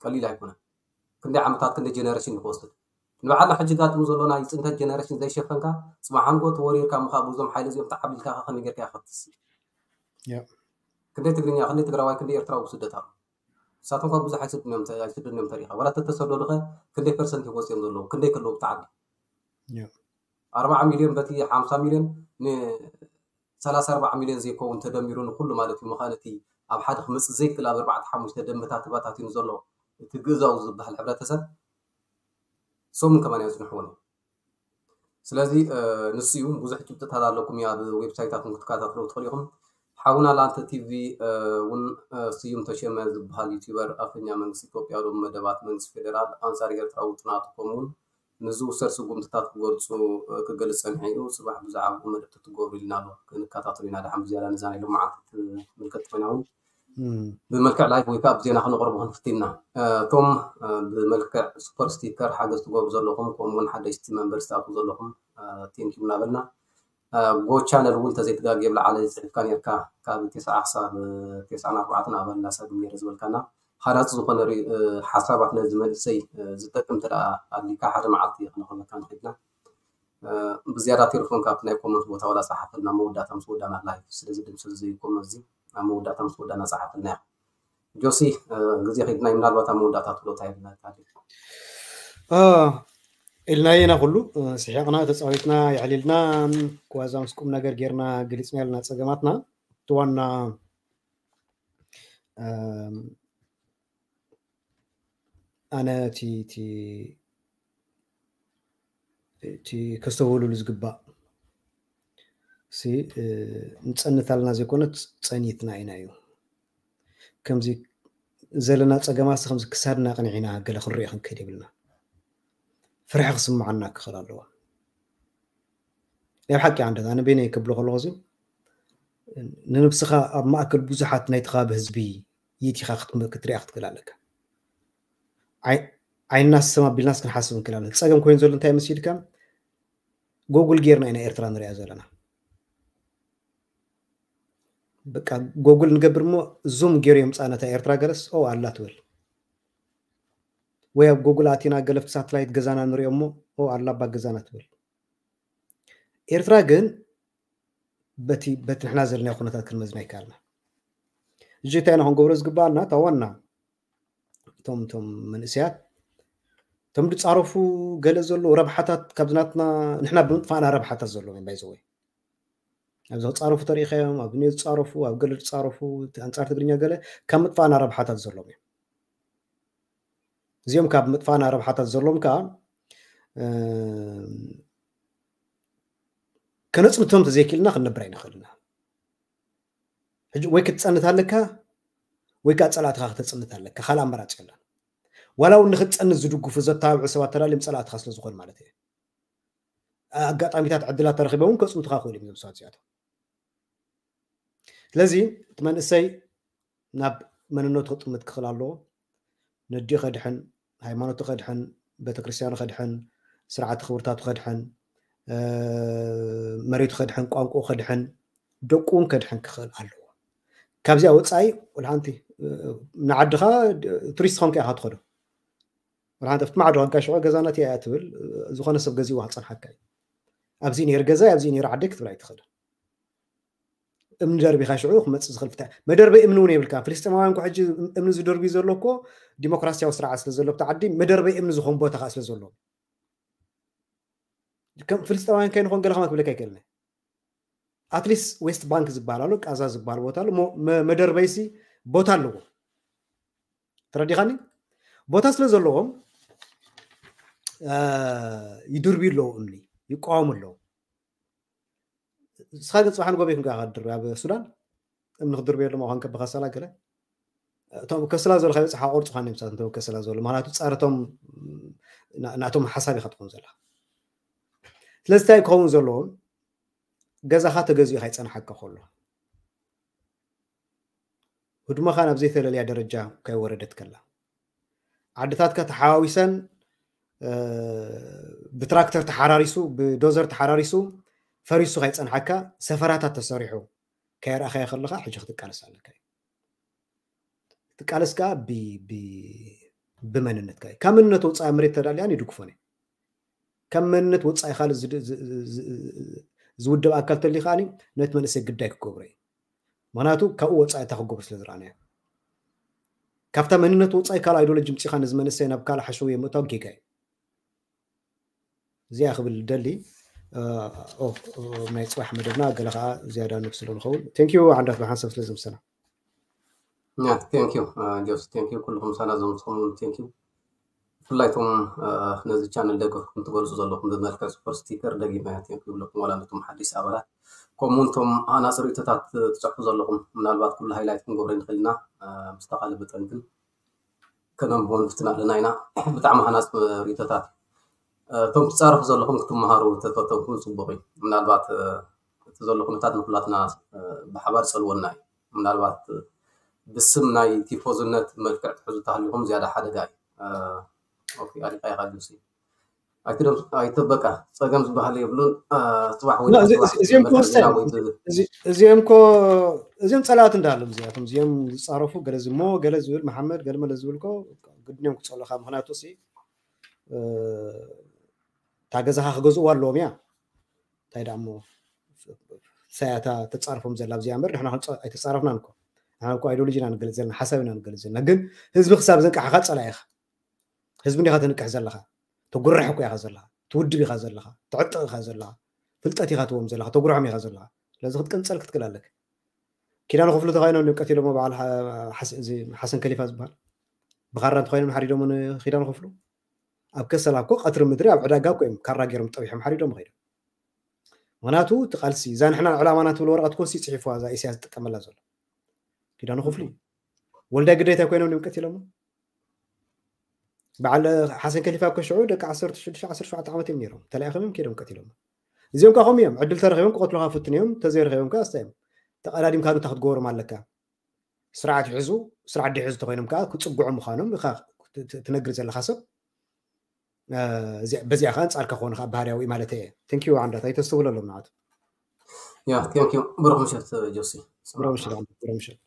ቀሊል ኣይኮነን ክንደይ ዓመታት ክንደይ ጀነሬሽን ክወስድ ንባዕልና ሕጂ ጋጥሙ ዘሎ ናይ ፅንተት ጀነሬሽን ዘይሸፈንካ፣ ፅባሕ ሓንጎ ተወሪርካ ምኻ ብዞም ሓይሊ እዚኦም ተዓቢልካ ከ ከመይ ጌርካ ይኸትስ? ያ። ክንደይ ትግርኛ፣ ክንደይ ትግራዋይ፣ ክንደይ ኤርትራዊ ብስደት ኣሎ? ንሳቶም ካብ ብዙሕ ኣይስድን እዮም ተ-፣ ኣይስድን እዮም ተሪኻ። ዋላ ተተሰደዱ ኸ ክንደይ ፐርሰንት እዮም ወፂኦም ዘለዉ? ክንደይ ከለዉ ብትዓዲ? ያ። ኣርባዓ ሚልዮን በቲ ሓምሳ ሚልዮን ን-፣ ሰላሳ ኣርባዓ ሚልዮን ዘይከውን ተደሚሩ ንኩሉ ማለት እዩ። ምዃን እቲ ኣብ ሓደ ክመጽእ ዘይክእል ኣብ ኣርባዕተ ሓሙሽተ ደምብታት ተበታቲኑ ዘሎ እቲ ግእዛው ዝበሃል ሕብረተሰብ ሰሙን ከማን ኣይጽንሕዎን እዩ። ስለዚ፣ እ፣ ንሱ እዩ። ብዙሕ ጭብጥታት ኣለኩም እዩ ኣብ ዌብሳይታትኩም ክትከታተሉ ትኽእሉ ኢኹም። ሓውና ላንተ ቲቪ፣ እ፣ እውን፣ እ፣ ስዩም ተሸመ ዝበሃል ዩቲዩበር ኣፈኛ መንግስቲ ኢትዮጵያ ዶ መደባት መንግስቲ ፌደራል ኣንጻር ኤርትራ ውጥናቱ ከምኡውን ንዝውሰድ ስጉምትታት ክገልጹ፣ እ፣ ክገልጽ ጸኒሑ እዩ። ጽባሕ ብዛዕባኡ መደብ ትገብሩ ኢልና ኣሎ። ክንከታተሉ ኢና። ደሓን ብዝያዳ ነዛ ናይ ሎማዓንቲ ትምልከት ኮይና እውን እም፣ ብመልክዕ ላይቭ ወይ ከዓ ብዜና ክነቕርቦ ክንፍትን ኢና። እ፣ እቶም፣ እ፣ ብመልክዕ ሱፐር ስቲከር ሓገዝ ትገብሩ ዘለኹም፣ ከምኡ እውን ሓደሽቲ መንበር ዝኣትዉ ዘለኹም፣ እ፣ ቴንኪዩ እናበልና፣ እ፣ ጎ ቻነል እውን ተዘይትጋግየ ብለዓለ ጽሒፍካ ነርካ፣ ካብ ተስዓ ክሳብ ተስዓን ኣርባዕተን ኣባል እናሳግም ነይረ ዝበልካና፣ ሃናጺ ዝኾነ ሪ-፣ እ፣ ሓሳባት ነዚ መንእሰይ፣ እ፣ ዝጠቅም እንተ ደኣ ኣሊካ ሓደ መዓልቲ ክነቕርበካ ንኽእል ኢና። እ፣ ብዝያዳ ቴሌፎን ካብቲ ናይ ኮመንት ቦታ ዋላ ጸሓፈልና፣ መወዳእታ ምስ ወዳና ላይፍ ስለ ዝድምሰስ ዘይኮመ እዚ ኣብ መወዳእታ ምስ ወዳና ጸሓፈልና እያ። ጆሲ፣ እ፣ ግዜ ከይድና እዩ፣ ምናልባት ኣብ መወዳእታ ትብሎ እንታይ ኣለካ? አ፣ ኢልናዮ ኢና ኩሉ፣ እ፣ ስሒቕና፣ ተጻዊትና፣ የዕሊልና፣ ዋዛ ምስ ቁም ነገር ጌርና፣ ገሊጽና ኢልና ጸገማትና። እቲ ዋና፣ እም፣ ኣነ እቲ፣ እቲ፣ እቲ ከስተውህሉሉ ዝግባእ ሲ፣ እ፣ ንጸንታልና ዘይኮነስ ጸኒትና ኢና እዩ። ከምዚ ዘለና ጸገማሲ ከምዚ ክሳድና ቅንዒና ገለ ክንሪኦ ክንከይድ የብልና። ፍርሒ ክስምዓና ክኽእል ኣለዎ። ናይ ብሓቂ ዓንደት፣ ኣነ በይነይ ክብሎ ከለኹ እዚ፣ ንነብስኻ ኣብ ማእከል ብዙሓት ናይቲ ከባቢ ህዝቢ ይእቲኻ ክትም-፣ ክትሪኣ ክትክእል ኣለካ። ኣይ-፣ ዓይንና ስም ኣቢልናስ ክንሓስብ ንክእል ኣለና። ጸገም ኮይኑ ዘሎ እንታይ መሲልካ? ጎጉል ጌርና ኢና ኤርትራ ንሪኣ ዘለና። በቃ ጎጉል ንገብር እሞ ዙም ገይሩ የምጻ ነታ ኤርትራ ገለስ፣ ኦ፣ ኣላ ትብል። ወይ ኣብ ጎጉል ኣቲና ገለፍቲ ሳትላይት ገዛና ንሪኦ እሞ፣ ኦ፣ ኣላ ኣባ ገዛና ትብል። ኤርትራ ግን በቲ፣ በቲ ንሕና ዘለናዮ ኩነታት ክንመዝና ይከኣልና። ሕጂ እንታይ ኢና ክንገብሮ ዝግባኣና? እታ ዋና፣ እቶም፣ እቶም መንእሰያት፣ እቶም ዝጻረፉ ገለ ዘለዉ ረብሓታት ካብዚ ናትና፣ ንሕና ብምጥፋእና ረብሓታት ዘለዎም እዮም፣ ባይዘወይ። ኣብዚ ክጻረፉ ተሪኢኻዮም፣ ኣብ ኒዮ ዝጻረፉ፣ ኣብ ገለ ዝጻረፉ፣ እቲ ኣንጻር ትግርኛ ገለ፣ ካብ ምጥፋእና ረብሓታት ዘለዎም እዮም። እዚኦም ካብ ምጥፋእና ረብሓታት ዘለዎም ከኣ፣ እ፣ ከነጽንቶም ተዘይክእልና ክንነብር ኣይንኽእልና። ሕጂ ወይ ክትጸንት ኣለካ፣ ወይ ከኣ ጸላእትኻ ከተጽንት ኣለካ። ካልእ ኣማራጺ የለን። ዋላ እውን ንክትጸንት ዝድግፉ ዘተባብዑ ሰባት ተዳልዮም ጸላእትኻ ስለ ዝኾኑ ማለት እዩ። ኣጋጣሚታት ዕድላት ተረኺቦም እውን ከጽንቱኻ ክኽእሉ እዮም እዞም ሰባት እዚኣቶም። ስለዚ እቲ መንእሰይ ናብ መንነቱ ክጥምት ክኽእል ኣለዎ። ነዲኡ ከድሕን፣ ሃይማኖቱ ከድሕን፣ ቤተክርስትያኑ ከድሕን፣ ስርዓተ ክብርታቱ ከድሕን፣ እ፣ መሬቱ ከድሕን፣ ቋንቋኡ ከድሕን፣ ደቁ እውን ከድሕን ክኽእል ኣለዎ። ካብዚኣ ወጻኢ ወላ ሓንቲ፣ እ፣ ንዓድኻ ቱሪስት ኾንካ ኢኻ ትኸዶ። ወላ ሓንቲ ኣብቲ ማዕዶ ሕጋ ሽዑ ገዛ ናተይ እያ ትብል፣ ዝኾነ ሰብ ገዚእዋ ክጸንሓካ እዩ። ኣብዚ ነይሩ ገዛይ፣ ኣብዚ ነይሩ ዓደይ ክትብል ኣይትኽእልን። እምኒ ደርቢኻ ሽዑ ክመጽእ ዝኽእል ፍታ-፣ መደርበይ እምኒ እውን የብልካ። ፍልስጤማውያን እኮ ሕጂ እምኒ ዝደርብዩ ዘሎ እኮ ዲሞክራሲያዊ ስርዓት ስለ ዘሎ ኣብቲ ዓዲ መደርበይ እምኒ ዝኾን ቦታ ኸኣ ስለ ዘሎ። ከም ፍልስጤማውያን ከይንኾን ገለ ከማ ክብለካ ኣይክእልን እየ። ኣትሊስት ዌስት ባንክ ዝበሃል ኣሎ፣ ቃዛ ዝበሃል ቦታ ኣሎ፣ ሞ-፣ መ-፣ መደርበይሲ ቦታ ኣለዎ። ተረዲኻኒ? ቦታ ስለ ዘለዎም፣ እ፣ ይድርብዩ ኣለዉ እምኒ፣ ይቃወሙ ኣለዉ። ንስኻ ግን ጽባሕ ንጎ ቤት ንጎ ኢኻ ትድርቢ ኣብ ሱዳን? እምኒ ክትድርብየሎም ኣዃን ከበኸሰላ ገለ? እቶም ከሰላ ዘሎ ከይበጽሓ ቆርጹ ኻን እዮም ንሳቶም ከሰላ ዘሎ። ምኽንያቱ ጸረቶም ና-፣ ናቶም ሓሳብ ኢኻ ትኾን ዘለኻ። ስለዚ እንታይ ክኸውን ዘለዎም? ገዛኻ ተገዚኡ ከይጸንሓካ ከሎ። ህድሞኻ ናብ ዘይተለለያ ደረጃ ከይወረደት ከላ። ዓድታትካ ተሓዋዊሰን፣ እ፣ ብትራክተር ተሓራሪሱ፣ ብዶዘር ተሓራሪሱ፣ ፈሪሱ ከይጸንሓካ፣ ሰፈራታት ተሰሪሑ ከየርኣኻዮ ከለኻ፣ ሕጂ ክትቃለስ ኣለካ እዩ። ክትቃለስ ከኣ ብ-፣ ብ-፣ ብመንነትካ እዩ። ካብ መንነት ወጻኢ መሬት ተዳልያን ይድግፎን እዩ። ካብ መንነት ወፃኢ ካልእ ዝድ- ዝ- ዝ- ዝ- ዝውደብ ኣካል ተልዩ ከዓኒ ነቲ መንእሰይ ግዳይ ክገብሮ እዩ። ምክንያቱ ካብኡ ወፃኢ እታ ክገብሩ ስለ ዝረኣናዮ፣ ካብታ መንነት ወፃኢ ካልእ ኣይዲዮሎጂ ምፂኻ ነዚ መንእሰይ ናብ ካልእ ሓሸውየ ምእታው ጌጋ እዩ። እዚኣ ክብል ደሊ ኦ ናይ ፅባሕ መደብና ገለ ከዓ ዝያዳ ንክስሎ ንኸውን። ቴንኪዩ ዓንዳት ብሓንሳብ ስለ ዝምሰና። ቴንኪዩ ጆስ፣ ቴንኪዩ ኩልኩም ሳና ዘምፅኹም ቴንኪዩ። ብፍላይ እቶም ነዚ ቻነል ደገፍኩም ትገልፁ ዘለኹም ብመልክዕ ሱፐር ስቲከር ደጊመ ቴንኪዩ ይብለኩም። ዋላ ነቶም ሓዲስ ኣባላት ከምኡ እውን እቶም ሃናፂ ርእይቶታት ትፅሕፉ ዘለኹም፣ ምናልባት ኩሉ ሃይላይት ክንገብሮ ይንኽእል ኢና። ብዝተኻለ መጠን ግን ከነንብቦ ንፍትን ኣለና ኢና። ብጣዕሚ ሃናፂ ርእይቶታት እዩ። እቶም ትፃረፉ ዘለኹም ክትመሃሩ ተፈተንኩም ፅቡቅ እዩ። ምናልባት እቲ ዘሎ ኩነታት ንኩላትና ብሓባር ፀልወና እዩ። ምናልባት ብስም ናይ ቲፎዝነት መልክዕ ትሕዙ ተሃሊኹም ዝያዳ ሓደጋ እዩ። ኦኬ፣ ኣሊካ ኢኻ ጆሲ። ኣይትደም ኣይተ በቃ፣ ፀገም ዝበሃል የብሉን። እ፣ ፅባሕ ወይ ላ፣ እዚ- ጽባሕ እዚ- እዚኦም እኮ መድረክ ዜና ወሳኝ፣ ወይ ብ- እዚ- እዚኦም እኮ እዚኦም ፀላእቲ እንዳሃሎም እዚኣቶም እዚኦም ዝፃረፉ ገለ ዝሞ ገለ ዝብል መሓመድ ገለ መለ ዝብል እኮ ግድንዮም ክፀሉኻ። ምክንያቱ ሲ እ፣ እታ ገዛኻ ክገዝእዋ ኣለዎም እያ። እንታይ ደኣ እሞ ሳያታ ተፃርፎም ዘላ ኣብዚኣ እምበር ንሕና ክንፀ- ኣይተፃረፍናን እኮ። ንሕና እኮ ኣይዲዮሎጂ ኢና ንገልፅ ዘለና፣ ሓሳብ ኢና ንገልፅ ዘለና። ግን ህዝቢ ክሳብ ዘንቃሕኻ ፀላኢ ኢኻ። ህዝቢ እንዲኻ ተንቅሕ ዘለኻ። ተጉርሕ እኮ ኢኻ ዘለኻ። ትውድብ ኢኻ ዘለኻ። ትዕጥቕ ኢኻ ዘለኻ። ፍልጠት ኢኻ ትዎም ዘለኻ። ተጉርሖም ኢኻ ዘለኻ። ስለዚ ክትቅንፀል ክትክእል ኣለክ። ኪዳነ ክፍሉ ተኻይኖም ድምቀት ኢሎሞ በዓል ሓ- ሓስ- እዚ ሓሰን ከሊፋ ዝበሃል ብኻራ እንተኾይኖም ሓሪዶም ንኪዳነ ክፍሉ ኣብ ከሰላ እኮ ቀትሪ ምድሪ ኣብ ዕዳጋ እኮ እዮም ካራ ገይሮም ጠቢሖም ሓሪዶም ኸይዶም። ምክንያቱ እቲ ቃልሲ እዛ ንሕና ዕላማና ትብል ወረቐት ኮሲ ፅሒፍዋ እዛ ኢሳያስ ዝጥቀመላ ዘሎ ኪዳነ ክፍሉ እዩ። ወልዳይ ግዴታ ኮይኖም ድምቀት ኢሎሞ በዓል ሓሰን ከሊፋ እኮ ሽዑ ደቂ ዓሰርተ ሽዱሽተ ዓሰርተ ሸውዓተ ዓመት እዮም ነይሮም ተላኢኾም እዮም ከይዶም ቀቲሎም። እዚኦም ከዓ ከምኡ እዮም ዕድል ተረኺቦም ክቐትሉካ ፍትን እዮም ተዘይረኺቦም ከዓ ኣስታ እዮም ተቐዳዲምካ ዱታ ክትገብሮም ኣለካ። ስርዓት ይሕዙ ስርዓት ደይሕዙ ተኮይኖም ከዓ ክፅግዑ ምዃኖም ኢኻ ት- ት- ትነግር ዘለካ ሰብ። እ፣ እዚ- በዚኣ ከዓ ኣንፃርካ ክኾኑ ከዓ ባህርያዊ ማለት እየ። ቴንኪዩ ዓንዳት ኣይተስተውለሎም ንዓቱ። ያ ቴንኪዩ። ብሩክ ምሸት ጆሲ። ብሮምሽል ብሮምሽል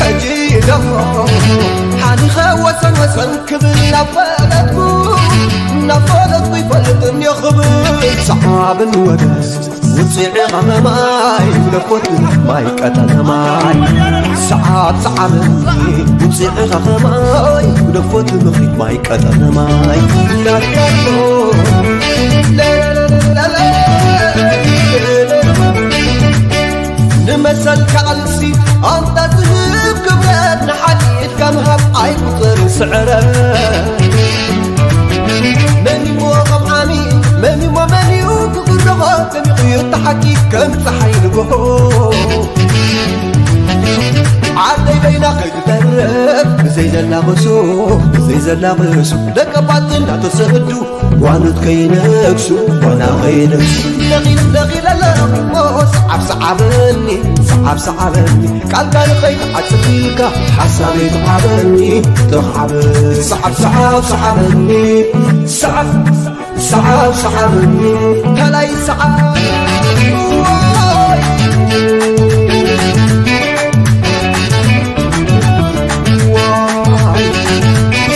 ሕጂ ደሞ ሓሊኸ ወሰን ወሰን ክብል ናብ ፈለጥኩ ናብ ፈለጥኩ ይፈልጥ እንዮ ክብል ሰዓብን ወደስ ውፅዒ ኸመማይ ለኮት ማይ ቀጠነ ማይ ሰዓብ ሰዓብን ውፅዒ ኸኸማይ ደፎት ምኽሪት ማይ ቀጠነ ማይ እናትካቶ ንመሰልካ ቃልሲ ኣንታ ዝህብ ክብረት ንሓቂ ኢድካ ምሃብ ኣይቁፅርን ስዕረት መን እሞ ከም ዓሚ መን እሞ መን እዩ ክጉረኾ ደሚቑ እዩ እቲ ሓቂ ከም ፀሓይ ንግሆ ዓደይ በይና ከይትተርፍ ብዘይ ዘላቕሱ ብዘይ ዘላቕሱ ደቀባት እናተሰዱ ጓኖት ከይነግሱ ጓና ከይነግሱ ነቒል ነቒል ኣለኹሞ ሰዓብ ሰዓበኒ ሰዓብ ሰዓበኒ ቃልካ ንኸይትዓጽፍ ኢልካ ሓሳበይ ተዓበኒ ተኻዕበ ሰዓብ ሰዓብ ሰዓበኒ ሰዓብ ሰዓብ ሰዓበኒ ከላይ ሰዓብ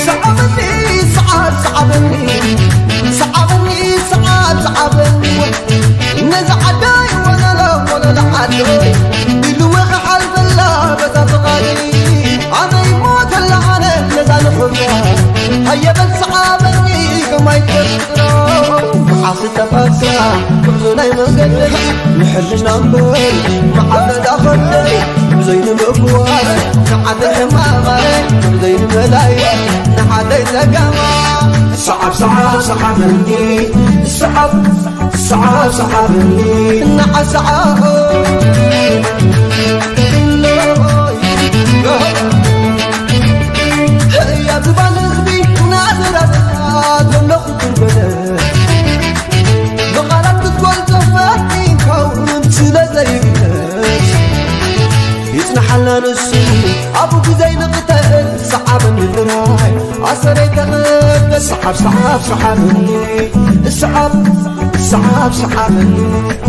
ሰዓበኒ ሰዓብ ሰዓበኒ ሰዓበኒ ሰዓብ ሰዓበኒ ነዚ ዓዳይ ወለሎ ወለሎ ዓደይ ኢልወ ክሓልፈላ በዛ ፍቓደይ ኣበይ ሞተላ ኣነ ነዛ ንኽብላ ሃየበል ሰዓበኒ ከማይ ተፍጥሮ መዓስ ተፋሳ ጉዕዞ ናይ መንገደይ ንሕልና እምበር መዓበዳ ኸደይ ብዘይንምእዋር ንዓደ ሕማማይ ብዘይንመላይ ንዓደይ ጸገማ ሰዓብ ሰዓብ ሰዓበኒ ሰዓብ ሰዓብ ሰዓበኒ እናዓሰዓቦ ህያ ዝባን ህዝቢ ናዘራዘራ ዘለኹ ትርበደ ብቓላት ክትገልጾ ፈቲንካውን ስለ ዘይግለጽ ንሓላ ንሱ ኣብኡ ግዜ ንቕተል ሰዓበኒ ጥራይ ኣሰረይ ተቐበል ሰዓብ ሰዓብ ሰዓበኒ ሰዓብ ሰዓብ ሰዓበኒ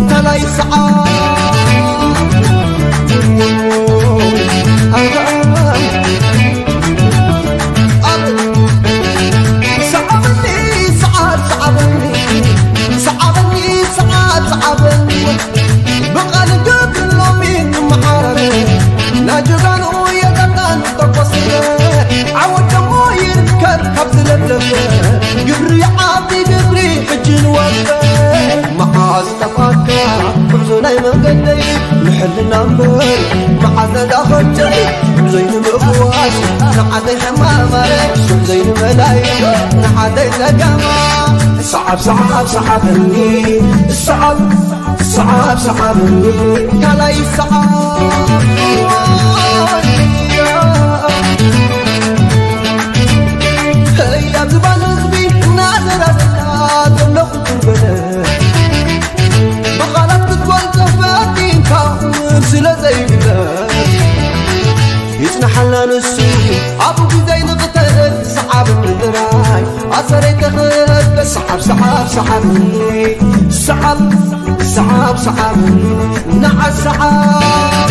ታላይ ሰዓብ ሰዓበኒ ሰዓብ ሰዓበኒ ሰዓበኒ ሰዓብ ሰዓበኒ ብቓል ገብር ሎሚ ንመዓረረ ናጀጋኑ የጠጣን ተቆስረ ዓወት ደሞ ይርከብ ካብ ዝለብለበ ግብሪ ዓቢ ግብሪ ሕጂ ንወፈ መዓዝ ጠፋካ ጉዕዞ ናይ መንገደይ ንሕልና እምበር መዓዝ ነዳኸብተይ ዘይንምእዋስ ንዓዘይ ሕማማረ ዘይንመላይ ንዓዘይ ጸገማ ሰዓብ ሰዓብ ሰዓበኒ ሰዓብ ሰዓብ ሰዓበኒ ካልኣይ ሰዓብ ህያብ ዝባን ህዝቢ እናዘራዝራ ዘለኹ ትርበለ ብቓላት ክትገልጾ ፈቲንካ ስለ ዘይግለጽ ይጽንሓልና ንሱ ኣብኡ ግዜ ንቕተል ሰዓብ ምድራይ ኣሰረይ ተኸበ ሰዓብ ሰዓብ ሰዓብ ሰዓብ ሰዓብ ሰዓብ ንዓ ሰዓብ